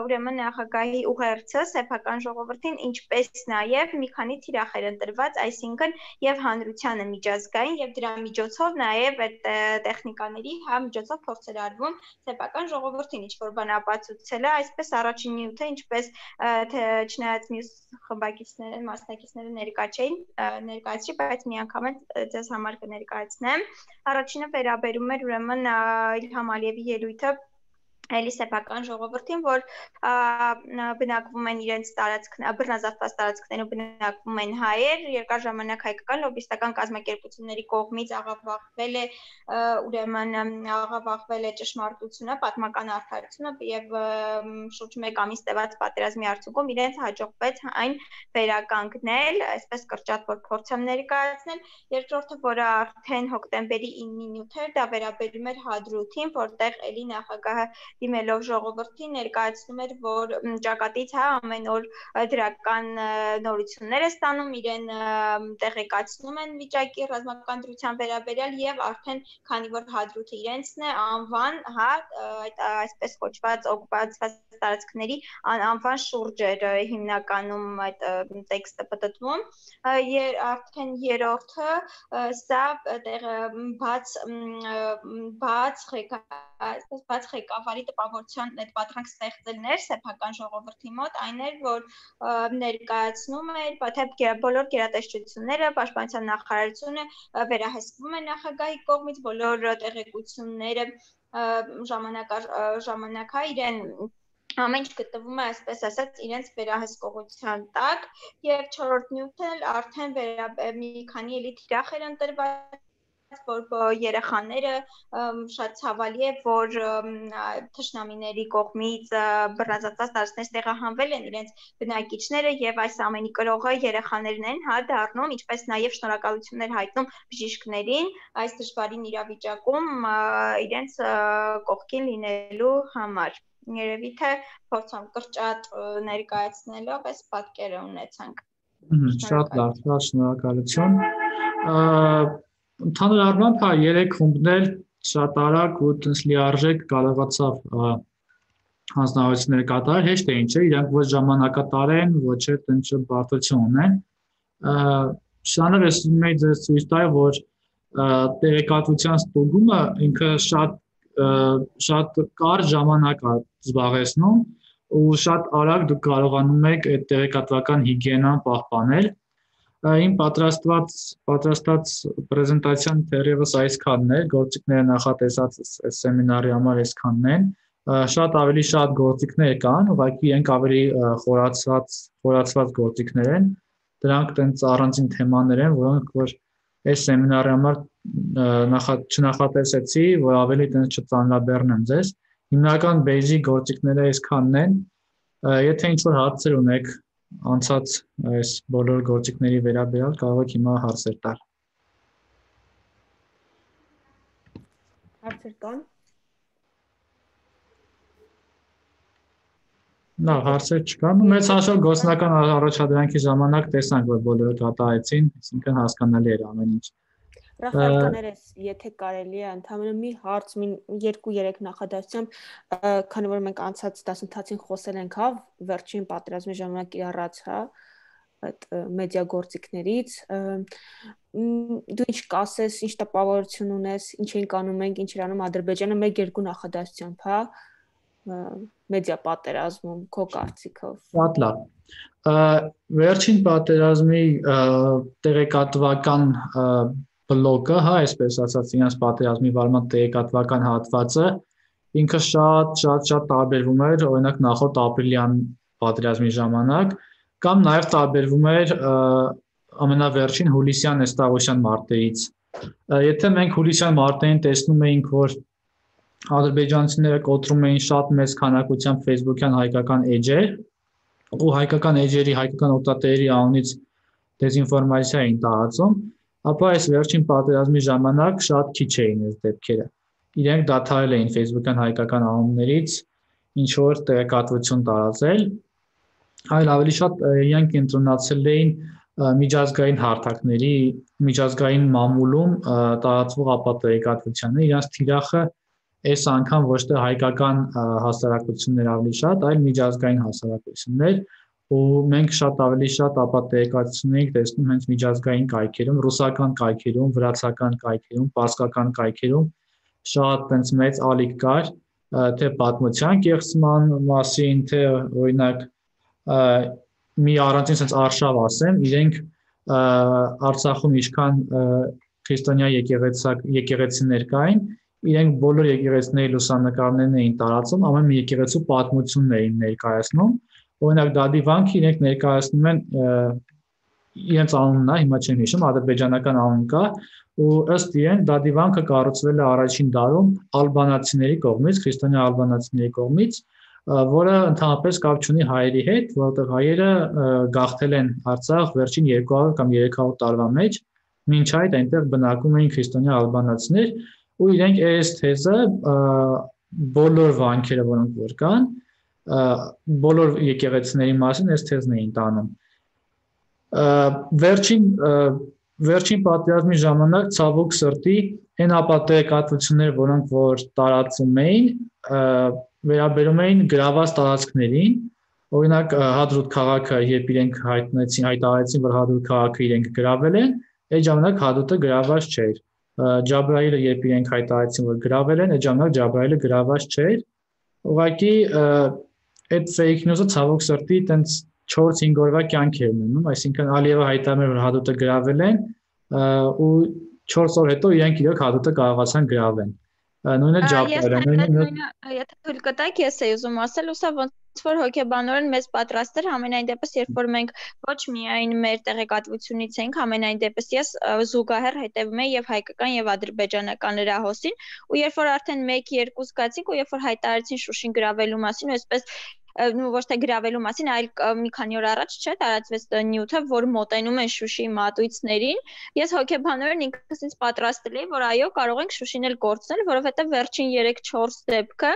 ուրեմն նախագահի ուղերձը սեփական ժողովրդին, ինչպես նաև մի քանի թիրախեր ընտրված, այսինքն եւ հանրությանը միջազգային եւ դրա միջոցով նաև այդ տեխնիկաների միջոցով փորձեր արվում սեփական ժողովրդին ինչ-որ բան ապացուցել է, այսպես առաջին նյութը, ինչպես թե չնայած մյուս խմբակիցները, մասնակիցները ներկա չէին, ներկայացրի, բայց մի անգամ ձեզ համար կներկայացնեմ։ Առաջինը վերաբերում էր ուրեմն Իլհամ Ալիևի ելույթը Էլի սեփական ժողովրդին, որ բնակվում են իրենց բռնազավթված տարածքներում բնակվում են հայեր, երկար ժամանակ հայկական լոբիստական կազմակերպությունների կողմից աղավաղվել է ճշմարտությունը, պատմական արդարությունը եւ շուրջ 1 ամիս տևած պատերազմի արդյունքում իրենց հաջողվեց այն վերականգնել, այսպես կրճատ որ փորձեմ ներկայացնել, երկրորդը, որը արդեն հոկտեմբերի 9-ին նյութեր, դա վերաբերում էր Հադրութին, որտեղ էլի նախագահը դիմելով ժողովրդին ներկայացնում էր, որ ճակատից ամեն օր դրական նորություններ է ստանում, իրեն տեղեկացնում են վիճակի ռազմական դրության վերաբերյալ եւ արդեն քանի որ Հադրութը իրենցն է, անվան, այսպես կոչված օկուպացված տարածքների անվան շուրջ էր հիմնականում այդ տեքստը պատտվում, արդեն երրորդը սա բաց ղեկավարի տպավորության այդ պատրանք ստեղծելն էր սեփական ժողովրդի մոտ, այն էր, որ ներկայացնում էր, թե բոլոր գերատեսչությունները, պաշտպանության նախարարությունը վերահսկվում է նախագահի կողմից, բոլոր տեղեկությունները ժամանակա իրեն ամեն ինչ գտնվում է, այսպես ասած, իրենց վերահսկողության տակ եւ չորրորդ նյութը արդեն մի քանի էլի թիրախ էր ընտրված, որ երեխաները շատ ցավալի է, որ թշնամիների կողմից բռնազավթված տարածքներ տեղահանվել են իրենց բնակիչները եւ այս ամենի կրողը երեխաներն են, դառնում, ինչպես նաեւ շնորհակալություններ հայտնում բժիշկներին այս դժվարին իրավիճակում իրենց կողքին լինելու համար։ Երևի թե փորձում կրճատ ներկայացնելով այս պատկերը ունեցանք։ Շատ լավ, շնորհակալություն։ Ընդհանուր առմամբ 3 խումբներ շատ արագ ու լիարժեք կարողացավ հանձնարարություններ կատարել, հեշտ է ինչ է, իրանք ոչ ժամանակատար են, ոչ էլ տենց բարդություն ունեն։ Շանը ռեսումի ձեզ ցույց տա, որ տեղեկատվության ստուգումը ինքը շատ կարճ ժամանակ է զբաղեցնում ու շատ արագ դուք կարողանում եք այդ տեղեկատվական հիգիենան պահպանել։ Իմ պատրաստած պրեզենտացիան թերևս այսքանն է, գործիքները նախատեսած սեմինարի համար այսքանն են։ Շատ ավելի շատ գործիքներ կան, ուղղակի իրենք ավելի խորացված գործիքներ են։ Դրանք տենց առանձին թեմաներ են, որոնք որ այս սեմինարի համար չնախատեսեցի, որ ավելի տենց չծանրաբեռնեմ ձեզ։ Հիմնական basic գործիքները այսքանն են։ Եթե ինչ-որ հարցեր ունեք անցած այս բոլոր գործիքների վերաբերյալ, կարող եք հիմա հարցեր տալ։ Հարցեր կան։ Լավ, հարցեր չկան։ Մեծ հաշվով գործնական առաջադրանքի ժամանակ տեսանք, որ բոլորը դատայեցին, այսինքն հասկանալի էր ամեն ինչ։ Ռաֆայել կներես, եթե կարելի է, ընդհանրապես մի հարց, 2-3 նախադասությամբ, քանի որ մենք անցած դասընթացին խոսել ենք, վերջին պատերազմի ժամանակ իրարած, այդ մեդիա գործիքներից, դու ինչ կասես, ինչ տպավորություն ունես, ինչ ենք անում մենք, ինչ էր անում Ադրբեջանը 1-2 նախադասությամբ, մեդիա պատերազմում, քո կարծիքով։ Շատ լավ։ Վերջին պատերազմի տեղեկատվական բլոկը, այսպես ասած, իրենց պատերազմի վարման տեղեկատվական հատվածը ինքը շատ տարբերվում էր, օրինակ նախորդ ապրիլյան պատերազմի ժամանակ, կամ նաև տարբերվում էր ամենավերջին հուլիսյան Էստաղոսյան մարտերից։ Եթե մենք հուլիսյան մարտերին տեսնում էինք, որ ադրբեջանցիները կոտրում էին շատ մեծ քանակությամբ Facebook-յան հայկական էջեր, ու հայկական էջերի, հայկական օգտատերերի անունից դեզինֆորմացիա էին տարածում, ապա այս վերջին պատերազմի ժամանակ շատ քիչ էին այս դեպքերը։ Իրենք դադարել էին Facebook-յան հայկական անուններից ինչ-որ տեղեկատվություն տարածել, այլ ավելի շատ իրենք կենտրոնացել էին միջազգային հարթակների, միջազգային մամուլում տարածվող ապատեղեկատվությանը, իրենց թիրախը այս անգամ ոչ թե հայկական հասարակություններ ավելի շատ, այլ միջազգային հասարակություններ, ու մենք շատ ավելի շատ ապատեղեկատվություն ենք տեսնում հենց միջազգային կայքերում, ռուսական կայքերում, վրացական կայքերում, պարսկական կայքերում շատ տենց մեծ ալիք կար, թե պատմության կեղծման մասին, թե օրինակ մի առանձին sense արշավ ասեմ, իրենք Արցախում ինչքան քրիստոնյա եկեղեցիներ կային, իրենք բոլոր եկեղեցիների լուսանկարներն էին տարածում, ամեն մի եկեղեցու պատմությունն էին ներկայացնում։ Օրինակ Դադի վանքը իրենք ներկայացնում են իրենց անունն է, հիմա չեմ հիշում, ադրբեջանական անուն կա, ու ըստ իրեն Դադի վանքը կառուցվել է առաջին դարում ալբանացիների կողմից, քրիստոնյա ալբանացիների կողմից, որը ընդհանրապես կապ չունի հայերի հետ, որովհետև հայերը գաղթել են Արցախ վերջին 200 կամ 300 տարվա մեջ, մինչ այդ այնտեղ բնակվում էին քրիստոնյա ալբանացիներ, ու իրենք այս թեզը բոլոր վանքերը, որոնք որ կան, բոլոր եկեղեցիների մասին այս թեզն էին տանում։ Վերջին պատերազմի ժամանակ ցավոք սրտի այն ապատեկատվությունները, որոնք որ տարածում էին, վերաբերում էին գրաված տարածքներին, օրինակ Հադրութ քաղաքը, երբ իրենք հայտարարեցին, որ Հադրութ քաղաքը իրենք գրավել են, այդ ժամանակ Հադրութը գրաված չէր։ Ջաբրայիլը, երբ իրենք հայտարարեցին, որ գրավել են, այդ ժամանակ Ջաբրայիլը գրաված չէր։ Ուղղակի այդ fake news-ը ցավոք սրտի տենց 4-5 օրվա կյանք էր ունենում, այսինքն Ալիևը հայտարարել էր, որ Հադրութը գրավել են, ու 4 օր հետո իրենք իրոք Հադրութը կարողացան գրավել։ Նույնը Ջաբրայիլը, եթե թույլ կտաք, ես էի ուզում ասել, ուսա ոնց որ հոգեբանորեն մեզ պատրաստ էր, ամենայն դեպս, երբ որ մենք ոչ միայն մեր տեղեկատվությունից ենք, ամենայն դեպս ես զուգահեռ հետևում եմ եւ հայկական եւ ադրբեջանական լրահոսին, ու երբ որ արդեն 1-2 զգացինք, ու երբ որ հայտարարեցին Շուշին գրավելու մասին, ու այսպես ոչ թե գրավելու մասին, այլ մի քանի օր առաջ չէ տարածվեց նյութը, որ մոտենում են Շուշիի մատույցներին։ Ես հոգեբանորեն ինքս ինձ պատրաստել էի, որ այո, կարող ենք Շուշին էլ կորցնել, որովհետև վերջին 3-4 դեպքը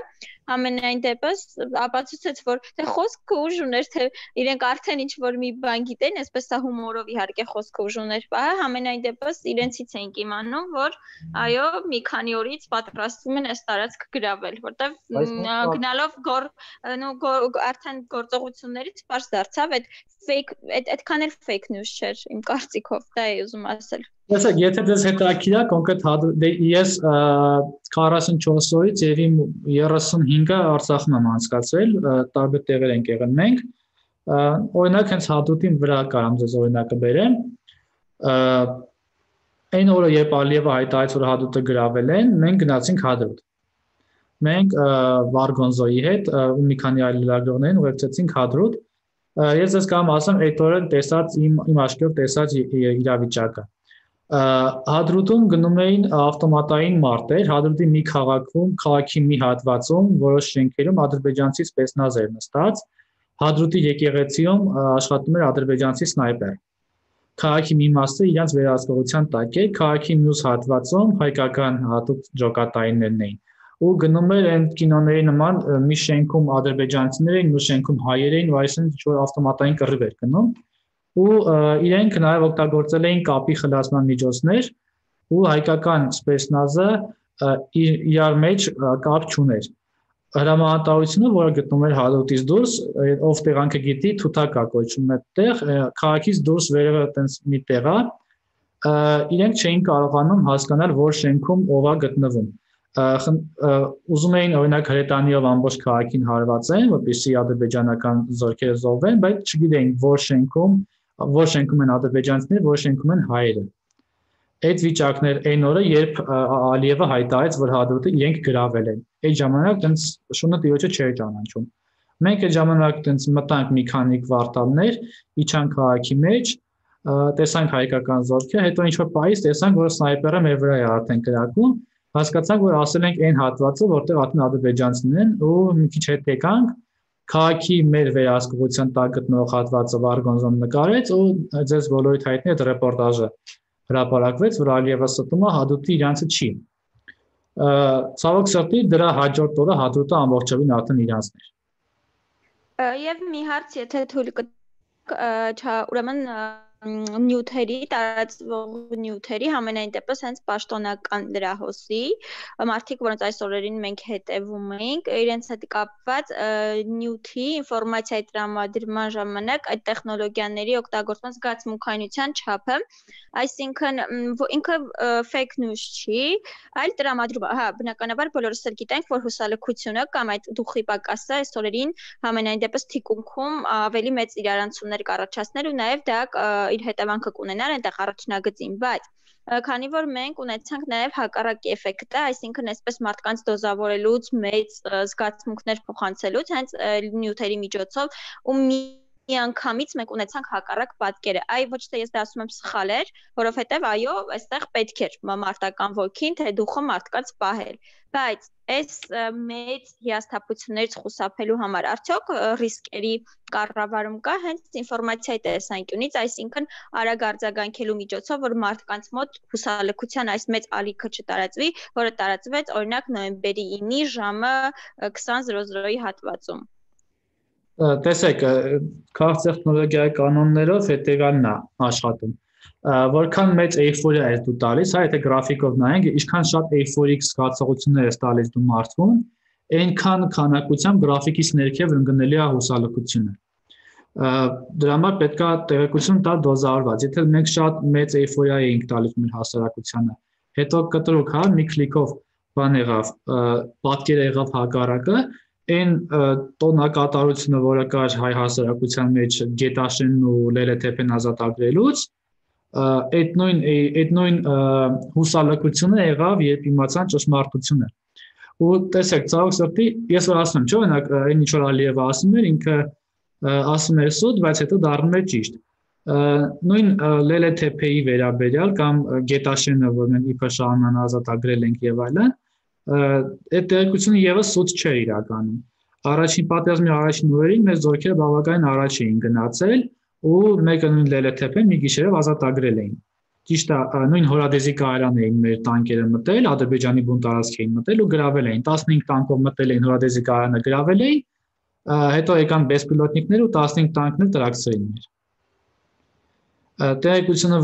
ամենայն դեպս ապացուցեց, որ թե խոսքը ուժ ուներ, թե իրենք արդեն ինչ որ մի բան գիտեն, այսպես սա հումորով իհարկե խոսքը ուժ ուներ, ամենայն դեպս իրենցից էինք իմանում, որ այո, մի քանի օրից պատրաստվում են այս տարածքը գրավել, որտեվ գնալով արդեն գործողություններից պարզ դարձավ, այդքան էլ fake news չէր իմ կարծիքով, դա էի ուզում ասել։ Տեսեք, եթե դες հետաքրքիր է, կոնկրետ ես 44 օրից եւ իմ 35-ը Արցախում եմ անցկացրել, տարբեր տեղեր ենք եղել մենք։ Օրինակ հենց Հադրութին վրա կարամ ձեզ օրինակը բերեմ։ Այն օրը, երբ Ալիևը հայտարարեց, որ Հադրութը գրավել են, մենք գնացինք Հադրութ։ Մենք Վարգոնզոյի հետ ու մի քանի այլ լրագրողներին ուղեկցեցինք Հադրութ։ Ես ձեզ կամ ասեմ, այդ օրը տեսած իմ աչքերով տեսած իրավիճակը։ Հադրութում գնում էին ավտոմատային մարտեր, Հադրութի մի քաղաքի մի հատվածում, որոշ շենքերում ադրբեջանցի սպեցնազ էր նստած, Հադրութի եկեղեցիում աշխատում էր ադրբեջանցի սնայպեր։ Քաղաքի մի մասը իրենց վերահսկողության տակ էր, քաղաքի մյուս հատվածում հայկական հատուկ ջոկատայիններն էին։ Ու գնում էր այն կինոների նման մի շենքում ադրբեջանցիներ էին, մի շենքում հայեր էին, ու այսինքն ավտոմատային կռիվ էր գնում։ Ու իրենք նաև օգտագործել էին կապի խլացման միջոցներ, ու հայկական սպեցնազը իրար մեջ կապ չուներ։ Հրամանատարությունը, որը գտնում էր Հադրութից դուրս, ով տեղանքը գիտի, թութակա կոչվում է տեղ, քաղաքից դուրս վերևը այտենց մի տեղ է, իրենք չէին կարողանում հասկանալ, որ շենքում ով է գտնվում։ Ուզում էին օրինակ հրետանիով ամբողջ քաղաքին հարվածեն, որպեսզի ադրբեջանական զորքերը զոհվեն, բայց չգիտեին որ շենքում են ադրբեջանցիները, որ շենքում են հայերը։ Այդ վիճակներ այն օրը, երբ Ալիևը հայտարարեց, որ Հադրութը իրենք գրավել են։ Այդ ժամանակ տենց շունը տիրոջը չէր ճանաչում։ Մենք այդ ժամանակ տենց մտանք մի քանի կվարտալներ, իջանք քաղաքի մեջ, տեսանք հայկական զորքը, հետո ինչ-որ պահից տեսանք, որ սնայպերը մեր վրա է արդեն կրակում, հասկացանք, որ ասել ենք այն հատվածը, որտեղ արդեն ադրբեջանցիներն են, ու մի քիչ հետ եկանք, քաղաքի մեր վերահսկողության տակ գտնող հատվածը Վարգոնզոն նկարեց, ու ձեզ բոլորիդ հայտնի այդ ռեպորտաժը հրապարակվեց, որ Ալիևը ստում է Հադրութի իրանցը չի։ Ցավոք սրտի դրա հաջորդ օրը Հադրութը ամբողջովին արդեն իրանցն էր։ Եվ մի հարց, եթե թույլ կտաք, ուրեմն նյութերի, տարածվող նյութերի համենայն դեպս հենց պաշտոնական լրահոսի մարդիկ, որոնց այս օրերին մենք հետևում ենք, իրենց հետ կապված նյութի ինֆորմացիայի տրամադրման ժամանակ այդ տեխնոլոգիաների օգտագործման զգացմունքայնության չափը, այսինքն ինքը fake news չի, այլ տրամադրում, բնականաբար բոլորս էլ գիտենք, որ հուսալքությունը կամ այդ դուխի պակասը այս օրերին համենայն դեպս թիկունքում ավելի մեծ իրարանցումներ կառաջացնել ու նաև դա իր հետևանքը կունենար այնտեղ առաջնագծին, բայց քանի որ մենք ունեցանք նաև հակառակ էֆեկտը, այսինքն այսպես մարդկանց դոզավորելուց, մեծ զգացմունքներ փոխանցելուց, հենց նյութերի միջոցով ու միանգամից մենք ունեցանք հակառակ պատկերը։ Այ ոչ թե ես դա ասում եմ սխալ էր, որովհետև այո, այստեղ պետք էր մարտական ոգին, թե դուխը մարդկանց պահել։ Բայց այս մեծ հիասթափություններից խուսափելու համար արդյոք ռիսկերի կառավարում կա հենց ինֆորմացիայի տեսանկյունից, այսինքն արագ արձագանքելու միջոցով, որ մարդկանց մոտ հուսալքության այս մեծ ալիքը չտարածվի, որը տարածվեց օրինակ նոյեմբերի 9-ի ժամը 20:00-ի հատվածում։ Տեսեք, քաղաք տեխնոլոգիայի կանոններով հետևյալն է աշխատում։ Որքան մեծ էйֆորիա ես դու տալիս, հա, եթե գրաֆիկով նայենք, ինչքան շատ էйֆորիկ զգացողություններ ես տալիս դու մարդուն, այնքան քանակությամբ գրաֆիկից ներքև ընկնելի է հուսալքությունը։ Դրա համար պետք է տեղեկություն տալ դոզավորված։ Եթե մենք շատ մեծ էйֆորիա էինք տալիս մեր հասարակությանը, հետո կտրուկ, հա, մի քլիկով բան եղավ, պատկեր եղավ հակառակը, այն տոնակատարությունը, որը կար հայ հասարակության մեջ գետաշենն ու լելեթեփեն ազատագրելուց, այդ նույն հուսալքությունը եղավ, երբ իմացան ճշմարտությունը։ Ու տեսեք, ցավոք սրտի, ես որ ասում եմ, չէ՞, օրինակ, այն ինչ որ Ալիևը ասում էր, ինքը ասում էր սուտ, բայց հետո դառնում էր ճիշտ։ Նույն լելեթեփեի վերաբերյալ կամ գետաշենը, որ մենք իբր շահանան ազատագրել ենք եւ այլն, այդ տեղեկությունը եւս սուտ չէր իրականում։ Առաջին պատերազմի առաջին օրերին մեր զորքերը բավականին առաջ էին գնացել ու մեկը նույն լելեթեփեն մի գիշերով ազատագրել էին։ Ճիշտ է, նույն Հորադեզի կայարան էին մեր տանկերը մտել, Ադրբեջանի բուն տարածք էին մտել ու գրավել էին։ 15 տանկով մտել էին Հորադեզի կայարանը, գրավել էին, հետո եկան բեսպիլոտնիկներ ու 15 տանկներ տրաքցրին մեր։ Տեղեկությունը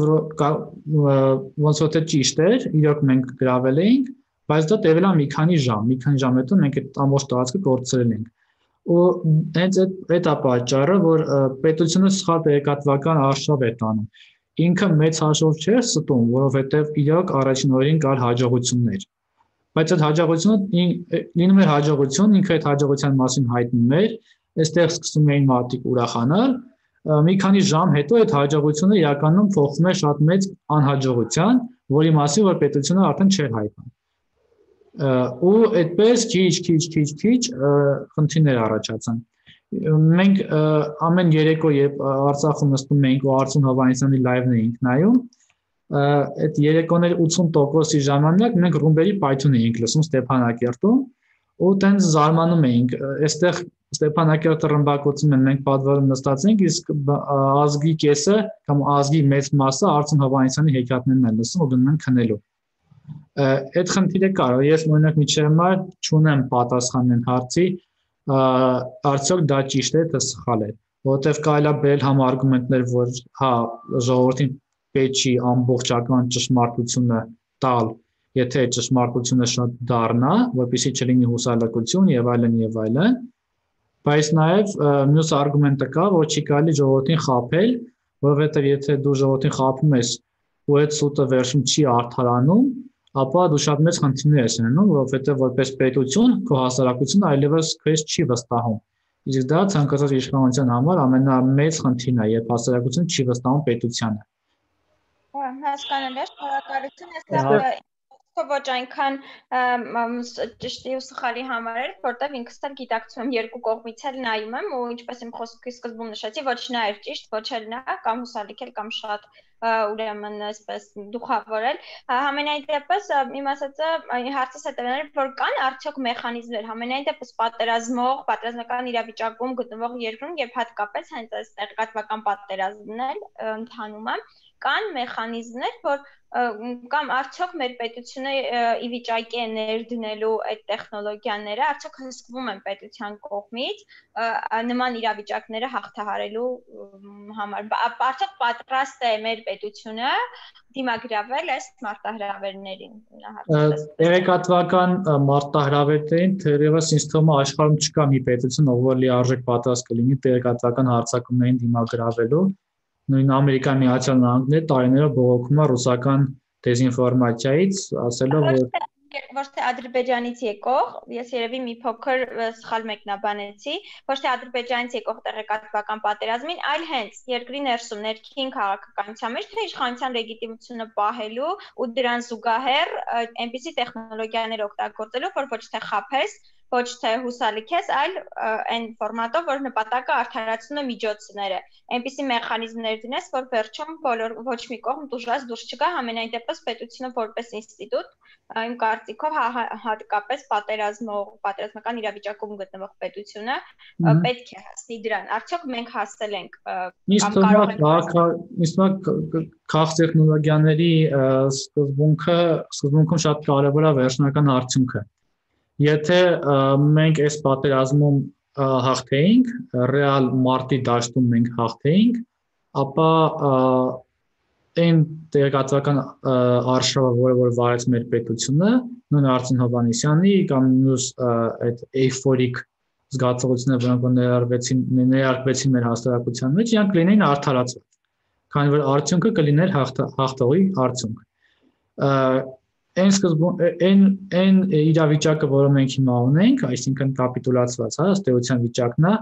ոնց որ թե ճիշտ էր, իրոք մենք գրավել էինք, բայց դա տևել է մի քանի ժամ հետո մենք այդ ամբողջ տարածքը կորցրել ենք։ Ու հենց այդ է պատճառը, որ պետությունը սխալ տեղեկատվական արշավ է տանում։ Ինքը մեծ հաշվով չէր ստում, որովհետև իրոք առաջին օրերին կար հաջողություններ։ Բայց այդ հաջողությունը լինում էր հաջողություն, ինքը այդ հաջողության մասին հայտնում էր, այստեղ սկսում էին մարդիկ ուրախանալ, մի քանի ժամ հետո այդ հաջողությունը իրականում փոխվում է շատ մեծ անհաջողության, որի մասին որ պետությունը արդեն չէր հայտնում։ Ու այդպես քիչ խնդիրներ առաջացան։ Մենք ամեն երեկո երբ Արցախում նստում էինք ու Արցուն Հովհաննիսյանի լայվն էինք նայում, այդ երեկոների 80%-ի ժամանակ մենք ռումբերի պայթյուն էինք լսում Ստեփանակերտում ու տենց զարմանում էինք, այստեղ Ստեփանակերտը ռմբակոծում են, մենք պատվերում նստած ենք, իսկ ազգի կեսը կամ ազգի մեծ մասը Արցուն Հովհաննիսյանի հեքիաթներն են լսում ու գնում են քնելու։ Այդ խնդիրը կար, ես օրինակ միջև հիմա չունեմ պատասխան այն հարցի, արդյոք դա ճիշտ է, թե սխալ է, որովհետև կարելի է բերել համարգումենտներ, որ հա ժողովրդին պետք չի ամբողջական ճշմարտությունը տալ, եթե ճշմարտությունը շատ դառնա, որպեսզի չլինի հուսալքություն եւ այլն, բայց նաեւ մյուս արգումենտը կա, որ չի կարելի ժողովրդին խաբել, որովհետև եթե դու ժողովրդին խաբում ես ու այդ սուտը վերջում չի արդարանում, ապա դու շատ մեծ խնդիրներ ես ունենում, որովհետև որպես պետություն քո հասարակությունը այլևս քեզ չի վստահում։ Իսկ դա ցանկացած իշխանության համար ամենամեծ խնդիրն է, երբ հասարակությունը չի վստահում պետությանը։ Հասկանալի է, շնորհակալություն, ես ոչ այնքան ճշտի ու սխալի համար էր, որտեղ ինքս էլ գիտակցում եմ երկու կողմից էլ նայում եմ ու ինչպես իմ խոսքի սկզբում նշեցի, ոչ նա էր ճիշտ, ոչ էլ նա, կամ հուսալիքել, կամ շատ ուրեմն այսպես դուխավորել։ Համենայն դեպս իմ ասածը հարցս հետևն էր, որ կան արդյոք մեխանիզմներ, համենայն դեպս պատերազմական իրավիճակում գտնվող երկրում, երբ հատկապես հենց այս տեղեկատվական պատերազմն էլ ընթանում է, կան մեխանիզմներ, որ կամ արդյոք մեր պետությունը ի վիճակի է ներդնելու այդ տեխնոլոգիաները, արդյոք հսկվում են պետության կողմից նման իրավիճակները հաղթահարելու համար, արդյոք պատրաստ է մեր պետությունը դիմագրավել այս մարտահրավերներին։ Տեղեկատվական մարտահրավերներին թերևս ինձ թվում է աշխարհում չկա մի պետություն, ով լիարժեք պատրաստ կլինի տեղեկատվական հարձակումներին դիմագրավելու։ Նույն Ամերիկայի Միացյալ Նահանգները տարիներով բողոքում է ռուսական դեզինֆորմացիայից, ասելով որ Ոչ թե Ադրբեջանից եկող, ես երևի մի փոքր սխալ մեկնաբանեցի, ոչ թե Ադրբեջանից եկող տեղեկատվական պատերազմին, այլ հենց երկրի ներսում ներքին քաղաքականության մեջ թե իշխանության լեգիտիմությունը պահելու ու դրան զուգահեռ այնպիսի տեխնոլոգիաներ օգտագործելով, որ ոչ թե խաբես, ոչ թե հուսալիքես, այլ այն ֆորմատով, որ նպատակը արդարացնում է միջոցները։ Այնպիսի մեխանիզմներ դնես, որ վերջում ոչ մի կողմ դժվար դուրս չգա, համենայն դեպս պետությունը որպես ինստիտուտ, իմ կարծիքով հատկապես պատերազմական իրավիճակում գտնվող պետությունը պետք է հասնի դրան։ Արդյոք մենք հասել ենք կամ կարող ենք քաղաք տեխնոլոգիաների սկզբունքում շատ կարևոր է վերջնական արդյունքը։ Եթե մենք այս պատերազմում հաղթեինք, ռեալ մարտի դաշտում մենք հաղթեինք, ապա այն տեղեկատվական արշավը, որը վարեց մեր պետությունը, նույն Արծին Հովհաննիսյանի կամ մյուս այդ էյֆորիկ զգացողությունները, որոնք ներարկվեցին մեր հասարակության մեջ, իրանք լինեին արդարացված, քանի որ արդյունքը կլիներ հաղթողի արդյունք։ Այն իրավիճակը, որը մենք հիմա ունենք, այսինքն կապիտուլացված, ըստ էության վիճակն է,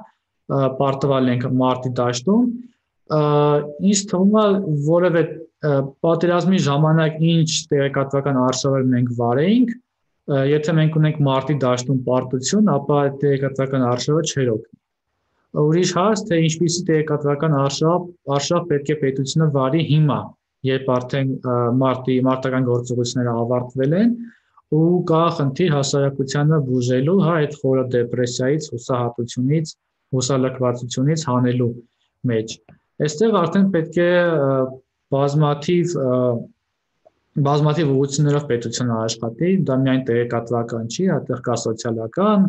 պարտվել ենք մարտի դաշտում, ինձ թվում է որևէ պատերազմի ժամանակ ինչ տեղեկատվական արշավեր մենք վարեինք, եթե մենք ունենք մարտի դաշտում պարտություն, ապա այդ տեղեկատվական արշավը չէր օգնի։ Ուրիշ հարց, թե ինչպիսի տեղեկատվական արշավ պետք է պետությունը վարի հիմա, երբ արդեն մարտական գործողությունները ավարտվել են ու կա խնդիր հասարակությանը բուժելու, այդ խորը դեպրեսիայից, հուսահատությունից, հուսալքվածությունից հանելու մեջ։ Այստեղ արդեն պետք է բազմաթիվ ուղղություններով պետությունը աշխատի, դա միայն տեղեկատվական չի, այդտեղ կա սոցիալական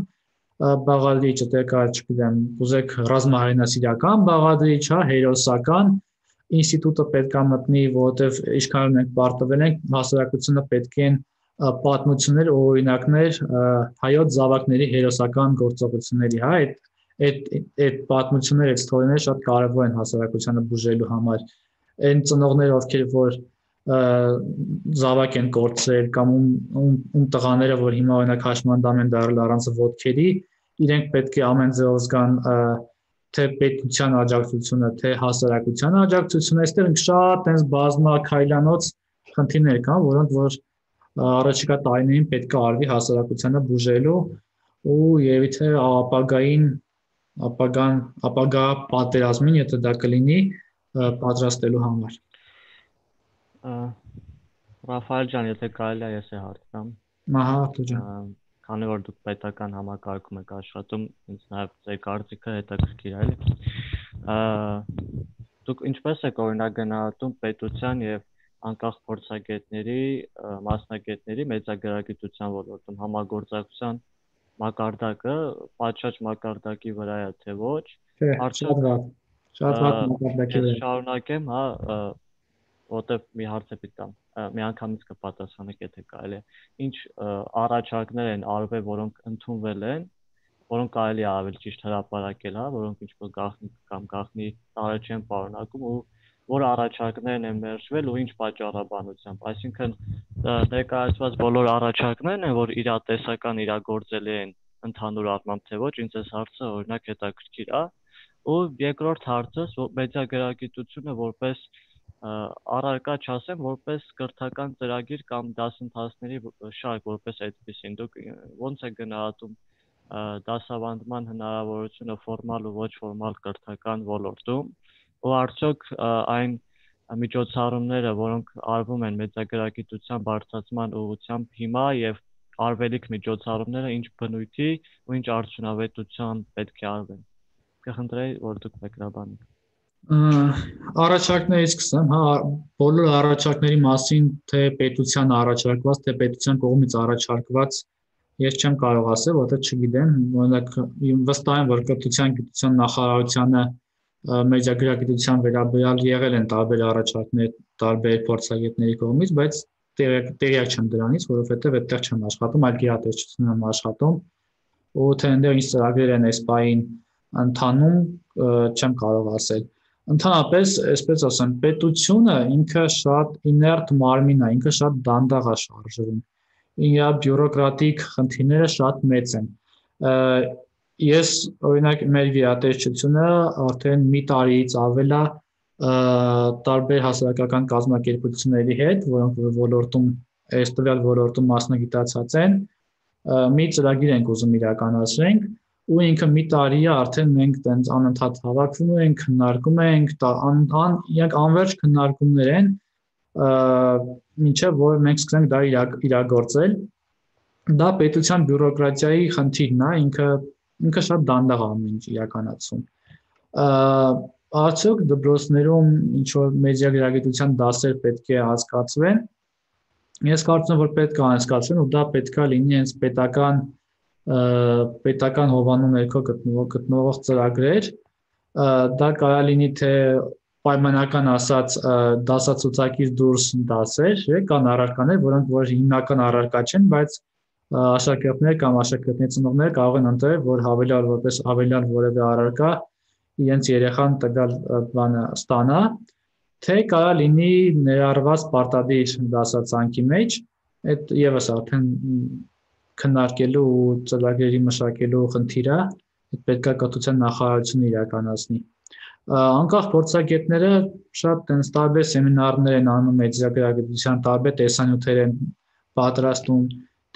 բաղադրիչ, այդտեղ կա, չգիտեմ, ուզեք ռազմահայրենասիրական բաղադրիչ, հերոսական ինստիտուտը պետք է մտնի, որովհետև ինչքան մենք պարտվել ենք, հասարակությունը պետք են պատմություններ, օրինակներ հայոց զավակների հերոսական գործողությունների, այդ պատմությունները, այդ ստորիները շատ կարևոր են հասարակությանը բուժելու համար։ Այն ծնողները, ովքեր որ զավակ են կորցրել կամ ում տղաները, որ հիմա օրինակ հաշմանդամ են դարել առանց ոտքերի, իրենք պետք է ամեն ձեւով զգան թե պետության աջակցությունը, թե հասարակության աջակցությունը, այստեղ շատ այնպես բազմաքայլանոց խնդիրներ կան, որոնք որ առաջիկա տարիներին պետք է արվի հասարակությանը բուժելու ու երևի թե ապագա պատերազմին, եթե դա կլինի, պատրաստելու համար։ Ռաֆայել ջան, եթե կարելի է ես է հարցնամ։ Ահա, Արտուր ջան։ Քանի որ դուք պետական համակարգում եք աշխատում, ինձ նաև ձեր կարծիքը հետաքրքիր է, էլի։ Դուք ինչպես եք օրինակ գնահատում պետության եւ անկախ փորձագետների, մասնագետների մեծագրագիտության ոլորտում համագործակցության մակարդակը, պատշաճ մակարդակի վրա է, թե ոչ։ Շատ վատ մակարդակի վրա։ Շարունակեմ, որտեվ մի հարց է պիտի տամ, մի անգամից կպատասխանեք, եթե կարելի է։ Ինչ առաջարկներ են արվել, որոնք ընդունվել են, որոնք կարելի է ավելի ճիշտ հրապարակել, որոնք ինչ-որ գաղտնի տարը չեն պարունակում ու որ առաջարկներն են մերժվել ու ինչ պատճառաբանությամբ։ Այսինքն ներկայացված բոլոր առաջարկներն են, որ իրատեսական իրագործելի են ընդհանուր առմամբ, թե ոչ, ինձ այս հարցը օրինակ հետաքրքիր է։ Ու երկրորդ հարցս, մեծագրագիտությունը որպես առարկա չասեմ, որպես կրթական ծրագիր կամ դասընթացների շարք, որպես այդպեսին, դուք ո՞նց եք գնահատում դասավանդման հնարավորությունը ֆորմալ ու ոչ ֆորմալ կրթական ոլորտում, ու արդյոք այն միջոցառումները, որոնք արվում են մեծագրագիտության բարձրացման ուղղությամբ հիմա եւ արվելիք միջոցառումները ինչ բնույթի ու ինչ արդյունավետությամբ պետք է արվեն։ Կխնդրեի, որ դուք մեկնաբանեք։ Առաջարկներից սկսեմ, բոլոր առաջարկների մասին, թե պետության առաջարկված, թե պետության կողմից առաջարկված, ես չեմ կարող ասել, որտեղ չգիտեմ, օրինակ վստահ եմ, որ կրթության գիտության նախարարությանը մեծագրագիտության վերաբերյալ եղել են տարբեր առաջարկներ տարբեր փորձագետների կողմից, բայց տեղյակ չեմ դրանից, որովհետև այդտեղ չեմ աշխատում, այլ գիտատեսչությունում եմ աշխատում, ու թե այնտեղ ինչ ծրագրեր են այս պահին ընթանում, չեմ կարող ասել։ Ընդհանրապես, այսպես ասեմ, պետությունը ինքը շատ իներտ մարմին է, ինքը շատ դանդաղ է շարժվում։ իր բյուրոկրատիկ խնդիրները շատ մեծ են։ Ես օրինակ մեր գերատեսչությունը արդեն մի տարիից ավել է տարբեր հասարակական կազմակերպությունների հետ, որոնք ոլորտում այս տվյալ ոլորտում մասնագիտացած են, մի ծրագիր ենք ուզում իրականացնենք, ու ինքը մի տարի է արդեն մենք տենց անընդհատ հավաքվում ենք, քննարկում ենք, իրենք անվերջ քննարկումներ են, մինչև որ մենք սկսենք դա իրագործել։ Դա պետության բյուրոկրատիայի խնդիրն է, ինքը շատ դանդաղ ամեն ինչ իրականացում։ Արդյոք դպրոցներում ինչ որ մեդիա գրագիտության դասեր պետք է անցկացվեն։ Ես կարծում եմ, որ պետք է անցկացվեն, ու դա պետք է լինի հենց պետական հովանու ներքո գտնվող ծրագրեր։ Դա կարող լինի թե պայմանական ասած դասացուցակից դուրս դասեր, կան առարկաներ, որոնք որ հիմնական առարկա չեն, բայց աշակերտներ կամ աշակերտների ծնողները կարող են ընտրել, որ հավելյալ որևէ առարկա իրենց երեխան տվյալ բանը ստանա, թե կարող լինի ներառված պարտադիր դասացանկի մեջ, այդ եւս արդեն քննարկելու ու ծրագրերի մշակելու խնդիր է, պետք է կրթության նախարարությունը իրականացնի։ Անկախ փորձագետները շատ տենց տարբեր սեմինարներ են անում մեդիագրագիտության, տարբեր տեսանյութեր են պատրաստում,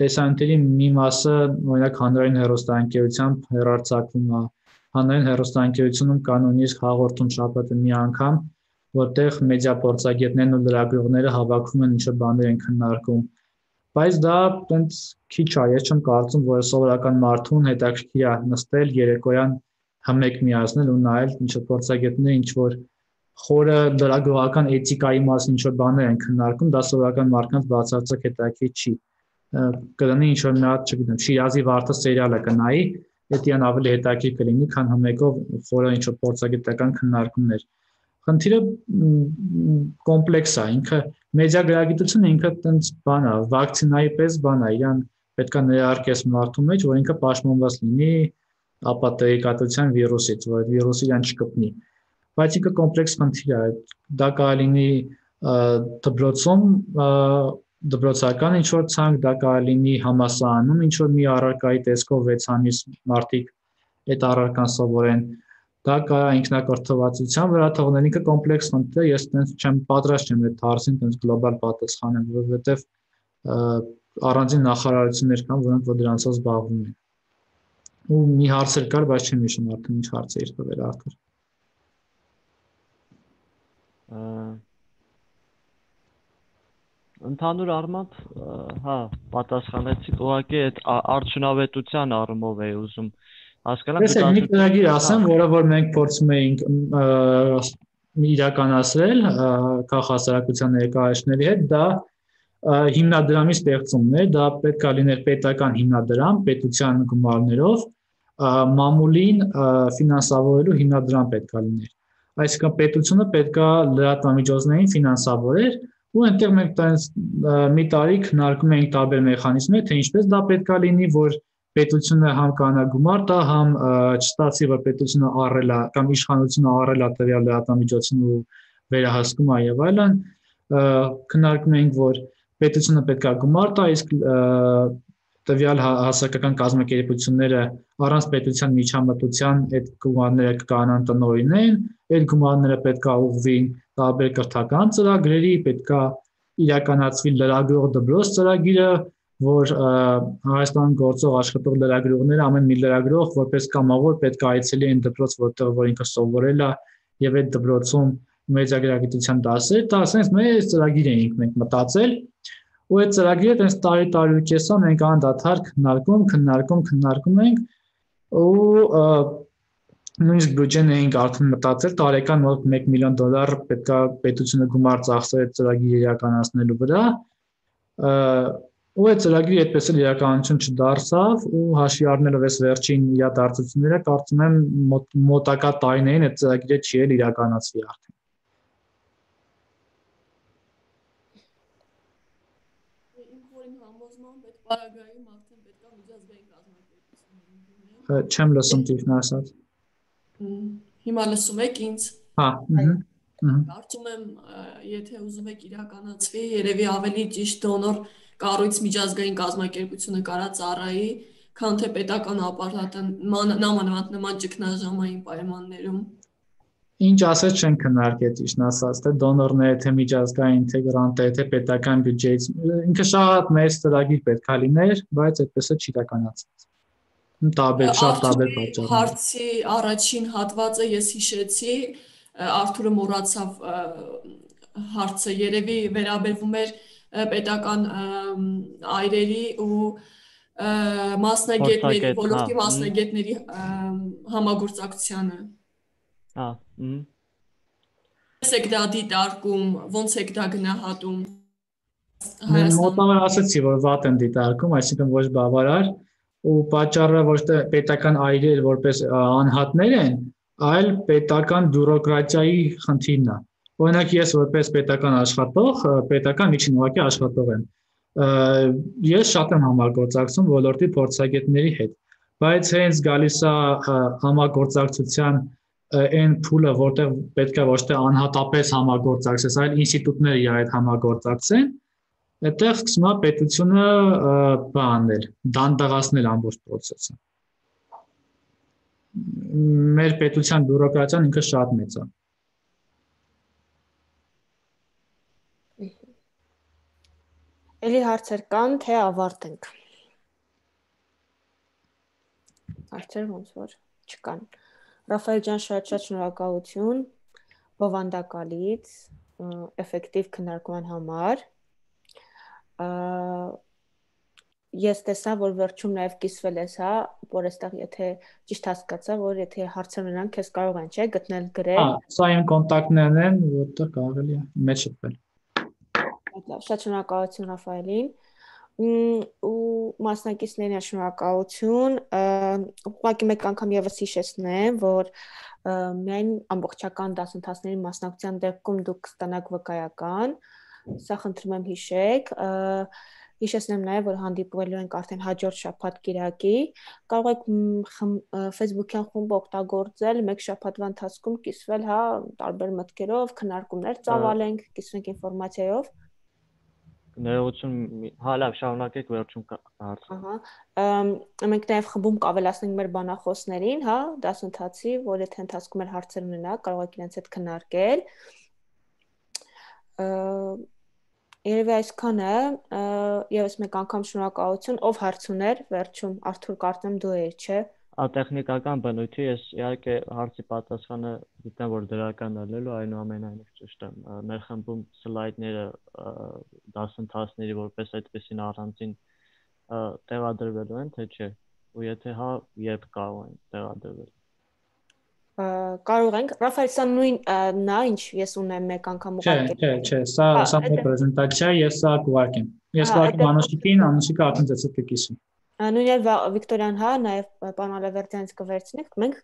տեսանյութերի մի մասը օրինակ հանրային հեռուստաընկերությամբ հեռարձակվում է, հանրային հեռուստաընկերությունում կա նույնիսկ հաղորդում շաբաթը մի անգամ, որտեղ մեդիա փորձագետներն ու լրագրողները հավաքվում են, ինչ-որ բաներ են քննարկում, բայց դա տենց քիչ է, ես չեմ կարծում, որ սովորական մարդուն հետաքրքիր է նստել երեկոյան հմեկ միացնել ու նայել ինչ-որ փորձագետները ինչ-որ խորը լրագրողական էթիկայի մասին ինչ-որ բաներ են քննարկում, դա սովորական մարդկանց բացարձակ հետաքրքիր չի։ Կլինի ինչ-որ մի հատ, չգիտեմ, Շիրազի վարդը սերիալը կնայի, դա ավելի հետաքրքիր կլինի, քան հմեկով խորը ինչ-որ փորձագիտական քննարկումներ։ Խնդիրը կոմպլեքս է, ինքը մեդիա գրագիտությունը ինքը տենց բան է, վակցինայի պես բան է, իրան պետք է ներարկես մարդու մեջ, որ ինքը պաշտպանված լինի ապատեգատության վիրուսից, որ վիրուսը իրան չկպնի։ Բայց ինքը կոմպլեքս խնդիր է, դա կարող լինի դպրոցում դպրոցական ինչ-որ ցանկ, դա կարող լինի համալսարանում ինչ-որ մի առարկայի տեսքով 6 ամիս մարդիկ այդ առարկան սովորեն, դա կարող ինքնակրթվածության վրա թողնել, ինքը կոմպլեքս խնդիր է, ես տենց չեմ պատրաստ չեմ այդ հարցին տենց գլոբալ պատասխանեմ, որովհետև առանձին նախարարություններ կան, որոնք որ դրանցով զբաղվում են։ Ու մի հարց կար, բայց չեմ հիշում արդեն ինչ հարց էր տվել Արթուր։ Ընդհանուր առմամբ, հա, պատասխանեցիք, ուղղակի այդ արդյունավետության առումով էի ուզում հասկանալ։ Ես մի ծրագիր ասեմ, որը որ մենք փորձում էինք իրականացրել քաղաքասարակության ներկայացների հետ, դա հիմնադրամի ստեղծումն է, դա պետք է լիներ պետական հիմնադրամ, պետության գումարներով, մամուլին ֆինանսավորելու հիմնադրամ պետք է լիներ։ Այսինքն պետությունը պետք է լրատվամիջոցներին ֆինանսավորեր, ու այնտեղ մենք մի տարի քննարկում էինք տարբեր մեխանիզմներ, թե ինչպես դա պետք է լինի, որ պետությունը համ կանա գումար տա, համ չստացի, որ պետությունը առել է կամ իշխանությունը առել է տվյալ լրատվամիջոցին ու վերահսկում է եւ այլն, քննարկում էինք, որ պետությունը պետք է գումար տա, իսկ տվյալ հասարակական կազմակերպությունները առանց պետության միջամտության այդ գումարները կանան տնօրինեն, այդ գումարները պետք է ուղղվին տարբեր կրթական ծրագրերի, պետք է իրականացվի լրագրող դպրոց ծրագիրը, որ Հայաստանում գործող աշխատող լրագրողները ամեն մի լրագրող որպես կամավոր պետք է այցելի այն դպրոց, որտեղ որ ինքը սովորել է եւ այդ դպրոցում մեդիագրագիտության դասեր, դա ասենք մեր ծրագիր էինք մենք մտածել, ու այդ ծրագիրը տես տարի կեսա մենք անդադար քննարկում ենք ու նույնիսկ բյուջեն էինք արդեն մտածել տարեկան մոտ $1 միլիոն պետք է պետությունը գումար ծախսել այդ ծրագիրը իրականացնելու վրա, ու այդ ծրագիրը այդպես էլ իրականություն չդարձավ ու հաշվի առնելով այս վերջին իրադարձությունները կարծում եմ մոտակա տարիներին այդ ծրագիրը չի էլ իրականացվի արդեն։ Պարագայում արդեն պետք է միջազգային կազմակերպություններ։ Չեմ լսում ճիշտ ասած։ Հիմա լսում եք ինձ։ Հա, Կարծում եմ, եթե ուզում եք իրականացվի, երևի ավելի ճիշտ դոնոր կառույց միջազգային կազմակերպությունը կարա ծառայի, քան թե պետական ապարատը նամանավանդ նման ճգնաժամային պայմաններում։ Ինչ ասես չեն քննարկել ճիշտ ասած, թե դոնորները, թե միջազգային, թե գրանտը, թե պետական բյուջեից, ինքը շատ մեծ ծրագիր պետք է լիներ, բայց այդպես է չի իրականացված։ Շատ տարբեր պատճառներ։ Հարցի առաջին հատվածը ես հիշեցի, Արթուրը մոռացավ հարցը, երևի վերաբերվում էր պետական այրերի ու մասնագետների, ոլորտի մասնագետների համագործակցությանը։ Ոնց եք դա դիտարկում, ոնց եք դա գնահատում։ Մոտավոր ասացի, որ վատ են դիտարկում, այսինքն ոչ բավարար, ու պատճառը ոչ թե պետական այրեր որպես անհատներ են, այլ պետական բյուրոկրատիայի խնդիրն է։ Օրինակ ես որպես պետական աշխատող, պետական միջին ուղղակի աշխատող եմ։ Ես շատ եմ համագործակցում ոլորտի փորձագետների հետ, բայց հենց գալիս է համագործակցության այն փուլը, որտեղ պետք է ոչ թե անհատապես համագործակցես, այլ ինստիտուտները իր հետ համագործակցեն, այդտեղ սկսում է պետությունը բանել, դանդաղացնել ամբողջ process-ը։ Մեր պետության բյուրոկրատիան ինքը շատ մեծ է։ Էլի հարցեր կան, թե ավարտենք։ Հարցեր ոնց որ չկան։ Ռաֆայել ջան, շատ շնորհակալություն բովանդակալից, էֆեկտիվ քննարկման համար։ Ես տեսա, որ վերջում նաև կիսվել ես, հա, որ այստեղ եթե ճիշտ հասկացա, որ եթե հարցեր ունենան, քեզ կարող են, չէ, գտնել գրել։ Սա իմ կոնտակտներն են, որտեղ կարելի է մեջ շփվել։ Շատ շնորհակալություն Ռաֆայելին ու մասնակիցներին շնորհակալություն։ Ուղղակի մեկ անգամ եւս հիշեցնեմ, որ միայն ամբողջական դասընթացների մասնակցության դեպքում դուք կստանաք վկայական, սա խնդրում եմ հիշեք։ Հիշեցնեմ նաև, որ հանդիպվելու ենք արդեն հաջորդ շաբաթ կիրակի։ Կարող եք Facebook-յան խումբ օգտագործել, մեկ շաբաթվա ընթացքում կիսվել, հա, տարբեր մտքերով, քննարկումներ ծավալենք, կիսվենք ինֆորմացիայով։ Ներողություն, հա, լավ, շարունակեք վերջում հարցը։ Մենք նաև խմբում կավելացնենք մեր բանախոսներին, հա, դասընթացի, որ եթե ընթացքում էր հարցեր ունենա, կարող եք իրենց հետ քննարկել։ Երևի այսքանը, եւս մեկ անգամ շնորհակալություն, ով հարց ուներ, վերջում Արթուր կարծեմ դու ես, չէ՞։ Տեխնիկական բնույթի ես իհարկե հարցի պատասխանը գիտեմ, որ դրական է լինելու, այնուամենայնիվ ճիշտ է։ Մեր խմբում սլայդները դասընթացների որպես այդպեսին առանձին տեղադրվելու են, թե չէ։ Ու եթե հա, երբ կարող են տեղադրվել։ Կարող ենք, Ռաֆայել, սա նույն նա, ինչ ես ունեմ մեկ անգամ ուղարկել։ Չէ, սա մեր պրեզենտացիա, ես սա կուղարկեմ։ Ես կուղարկեմ Անուշիկին, Անուշիկը արդեն ձեզ հետ կկիսի։ Նույնիսկ Վիկտորյան, հա, նաև պարոն Ալավերդյանից կվերցնենք, մենք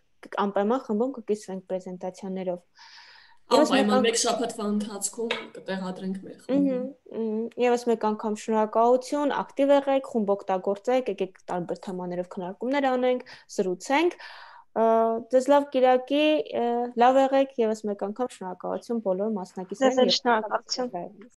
անպայման խմբում կկիսվենք պրեզենտացիաներով։ Անպայման մեկ շաբաթվա ընթացքում կտեղադրենք մեր խմբում։ Եվս մեկ անգամ շնորհակալություն, ակտիվ եղեք, խումբ օգտագործեք, եկեք տարբեր թեմաներով քննարկումներ անենք, զրուցենք։ Ձեզ լավ կիրակի, լավ եղեք, եւս մեկ անգամ շնորհակալություն բոլոր մասնակիցներին։ Շնորհակալություն։